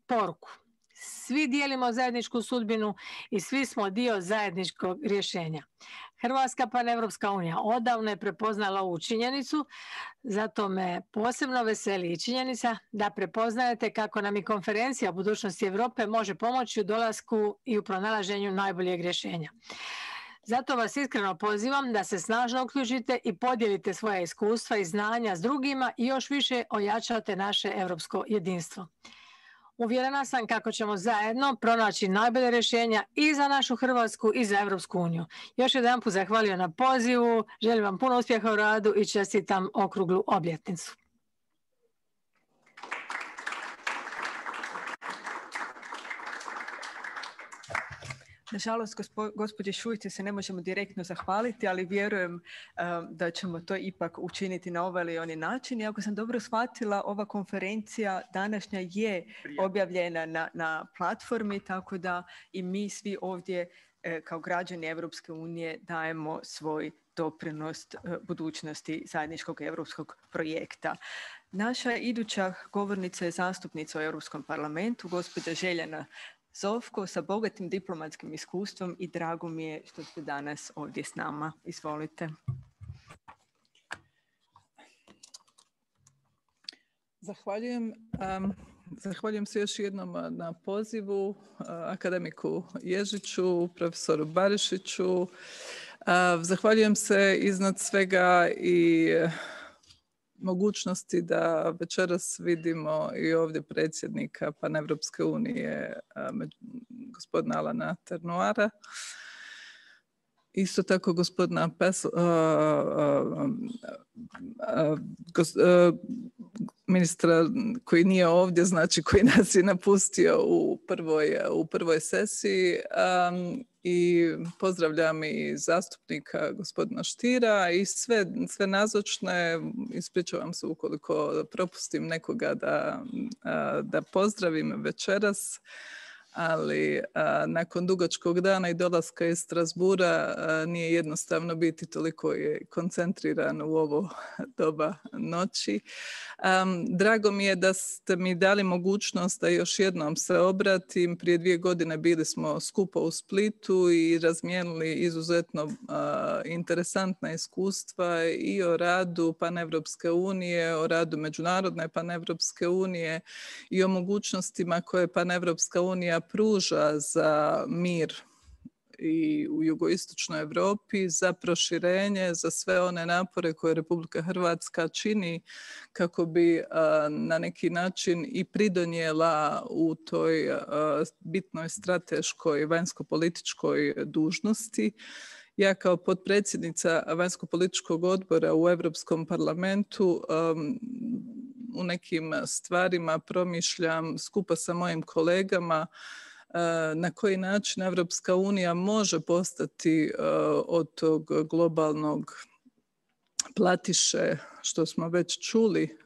poruku. Svi dijelimo zajedničku sudbinu i svi smo dio zajedničkog rješenja. Hrvatska paneuropska unija odavno je prepoznala ovu činjenicu, zato me posebno veseli i činjenica da prepoznajete kako nam i konferencija o budućnosti Europe može pomoći u dolasku i u pronalaženju najboljeg rješenja. Zato vas iskreno pozivam da se snažno uključite i podijelite svoja iskustva i znanja s drugima i još više ojačate naše europsko jedinstvo. Uvjerena sam kako ćemo zajedno pronaći najbolje rješenja i za našu Hrvatsku i za Europsku uniju. Još jedanput zahvaljujem na pozivu, želim vam puno uspjeha u radu i čestitam okruglu obljetnicu. Nažalost, gospođe Šuici se ne možemo direktno zahvaliti, ali vjerujem da ćemo to ipak učiniti na ovaj ili onaj način. I ako sam dobro shvatila, ova konferencija današnja je objavljena na platformi, tako da i mi svi ovdje kao građani Europske unije dajemo svoj doprinos budućnosti zajedničkog europskog projekta. Naša iduća govornica je zastupnica u Europskom parlamentu, gospođa Željana Zovko, sa bogatim diplomatskim iskustvom i drago mi je što ste danas ovdje s nama. Izvolite. Zahvaljujem. Zahvaljujem se još jednom na pozivu akademiku Ježiću, profesoru Barišiću. Zahvaljujem se iznad svega i mogućnosti da večeras vidimo i ovdje predsjednika Paneuropske unije, gospodina Alana Ternuara. Isto tako gospodina ministra koji nije ovdje, znači koji nas je napustio u prvoj sesiji. I pozdravljam i zastupnika gospodina Štira i sve nazočne. Ispričavam se ukoliko propustim nekoga da pozdravim večeras, ali nakon dugačkog dana i dolaska iz Strasbura nije jednostavno biti toliko koncentriran u ovo doba noći. Drago mi je da ste mi dali mogućnost da još jednom se obratim. Prije 2 godine bili smo skupo u Splitu i razmijenili izuzetno interesantna iskustva i o radu Paneuropske unije, o radu Međunarodne Paneuropske unije i o mogućnostima koje Paneuropska unija pruža za mir i u jugoistočnoj Europi, za proširenje, za sve one napore koje Republika Hrvatska čini kako bi na neki način i pridonijela u toj bitnoj strateškoj vanjsko-političkoj dužnosti. Ja kao potpredsjednica vanjsko-političkog odbora u Europskom parlamentu u nekim stvarima promišljam skupa sa mojim kolegama na koji način Europska unija može postati od tog globalnog platiše, što smo već čuli,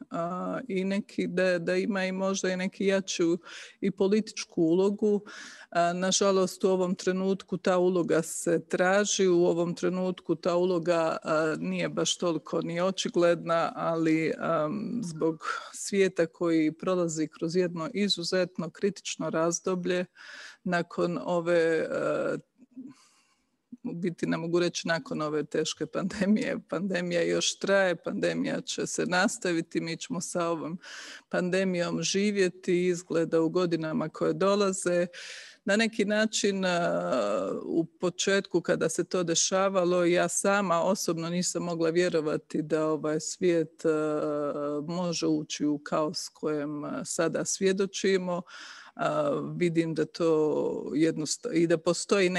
i da ima i možda i neki jaču i političku ulogu. Nažalost, u ovom trenutku ta uloga se traži, u ovom trenutku ta uloga nije baš toliko ni očigledna, ali zbog svijeta koji prolazi kroz jedno izuzetno kritično razdoblje nakon ove biti, ne mogu reći nakon ove teške pandemije. Pandemija još traje, pandemija će se nastaviti, mi ćemo sa ovom pandemijom živjeti, izgleda u godinama koje dolaze. Na neki način u početku kada se to dešavalo, ja sama osobno nisam mogla vjerovati da ovaj svijet može ući u kaos kojem sada svjedočimo. Vidim da to jednostavno i da postoji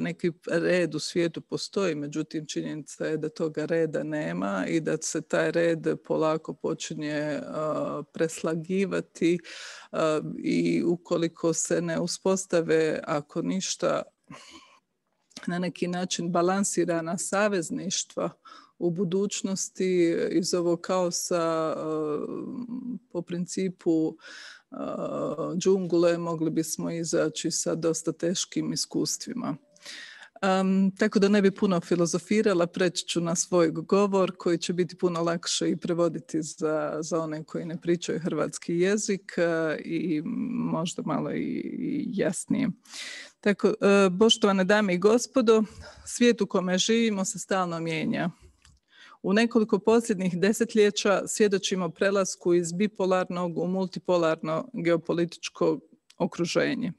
neki red u svijetu postoji, međutim činjenica je da toga reda nema i da se taj red polako počinje preslagivati i ukoliko se ne uspostave, ako ništa, na neki način balansirana savezništva u budućnosti iz ovog kaosa po principu džungle mogli bismo izaći sa dosta teškim iskustvima. Tako da ne bi puno filozofirala, preći ću na svoj govor koji će biti puno lakše i prevoditi za one koji ne pričaju hrvatski jezik i možda malo i jasnije. Tako, poštovane dame i gospodo, svijet u kome živimo se stalno mijenja. U nekoliko posljednjih desetljeća svjedočimo prelasku iz bipolarnog u multipolarno geopolitičko okruženje.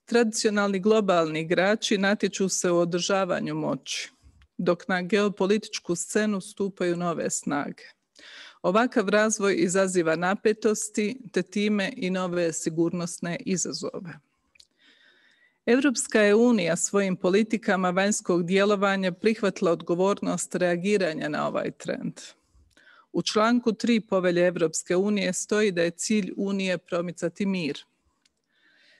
Tradicionalni globalni igrači natječu se u održavanju moći, dok na geopolitičku scenu stupaju nove snage. Ovakav razvoj izaziva napetosti, te time i nove sigurnosne izazove. Europska je unija svojim politikama vanjskog djelovanja prihvatila odgovornost reagiranja na ovaj trend. U članku 3 Povelje Europske unije stoji da je cilj Unije promicati mir.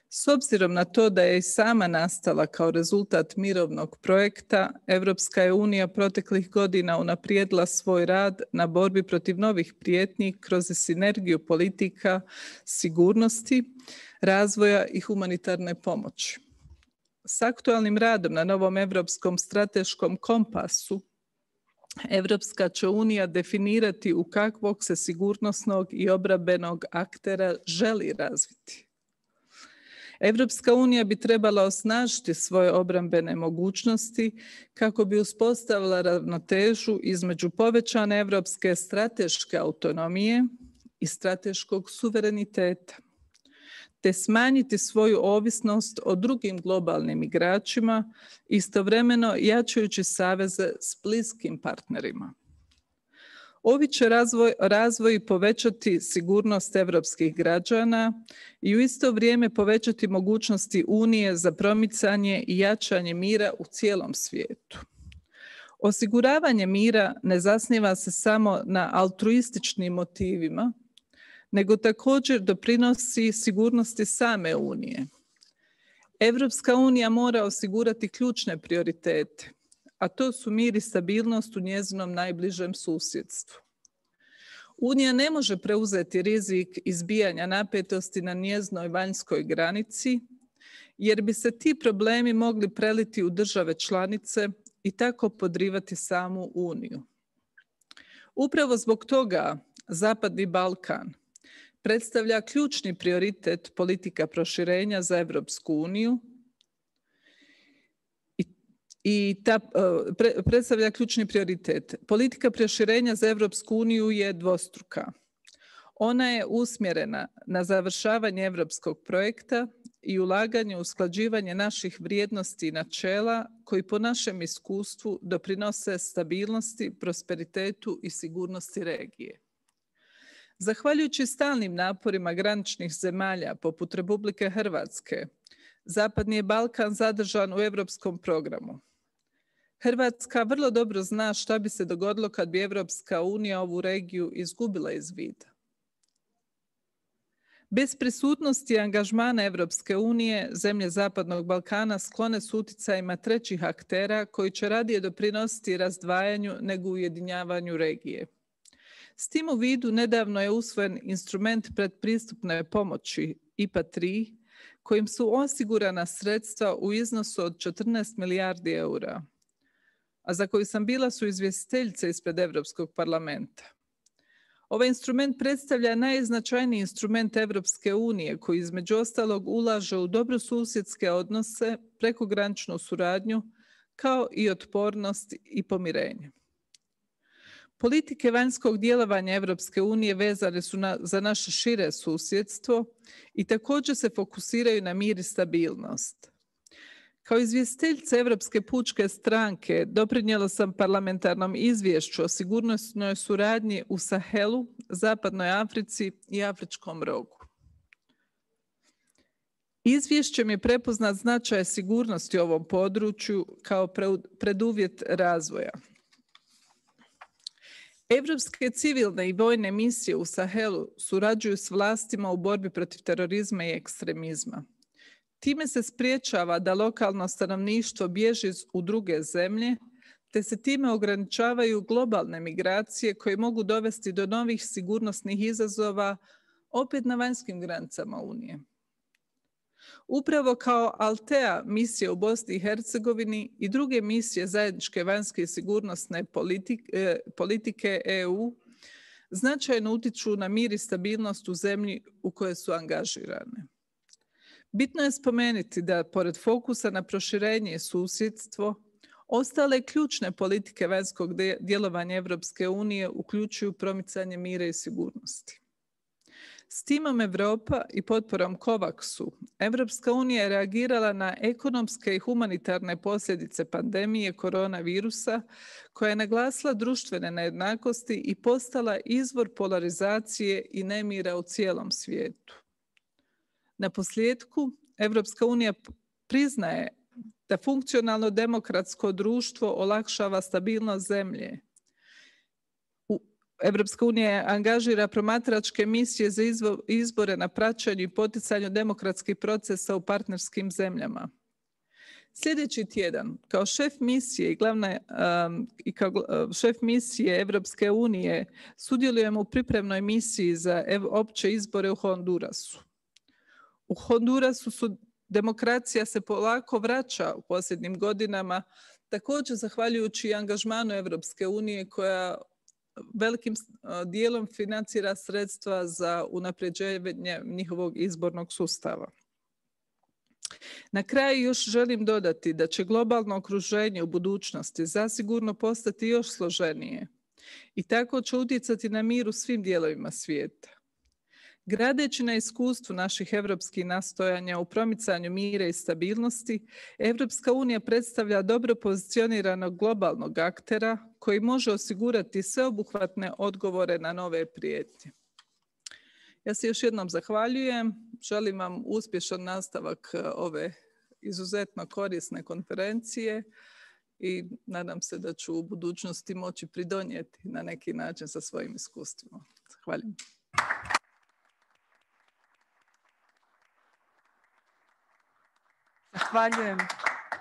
S obzirom na to da je i sama nastala kao rezultat mirovnog projekta, Europska je unija proteklih godina unaprijedila svoj rad na borbi protiv novih prijetnji kroz sinergiju politika, sigurnosti, razvoja i humanitarne pomoći. S aktualnim radom na novom europskom strateškom kompasu, Europska će unija definirati u kakvog se sigurnosnog i obrambenog aktera želi razviti. Europska unija bi trebala osnažiti svoje obrambene mogućnosti kako bi uspostavila ravnotežu između povećane europske strateške autonomije i strateškog suvereniteta, te smanjiti svoju ovisnost o drugim globalnim igračima, istovremeno jačajući saveze s bliskim partnerima. Ovi će razvoj povećati sigurnost europskih građana i u isto vrijeme povećati mogućnosti Unije za promicanje i jačanje mira u cijelom svijetu. Osiguravanje mira ne zasniva se samo na altruističnim motivima, nego također doprinosi sigurnosti same Unije. Europska unija mora osigurati ključne prioritete, a to su mir i stabilnost u njezinom najbližem susjedstvu. Unija ne može preuzeti rizik izbijanja napetosti na njezinoj vanjskoj granici, jer bi se ti problemi mogli preliti u države članice i tako podrivati samu Uniju. Upravo zbog toga Zapadni Balkan predstavlja ključni prioritet politika proširenja za Europsku uniju predstavlja ključni prioritet. Politika proširenja za Europsku uniju je dvostruka. Ona je usmjerena na završavanje europskog projekta i ulaganje u usklađivanje naših vrijednosti i načela koji po našem iskustvu doprinose stabilnosti, prosperitetu i sigurnosti regije. Zahvaljujući stalnim naporima graničnih zemalja poput Republike Hrvatske, Zapadni je Balkan zadržan u europskom programu. Hrvatska vrlo dobro zna šta bi se dogodilo kad bi Europska unija ovu regiju izgubila iz vida. Bez prisutnosti i angažmana Europske unije, zemlje Zapadnog Balkana sklone su utjecajima trećih aktera koji će radije doprinositi razdvajanju nego ujedinjavanju regije. S tim u vidu nedavno je usvojen instrument predpristupne pomoći IPA 3, kojim su osigurana sredstva u iznosu od 14 milijardi eura, a za koju sam bila suizvjestiteljica ispred Europskog parlamenta. Ovaj instrument predstavlja najznačajniji instrument Europske unije koji između ostalog ulaže u dobrosusjedske odnose, prekograničnu suradnju, kao i otpornost i pomirenje. Politike vanjskog djelovanja Europske unije vezane su za naše šire susjedstvo i također se fokusiraju na mir i stabilnost. Kao izvjestiteljica Europske pučke stranke doprinijela sam parlamentarnom izvješću o sigurnosnoj suradnji u Sahelu, Zapadnoj Africi i Afričkom rogu. Izvješćem je prepoznat značaj sigurnosti u ovom području kao preduvjet razvoja. Europske civilne i vojne misije u Sahelu surađuju s vlastima u borbi protiv terorizma i ekstremizma. Time se spriječava da lokalno stanovništvo bježi u druge zemlje, te se time ograničavaju globalne migracije koje mogu dovesti do novih sigurnosnih izazova opet na vanjskim granicama Unije. Upravo kao Altea misije u Bosni i Hercegovini i druge misije zajedničke vanjske i sigurnosne politike EU značajno utiču na mir i stabilnost u zemlji u kojoj su angažirane. Bitno je spomenuti da, pored fokusa na proširenje i susjedstvo, ostale ključne politike vanjskog djelovanja Europske unije uključuju promicanje mira i sigurnosti. S timom Europa i potporom COVAX-u, Europska unija je reagirala na ekonomske i humanitarne posljedice pandemije koronavirusa, koja je naglasila društvene nejednakosti i postala izvor polarizacije i nemira u cijelom svijetu. Na posljedku, Europska unija priznaje da funkcionalno demokratsko društvo olakšava stabilnost zemlje. Europska unija angažira promatračke misije za izbore na praćenju i poticanju demokratskih procesa u partnerskim zemljama. Sljedeći tjedan, kao šef misije kao šef misije Europske unije, sudjelujemo u pripremnoj misiji za opće izbore u Hondurasu. U Hondurasu demokracija se polako vraća u posljednjim godinama, također zahvaljujući angažmanu Europske unije koja velikim dijelom financira sredstva za unapređenje njihovog izbornog sustava. Na kraju još želim dodati da će globalno okruženje u budućnosti zasigurno postati još složenije i tako će utjecati na mir u svim dijelovima svijeta. Gradeći na iskustvu naših europskih nastojanja u promicanju mira i stabilnosti, Europska unija predstavlja dobro pozicioniranog globalnog aktera koji može osigurati sveobuhvatne odgovore na nove prijetnje. Ja se još jednom zahvaljujem, želim vam uspješan nastavak ove izuzetno korisne konferencije i nadam se da ću u budućnosti moći pridonijeti na neki način sa svojim iskustvima. Zahvaljujem. Zahvaljujem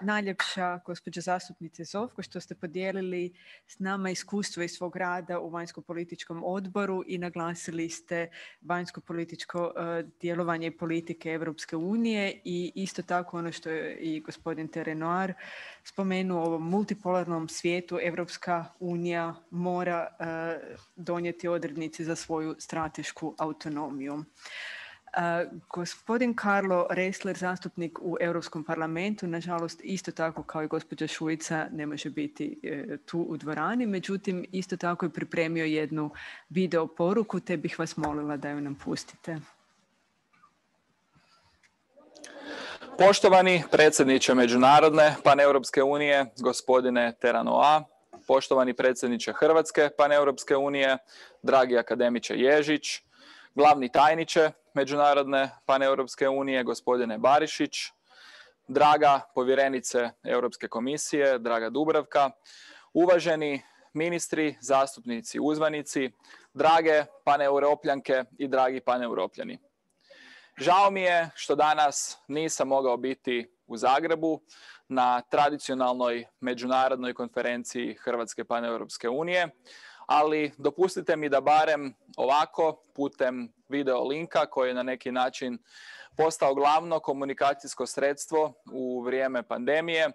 najljepša gospođo zastupnice Zovko što ste podijelili s nama iskustvo iz svog rada u vanjsko-političkom odboru i naglasili ste vanjsko-političko djelovanje i politike Europske unije i isto tako ono što je i gospodin Terenoir spomenuo, u ovom multipolarnom svijetu Europska unija mora donijeti odrednice za svoju stratešku autonomiju. Gospodin Carlo Ressler, zastupnik u Europskom parlamentu, nažalost isto tako kao i gospođa Šuica ne može biti tu u dvorani, međutim isto tako je pripremio jednu video poruku, te bih vas molila da ju nam pustite. Poštovani predsjedniče Međunarodne paneuropske unije, gospodine Teranoa, poštovani predsjedniče Hrvatske paneuropske unije, dragi akademiče Ježić, glavni tajniče Međunarodne paneuropske unije, gospodine Barišić, draga povjerenice Europske komisije, draga Dubravka, uvaženi ministri, zastupnici, uzvanici, drage paneuropljanke i dragi paneuropljani. Žao mi je što danas nisam mogao biti u Zagrebu na tradicionalnoj međunarodnoj konferenciji Hrvatske paneuropske unije, ali dopustite mi da barem ovako putem video linka koji je na neki način postao glavno komunikacijsko sredstvo u vrijeme pandemije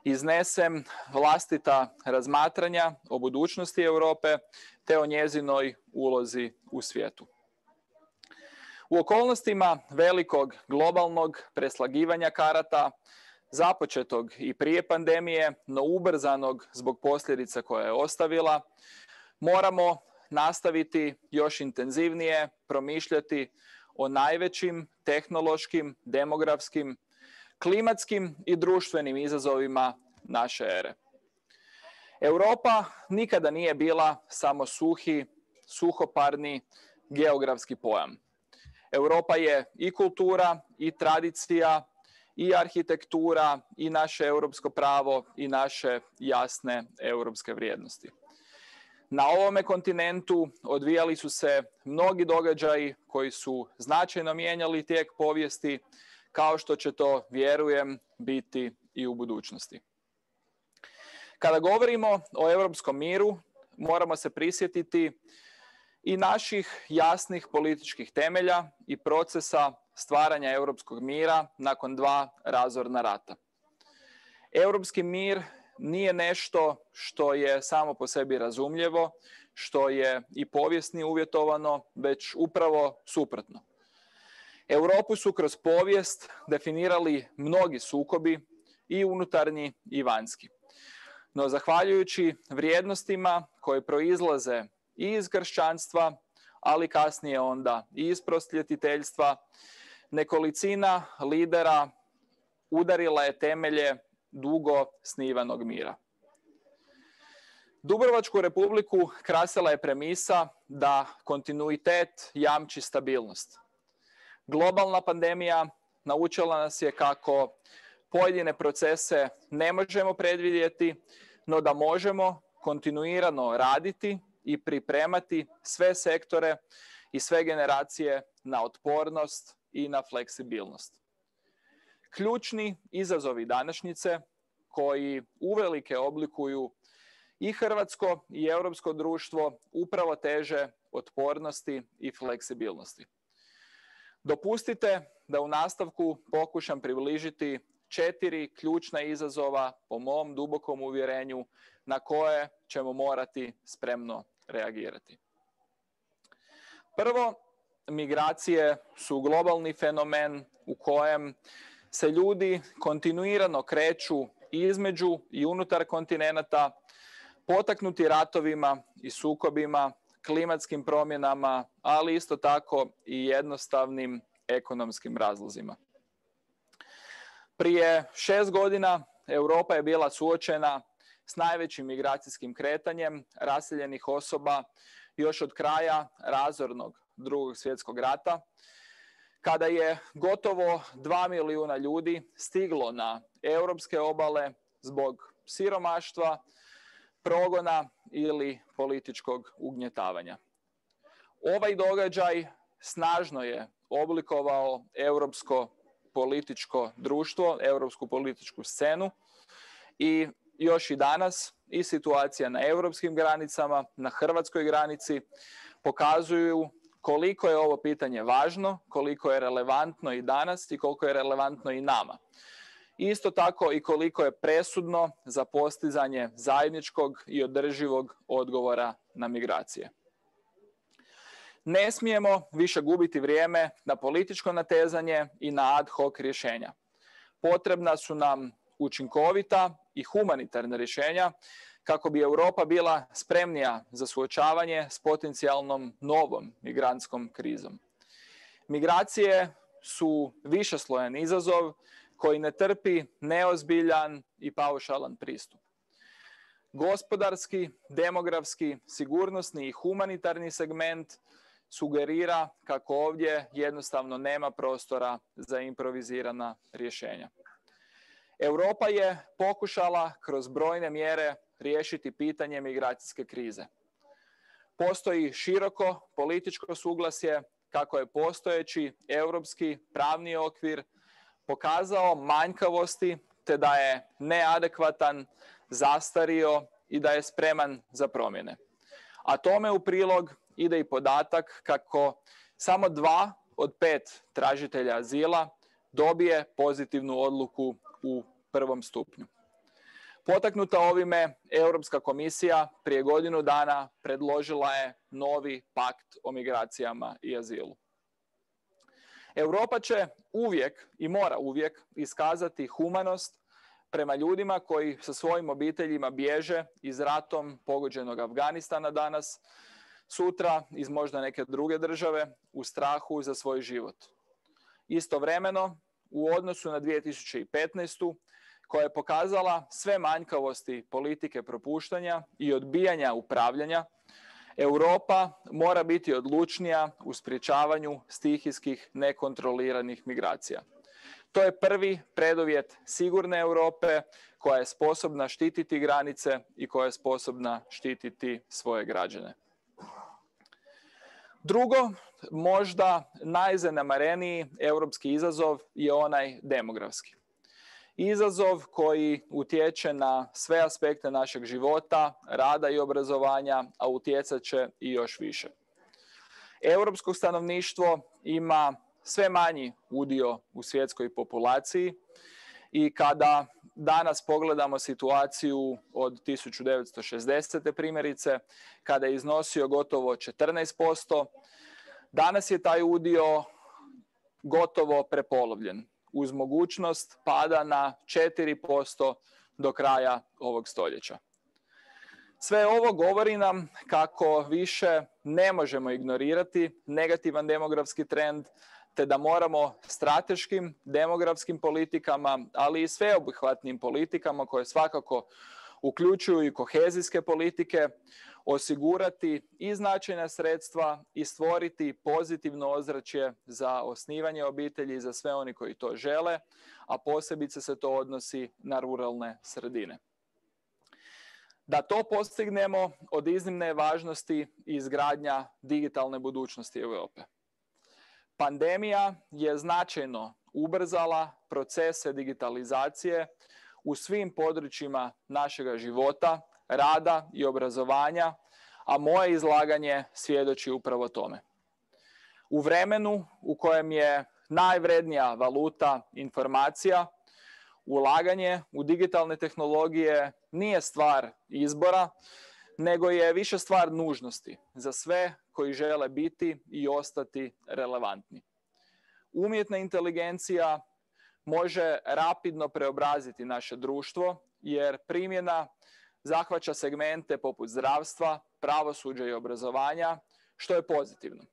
iznesem vlastita razmatranja o budućnosti Europe te o njezinoj ulozi u svijetu. U okolnostima velikog globalnog preslagivanja karata započetog i prije pandemije, no ubrzanog zbog posljedica koje je ostavila, moramo nastaviti još intenzivnije promišljati o najvećim tehnološkim, demografskim, klimatskim i društvenim izazovima naše ere. Europa nikada nije bila samo suhoparni geografski pojam. Europa je i kultura, i tradicija, i arhitektura, i naše europsko pravo, i naše jasne europske vrijednosti. Na ovome kontinentu odvijali su se mnogi događaji koji su značajno mijenjali tijek povijesti, kao što će to, vjerujem, biti i u budućnosti. Kada govorimo o europskom miru, moramo se prisjetiti i naših jasnih političkih temelja i procesa stvaranja europskog mira nakon 2 razorna rata. Europski mir nije nešto što je samo po sebi razumljivo, što je i povijesni uvjetovano, već upravo suprotno. Europu su kroz povijest definirali mnogi sukobi, i unutarnji i vanjski. No, zahvaljujući vrijednostima koje proizlaze i iz kršćanstva, ali kasnije onda i iz prosvjetiteljstva, nekolicina lidera udarila je temelje dugo snivanog mira. Dubrovačku republiku krasila je premisa da kontinuitet jamči stabilnost. Globalna pandemija naučila nas je kako pojedine procese ne možemo predvidjeti, no da možemo kontinuirano raditi i pripremati sve sektore i sve generacije na otpornost i na fleksibilnost. Ključni izazovi današnjice, koji uvelike oblikuju i hrvatsko i europsko društvo, upravo teže otpornosti i fleksibilnosti. Dopustite da u nastavku pokušam približiti 4 ključna izazova, po mom dubokom uvjerenju, na koje ćemo morati spremno reagirati. Prvo, migracije su globalni fenomen u kojem se ljudi kontinuirano kreću između i unutar kontinenata, potaknuti ratovima i sukobima, klimatskim promjenama, ali isto tako i jednostavnim ekonomskim razlozima. Prije 6 godina Europa je bila suočena s najvećim migracijskim kretanjem raseljenih osoba još od kraja razornog Drugog svjetskog rata, kada je gotovo 2 milijuna ljudi stiglo na europske obale zbog siromaštva, progona ili političkog ugnjetavanja. Ovaj događaj snažno je oblikovao europsko političko društvo, europsku političku scenu, i još i danas i situacija na europskim granicama, na hrvatskoj granici pokazuju koliko je ovo pitanje važno, koliko je relevantno i danas i koliko je relevantno i nama. Isto tako i koliko je presudno za postizanje zajedničkog i održivog odgovora na migracije. Ne smijemo više gubiti vrijeme na političko natezanje i na ad hoc rješenja. Potrebna su nam učinkovita i humanitarna rješenja kako bi Europa bila spremnija za suočavanje s potencijalnom novom migrantskom krizom. Migracije su višeslojan izazov koji ne trpi neozbiljan i paušalan pristup. Gospodarski, demografski, sigurnosni i humanitarni segment sugerira kako ovdje jednostavno nema prostora za improvizirana rješenja. Europa je pokušala kroz brojne mjere riješiti pitanje migracijske krize. Postoji široko političko suglasje kako je postojeći europski pravni okvir pokazao manjkavosti te da je neadekvatan, zastario i da je spreman za promjene. A tome u prilog ide i podatak kako samo 2 od 5 tražitelja azila dobije pozitivnu odluku u prvom stupnju. Potaknuta ovime, Europska komisija prije godinu dana predložila je novi pakt o migracijama i azilu. Europa će uvijek i mora uvijek iskazati humanost prema ljudima koji sa svojim obiteljima bježe iz ratom pogođenog Afganistana danas, sutra iz možda neke druge države u strahu za svoj život. Istovremeno, u odnosu na 2015. koja je pokazala sve manjkavosti politike propuštanja i odbijanja upravljanja, Europa mora biti odlučnija u sprječavanju stihijskih nekontroliranih migracija. To je prvi preduvjet sigurne Europe koja je sposobna štititi granice i koja je sposobna štititi svoje građane. Drugo, možda najzanemareniji europski izazov je onaj demografski. Izazov koji utječe na sve aspekte našeg života, rada i obrazovanja, a utjecat će i još više. Europsko stanovništvo ima sve manji udio u svjetskoj populaciji i kada danas pogledamo situaciju od 1960. primjerice, kada je iznosio gotovo 14%, danas je taj udio gotovo prepolovljen, uz mogućnost pada na 4% do kraja ovog stoljeća. Sve ovo govori nam kako više ne možemo ignorirati negativan demografski trend, te da moramo strateškim demografskim politikama, ali i sveobuhvatnim politikama koje svakako uključuju i kohezijske politike, osigurati i značajna sredstva i stvoriti pozitivno ozračje za osnivanje obitelji za sve oni koji to žele, a posebice se to odnosi na ruralne sredine. Da to postignemo, od iznimne je važnosti izgradnja digitalne budućnosti Europe. Pandemija je značajno ubrzala procese digitalizacije u svim područjima našega života, rada i obrazovanja, a moje izlaganje svjedoči upravo tome. U vremenu u kojem je najvrednija valuta informacija, ulaganje u digitalne tehnologije nije stvar izbora, nego je više stvar nužnosti za sve koji žele biti i ostati relevantni. Umjetna inteligencija može rapidno preobraziti naše društvo, jer primjena zahvaća segmente poput zdravstva, pravosuđa i obrazovanja, što je pozitivno.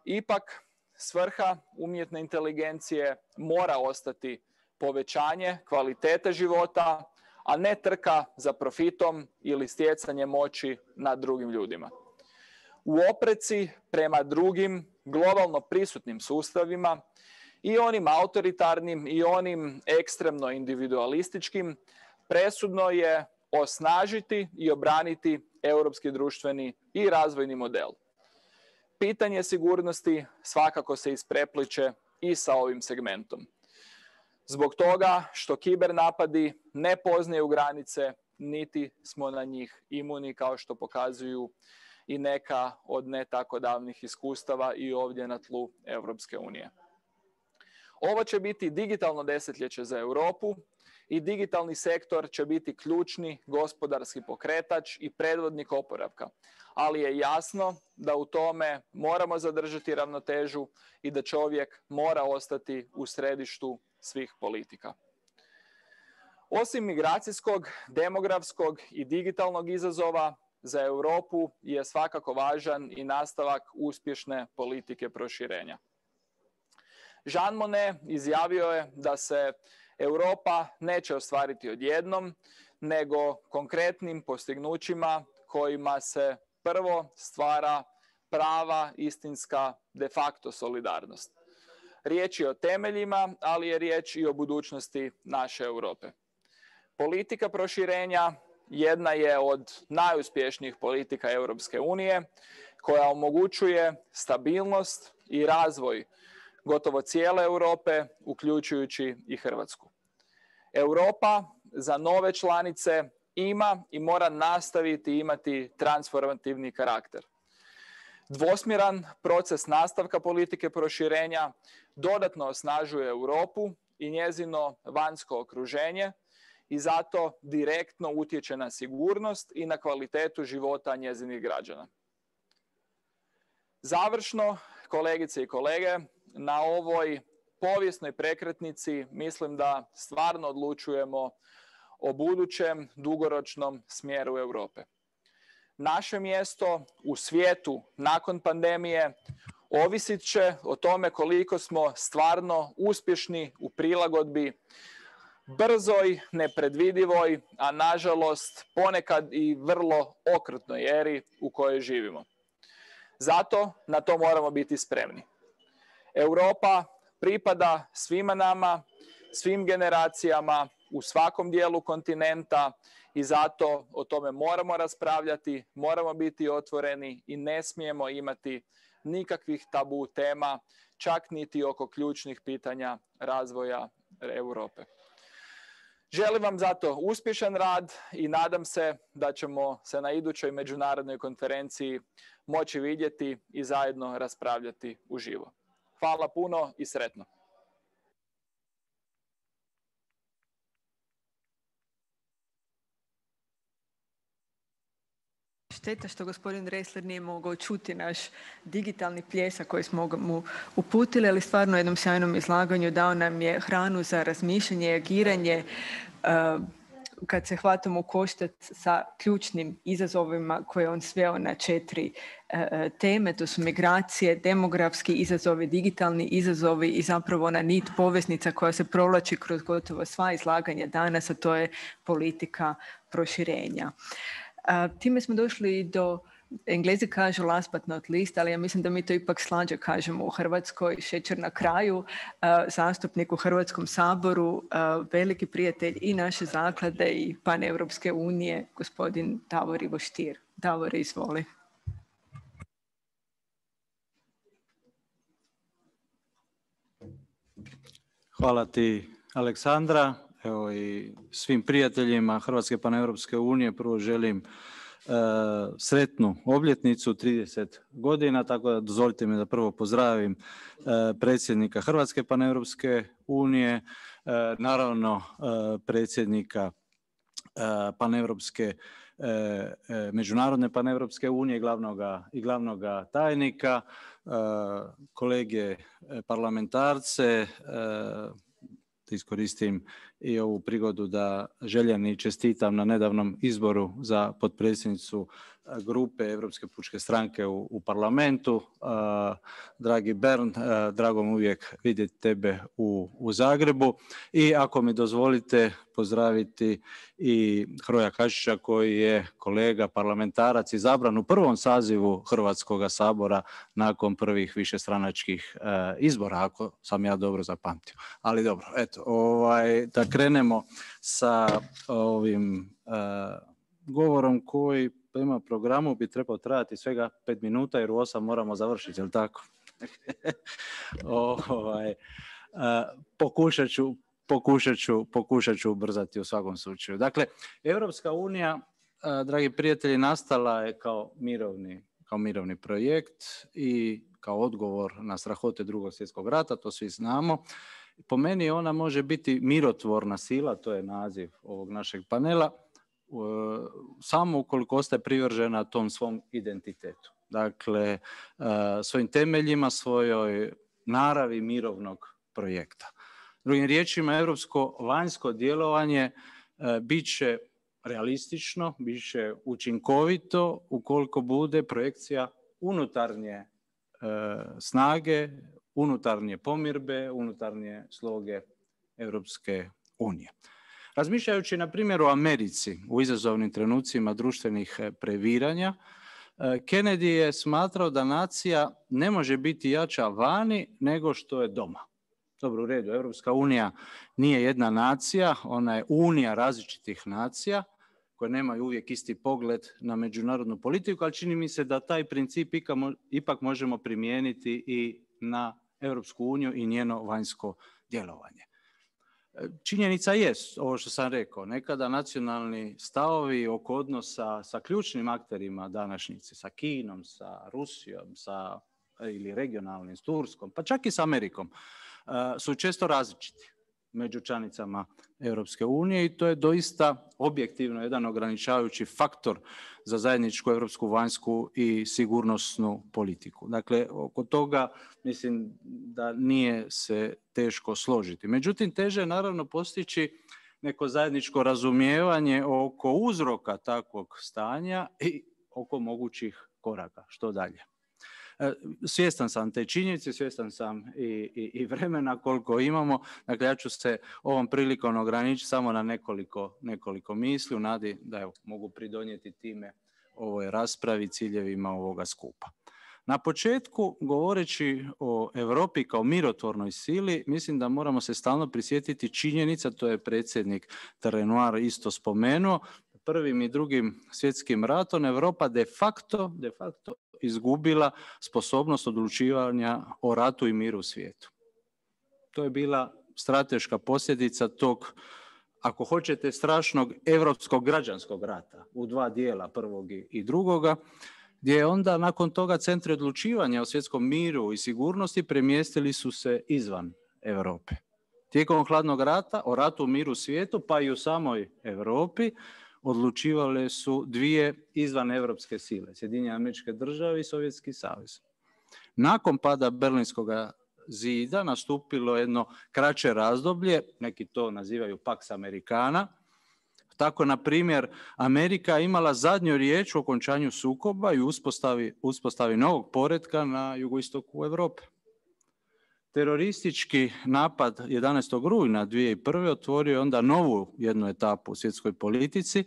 Ipak, svrha umjetne inteligencije mora ostati povećanje kvalitete života, a ne trka za profitom ili stjecanje moći nad drugim ljudima. U opreci prema drugim globalno prisutnim sustavima, i onim autoritarnim i onim ekstremno individualističkim, presudno je osnažiti i obraniti europski društveni i razvojni model. Pitanje sigurnosti svakako se isprepliče i sa ovim segmentom. Zbog toga što kibernapadi ne poznaju granice, niti smo na njih imuni, kao što pokazuju i neka od ne tako davnih iskustava i ovdje na tlu Europske unije. Ovo će biti digitalno desetljeće za Europu i digitalni sektor će biti ključni gospodarski pokretač i predvodnik oporavka. Ali je jasno da u tome moramo zadržati ravnotežu i da čovjek mora ostati u središtu svih politika. Osim migracijskog, demografskog i digitalnog izazova, za Europu je svakako važan i nastavak uspješne politike proširenja. Jean Monnet izjavio je da se Europa neće ostvariti odjednom, nego konkretnim postignućima kojima se prvo stvara prava, istinska, de facto solidarnost. Riječ je o temeljima, ali je riječ i o budućnosti naše Europe. Politika proširenja jedna je od najuspješnijih politika Europske unije, koja omogućuje stabilnost i razvoj gotovo cijele Europe, uključujući i Hrvatsku. Europa za nove članice ima i mora nastaviti imati transformativni karakter. Dvosmjeran proces nastavka politike proširenja dodatno osnažuje Europu i njezino vanjsko okruženje i zato direktno utječe na sigurnost i na kvalitetu života njezinih građana. Završno, kolegice i kolege, na ovoj povijesnoj prekretnici mislim da stvarno odlučujemo o budućem dugoročnom smjeru Europe. Naše mjesto u svijetu nakon pandemije ovisit će o tome koliko smo stvarno uspješni u prilagodbi brzoj, nepredvidivoj, a nažalost ponekad i vrlo okrutnoj eri u kojoj živimo. Zato na to moramo biti spremni. Europa pripada svima nama, svim generacijama, u svakom dijelu kontinenta i zato o tome moramo raspravljati, moramo biti otvoreni i ne smijemo imati nikakvih tabu tema, čak niti oko ključnih pitanja razvoja Europe. Želim vam zato uspješan rad i nadam se da ćemo se na idućoj međunarodnoj konferenciji moći vidjeti i zajedno raspravljati uživo. Hvala puno i sretno. Šteta što gospodin Ressler nije mogao čuti naš digitalni pljesak koji smo mu uputili, ali stvarno u jednom sjajnom izlaganju dao nam je hranu za razmišljanje i agiranje kad se hvatamo u koštac sa ključnim izazovima koje on sveo na 4 teme. To su migracije, demografski izazovi, digitalni izazovi i zapravo ona nit poveznica koja se provlači kroz gotovo sva izlaganja danas, a to je politika proširenja. Time smo došli do, Englezi kažu last but not least, ali ja mislim da mi to ipak slađe kažemo u Hrvatskoj, šećer na kraju, zastupnik u Hrvatskom saboru, veliki prijatelj i naše zaklade i Paneuropske unije, gospodin Davor Ivo Stier. Davore, izvoli. Hvala ti, Aleksandra. Evo i svim prijateljima Hrvatske Paneuropske unije prvo želim sretnu obljetnicu 30 godina, tako da dozvolite mi da prvo pozdravim predsjednika Hrvatske Paneuropske unije, naravno predsjednika Paneuropske Međunarodne Paneuropske unije i glavnoga tajnika, kolege parlamentarce, da iskoristim i ovu prigodu da željem i čestitam na nedavnom izboru za potpredsjednicu grupe Europske pučke stranke u parlamentu. Dragi Bernd, drago mi uvijek vidjeti tebe u Zagrebu i ako mi dozvolite pozdraviti i Hroja Kašića koji je kolega parlamentarac izabran u prvom sazivu Hrvatskoga sabora nakon prvih višestranačkih izbora, ako sam ja dobro zapamtio. Ali dobro, eto, da krenemo sa ovim govorom koji prema programu bi trebao trajati svega 5 minuta jer u 8 moramo završiti, je li tako? Pokušat ću ubrzati u svakom slučaju. Dakle, Europska unija, dragi prijatelji, nastala je kao mirovni projekt i kao odgovor na strahote Drugog svjetskog rata, to svi znamo. Po meni ona može biti mirotvorna sila, to je naziv ovog našeg panela, samo ukoliko ostaje privržena tom svom identitetu. Dakle, svojim temeljima, svojoj naravi mirovnog projekta. Drugim riječima, europsko vanjsko djelovanje bit će realistično, bit će učinkovito ukoliko bude projekcija unutarnje snage, unutarnje pomirbe, unutarnje sloge Europske unije. Razmišljajući na primjer o Americi u izazovnim trenucima društvenih previranja, Kennedy je smatrao da nacija ne može biti jača vani nego što je doma. Dobro, u redu, Europska unija nije jedna nacija, ona je unija različitih nacija koje nemaju uvijek isti pogled na međunarodnu politiku, ali čini mi se da taj princip ipak možemo primijeniti i na Europsku uniju i njeno vanjsko djelovanje. Činjenica jest, ovo što sam rekao, nekada nacionalni stavovi oko odnosa sa ključnim akterima današnjice, sa Kinom, sa Rusijom, ili regionalnim, s Turskom, pa čak i s Amerikom, su često različiti. među članicama Europske unije i to je doista objektivno jedan ograničavajući faktor za zajedničku europsku vanjsku i sigurnosnu politiku. Dakle, oko toga mislim da nije se teško složiti. Međutim, teže je naravno postići neko zajedničko razumijevanje oko uzroka takvog stanja i oko mogućih koraka. Što dalje? Svjestan sam te činjenice, svjestan sam i vremena koliko imamo. Dakle, ja ću se ovom prilikom ograničiti samo na nekoliko misli u nadi da evo, mogu pridonijeti time ovoj raspravi, ciljevima ovoga skupa. Na početku, govoreći o Europi kao mirotvornoj sili, mislim da moramo se stalno prisjetiti činjenica, to je predsjednik Renoir isto spomenuo, Prvim i Drugim svjetskim ratom Europa de facto izgubila sposobnost odlučivanja o ratu i miru u svijetu. To je bila strateška posljedica tog, ako hoćete, strašnog europskog građanskog rata u dva dijela, prvog i drugoga, gdje je onda nakon toga centri odlučivanja o svjetskom miru i sigurnosti premjestili su se izvan Europe. Tijekom hladnog rata, o ratu i miru u svijetu, pa i u samoj Europi, odlučivale su dvije izvaneuropske sile, Sjedinjene Američke Države i Sovjetski savez. Nakon pada Berlinskog zida nastupilo jedno kraće razdoblje, neki to nazivaju Pax Americana. Tako, na primjer, Amerika imala zadnju riječ o okončanju sukoba i uspostavi novog poretka na jugoistoku Europe. Teroristički napad 11. rujna 2001. otvorio je onda novu jednu etapu u svjetskoj politici,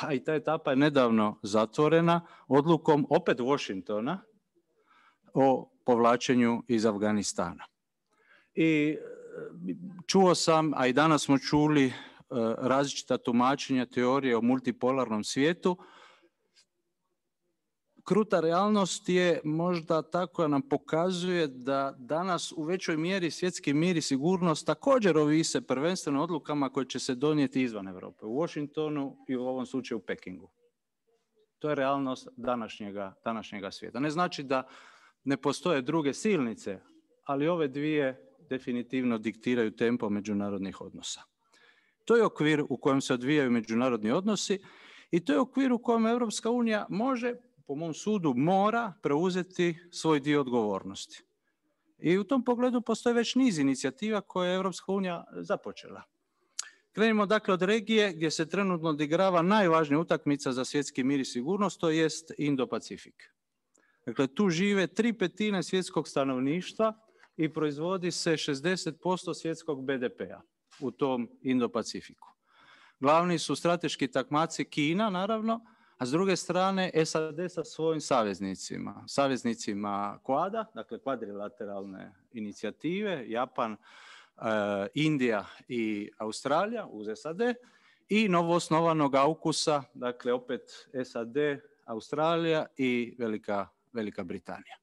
a i ta etapa je nedavno zatvorena odlukom opet Washingtona o povlačenju iz Afganistana. I čuo sam, a i danas smo čuli različita tumačenja teorije o multipolarnom svijetu. Kruta realnost je možda tako da nam pokazuje da danas u većoj mjeri svjetski mir i sigurnost također ovise prvenstveno odlukama koje će se donijeti izvan Europe, u Washingtonu i u ovom slučaju u Pekingu. To je realnost današnjega svijeta. Ne znači da ne postoje druge silnice, ali ove dvije definitivno diktiraju tempo međunarodnih odnosa. To je okvir u kojem se odvijaju međunarodni odnosi i to je okvir u kojem Europska unija može, po mom sudu, mora preuzeti svoj dio odgovornosti. I u tom pogledu postoje već niz inicijativa koje je Europska unija započela. Krenimo dakle od regije gdje se trenutno odigrava najvažnija utakmica za svjetski mir i sigurnost, to jest Indo-Pacifik. Dakle, tu žive 3/5 svjetskog stanovništva i proizvodi se 60% svjetskog BDP-a u tom Indo-Pacifiku. Glavni su strateški takmaci Kina, naravno, a s druge strane SAD sa svojim saveznicima Quada, dakle kvadrilateralne inicijative, Japan, Indija i Australija uz SAD, i novoosnovanog AUKUS-a, dakle opet SAD, Australija i Velika Britanija.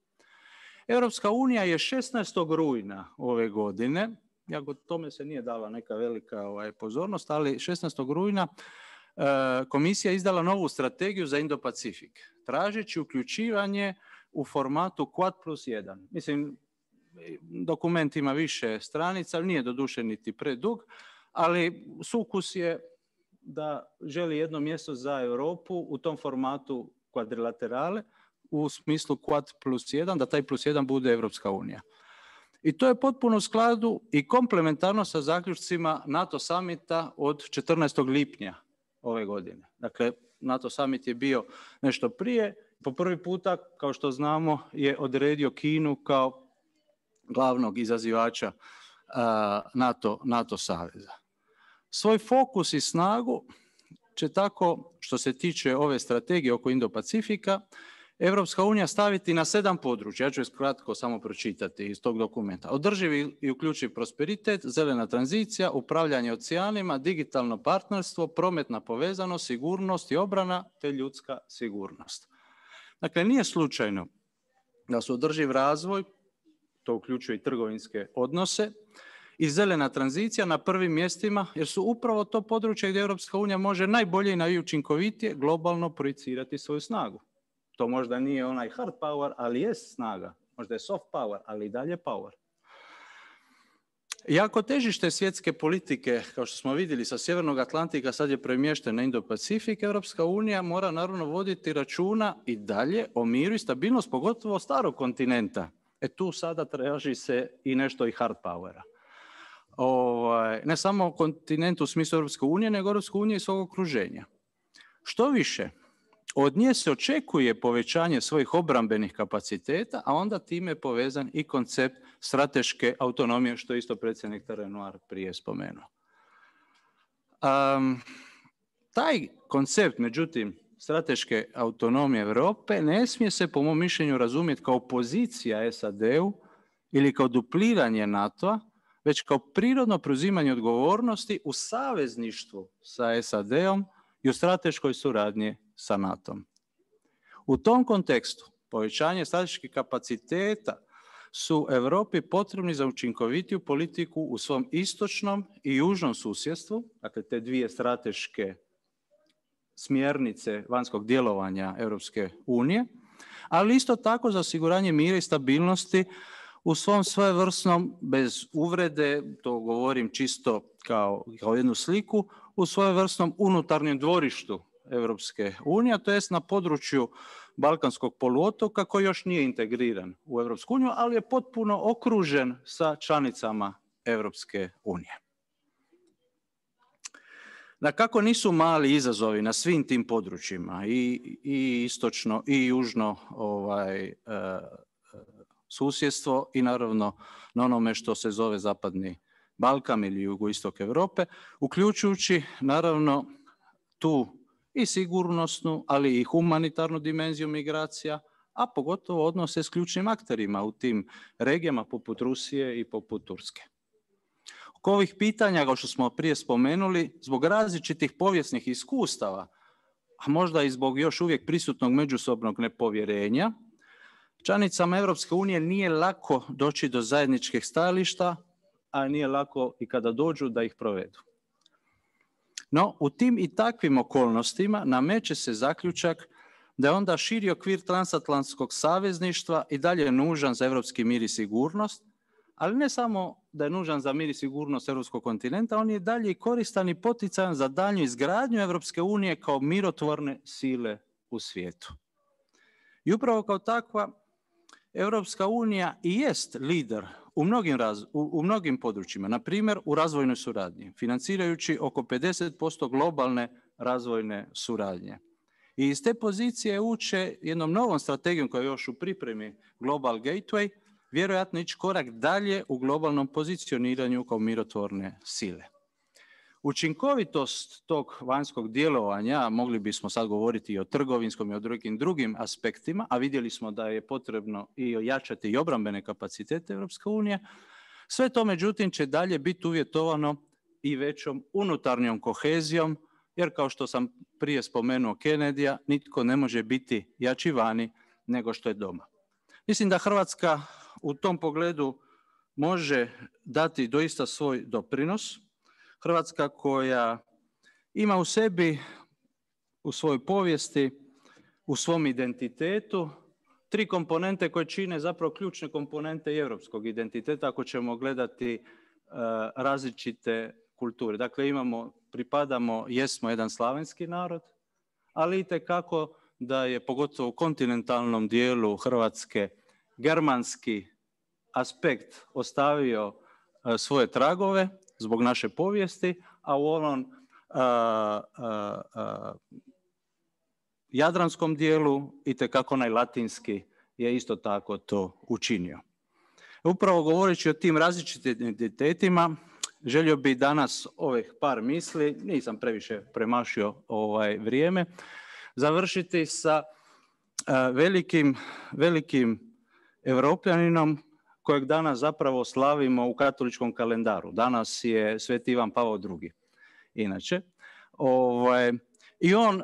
Europska unija je 16. rujna ove godine, jako tome se nije dala neka velika pozornost, ali 16. rujna komisija izdala novu strategiju za Indo-Pacifik, tražeći uključivanje u formatu Quad+1. Mislim, dokument ima više stranica, nije doduše niti predug, ali sukus je da želi jedno mjesto za Europu u tom formatu kvadrilaterale, u smislu Quad+1, da taj +1 bude Europska unija. I to je potpuno u skladu i komplementarno sa zaključcima NATO samita od 14. lipnja ove godine. Dakle, NATO summit je bio nešto prije. Po prvi puta, kao što znamo, je odredio Kinu kao glavnog izazivača NATO saveza. Svoj fokus i snagu će tako, što se tiče ove strategije oko Indo-Pacifika, Europska unija staviti na 7 područja. Ja ću kratko samo pročitati iz tog dokumenta. Održivi i uključiv prosperitet, zelena tranzicija, upravljanje oceanima, digitalno partnerstvo, prometna povezanost, sigurnost i obrana te ljudska sigurnost. Dakle, nije slučajno da su održiv razvoj, to uključuje i trgovinske odnose, i zelena tranzicija na prvim mjestima, jer su upravo to područje gdje Europska unija može najbolje i najučinkovitije globalno projicirati svoju snagu. To možda nije onaj hard power, ali je snaga. Možda je soft power, ali i dalje power. Iako težište svjetske politike, kao što smo vidjeli sa Sjevernog Atlantika, sad je premješten na Indo-Pacifik, Europska unija mora naravno voditi računa i dalje o miru i stabilnost, pogotovo starog kontinenta. Tu sada traži se i nešto i hard powera. Ne samo kontinent u smislu Europske unije, nego Europske unije i svog okruženja. Što više, od nje se očekuje povećanje svojih obrambenih kapaciteta, a onda time je povezan i koncept strateške autonomije, što je isto predsjednik Renoir prije spomenuo. Taj koncept, međutim, strateške autonomije Europe ne smije se, po mom mišljenju, razumjeti kao pozicija SAD-u ili kao dupliranje NATO-a, već kao prirodno preuzimanje odgovornosti u savezništvu sa SAD-om i u strateškoj suradnji sa NATO-om. U tom kontekstu povećanje strateških kapaciteta su Europi potrebni za učinkovitiju politiku u svom istočnom i južnom susjedstvu, dakle te dvije strateške smjernice vanjskog djelovanja Europske unije, ali isto tako za osiguranje mira i stabilnosti u svom svojevrsnom, bez uvrede, to govorim čisto kao jednu sliku, u svojevrsnom unutarnjem dvorištu Europske unije, to jest na području Balkanskog poluotoka koji još nije integriran u Europsku uniju, ali je potpuno okružen sa članicama Europske unije. Dakako nisu mali izazovi na svim tim područjima, i istočno i južno susjedstvo i naravno na onome što se zove Zapadni Balkan ili jugoistok Europe, uključujući naravno tu i sigurnosnu, ali i humanitarnu dimenziju migracija, a pogotovo odnose s ključnim akterima u tim regijama poput Rusije i poput Turske. Oko ovih pitanja, kao što smo prije spomenuli, zbog različitih povijesnih iskustava, a možda i zbog još uvijek prisutnog međusobnog nepovjerenja, članicama Europske unije nije lako doći do zajedničkih stajališta, a nije lako i kada dođu da ih provedu. No, u tim i takvim okolnostima nameće se zaključak da je onda širi okvir transatlantskog savezništva i dalje nužan za europski mir i sigurnost, ali ne samo da je nužan za mir i sigurnost europskog kontinenta, on je dalje i koristan i poticajan za daljnju izgradnju Europske unije kao mirotvorne sile u svijetu. I upravo kao takva, Europska unija i jest lider u mnogim područjima, na primjer u razvojnoj suradnji, financirajući oko 50% globalne razvojne suradnje. I iz te pozicije uče jednom novom strategijom koja je još u pripremi Global Gateway, vjerojatno ići korak dalje u globalnom pozicioniranju kao mirotvorne sile. Učinkovitost tog vanjskog djelovanja, mogli bismo sad govoriti i o trgovinskom i o drugim aspektima, a vidjeli smo da je potrebno i ojačati i obrambene kapacitete Europske unije, sve to međutim će dalje biti uvjetovano i većom unutarnjom kohezijom, jer kao što sam prije spomenuo Kennedyja, nitko ne može biti jači vani nego što je doma. Mislim da Hrvatska u tom pogledu može dati doista svoj doprinos. Hrvatska koja ima u sebi, u svojoj povijesti, u svom identitetu, 3 komponente koje čine zapravo ključne komponente i europskog identiteta ako ćemo gledati različite kulture. Dakle, jesmo jedan slavenski narod, ali itekako da je pogotovo u kontinentalnom dijelu Hrvatske germanski aspekt ostavio svoje tragove zbog naše povijesti, a u onom jadranskom dijelu itekako onaj latinski je isto tako to učinio. Upravo govoreći o tim različitim identitetima, želio bih danas ovih par misli, nisam previše premašio vrijeme, završiti sa velikim Europljaninom kojeg danas zapravo slavimo u katoličkom kalendaru. Danas je Sveti Ivan Pavao II. Inače. I on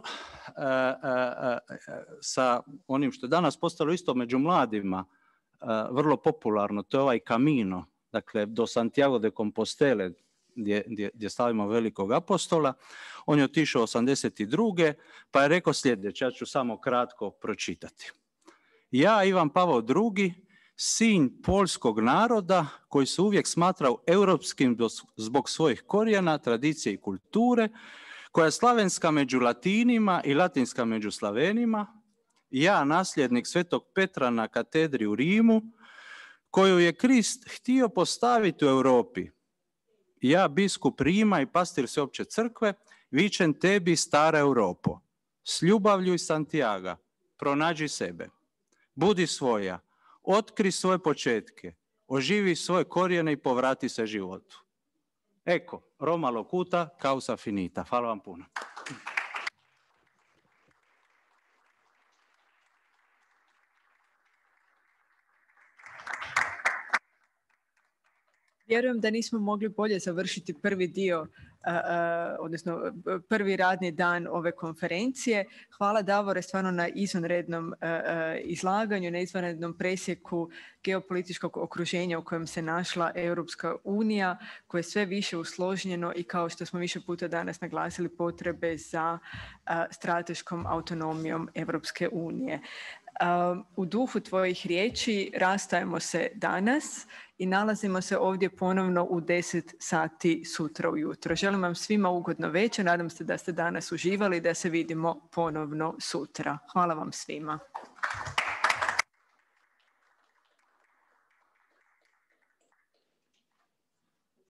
sa onim što je danas postalo isto među mladima vrlo popularno, to je ovaj Camino, dakle do Santiago de Compostele, gdje slavimo velikog apostola. On je otišao 82. pa je rekao sljedeće, ja ću samo kratko pročitati. Ja, Ivan Pavao II, sin poljskog naroda koji se uvijek smatrao europskim zbog svojih korijena, tradicije i kulture, koja je slavenska među Latinima i latinska među Slavenima, ja, nasljednik Svetog Petra na katedri u Rimu, koju je Krist htio postaviti u Europi. Ja, biskup Rima i pastir Sveopće crkve, vičem tebi, stara Europo, s ljubavlju i Santiago, pronađi sebe, budi svoja, otkri svoje početke, oživi svoje korijene i povrati se životu. Eko, Roma locuta, causa finita. Hvala vam puno. Vjerujem da nismo mogli bolje završiti prvi dio, odnosno prvi radni dan ove konferencije. Hvala Davore stvarno na izvanrednom izlaganju, na izvanrednom presjeku geopolitičkog okruženja u kojem se našla Europska unija, koje je sve više usložnjeno i kao što smo više puta danas naglasili potrebe za strateškom autonomijom Europske unije. U duhu tvojih riječi rastajemo se danas i nalazimo se ovdje ponovno u 10 sati sutra ujutro. Želim vam svima ugodno večer, nadam se da ste danas uživali, da se vidimo ponovno sutra. Hvala vam svima.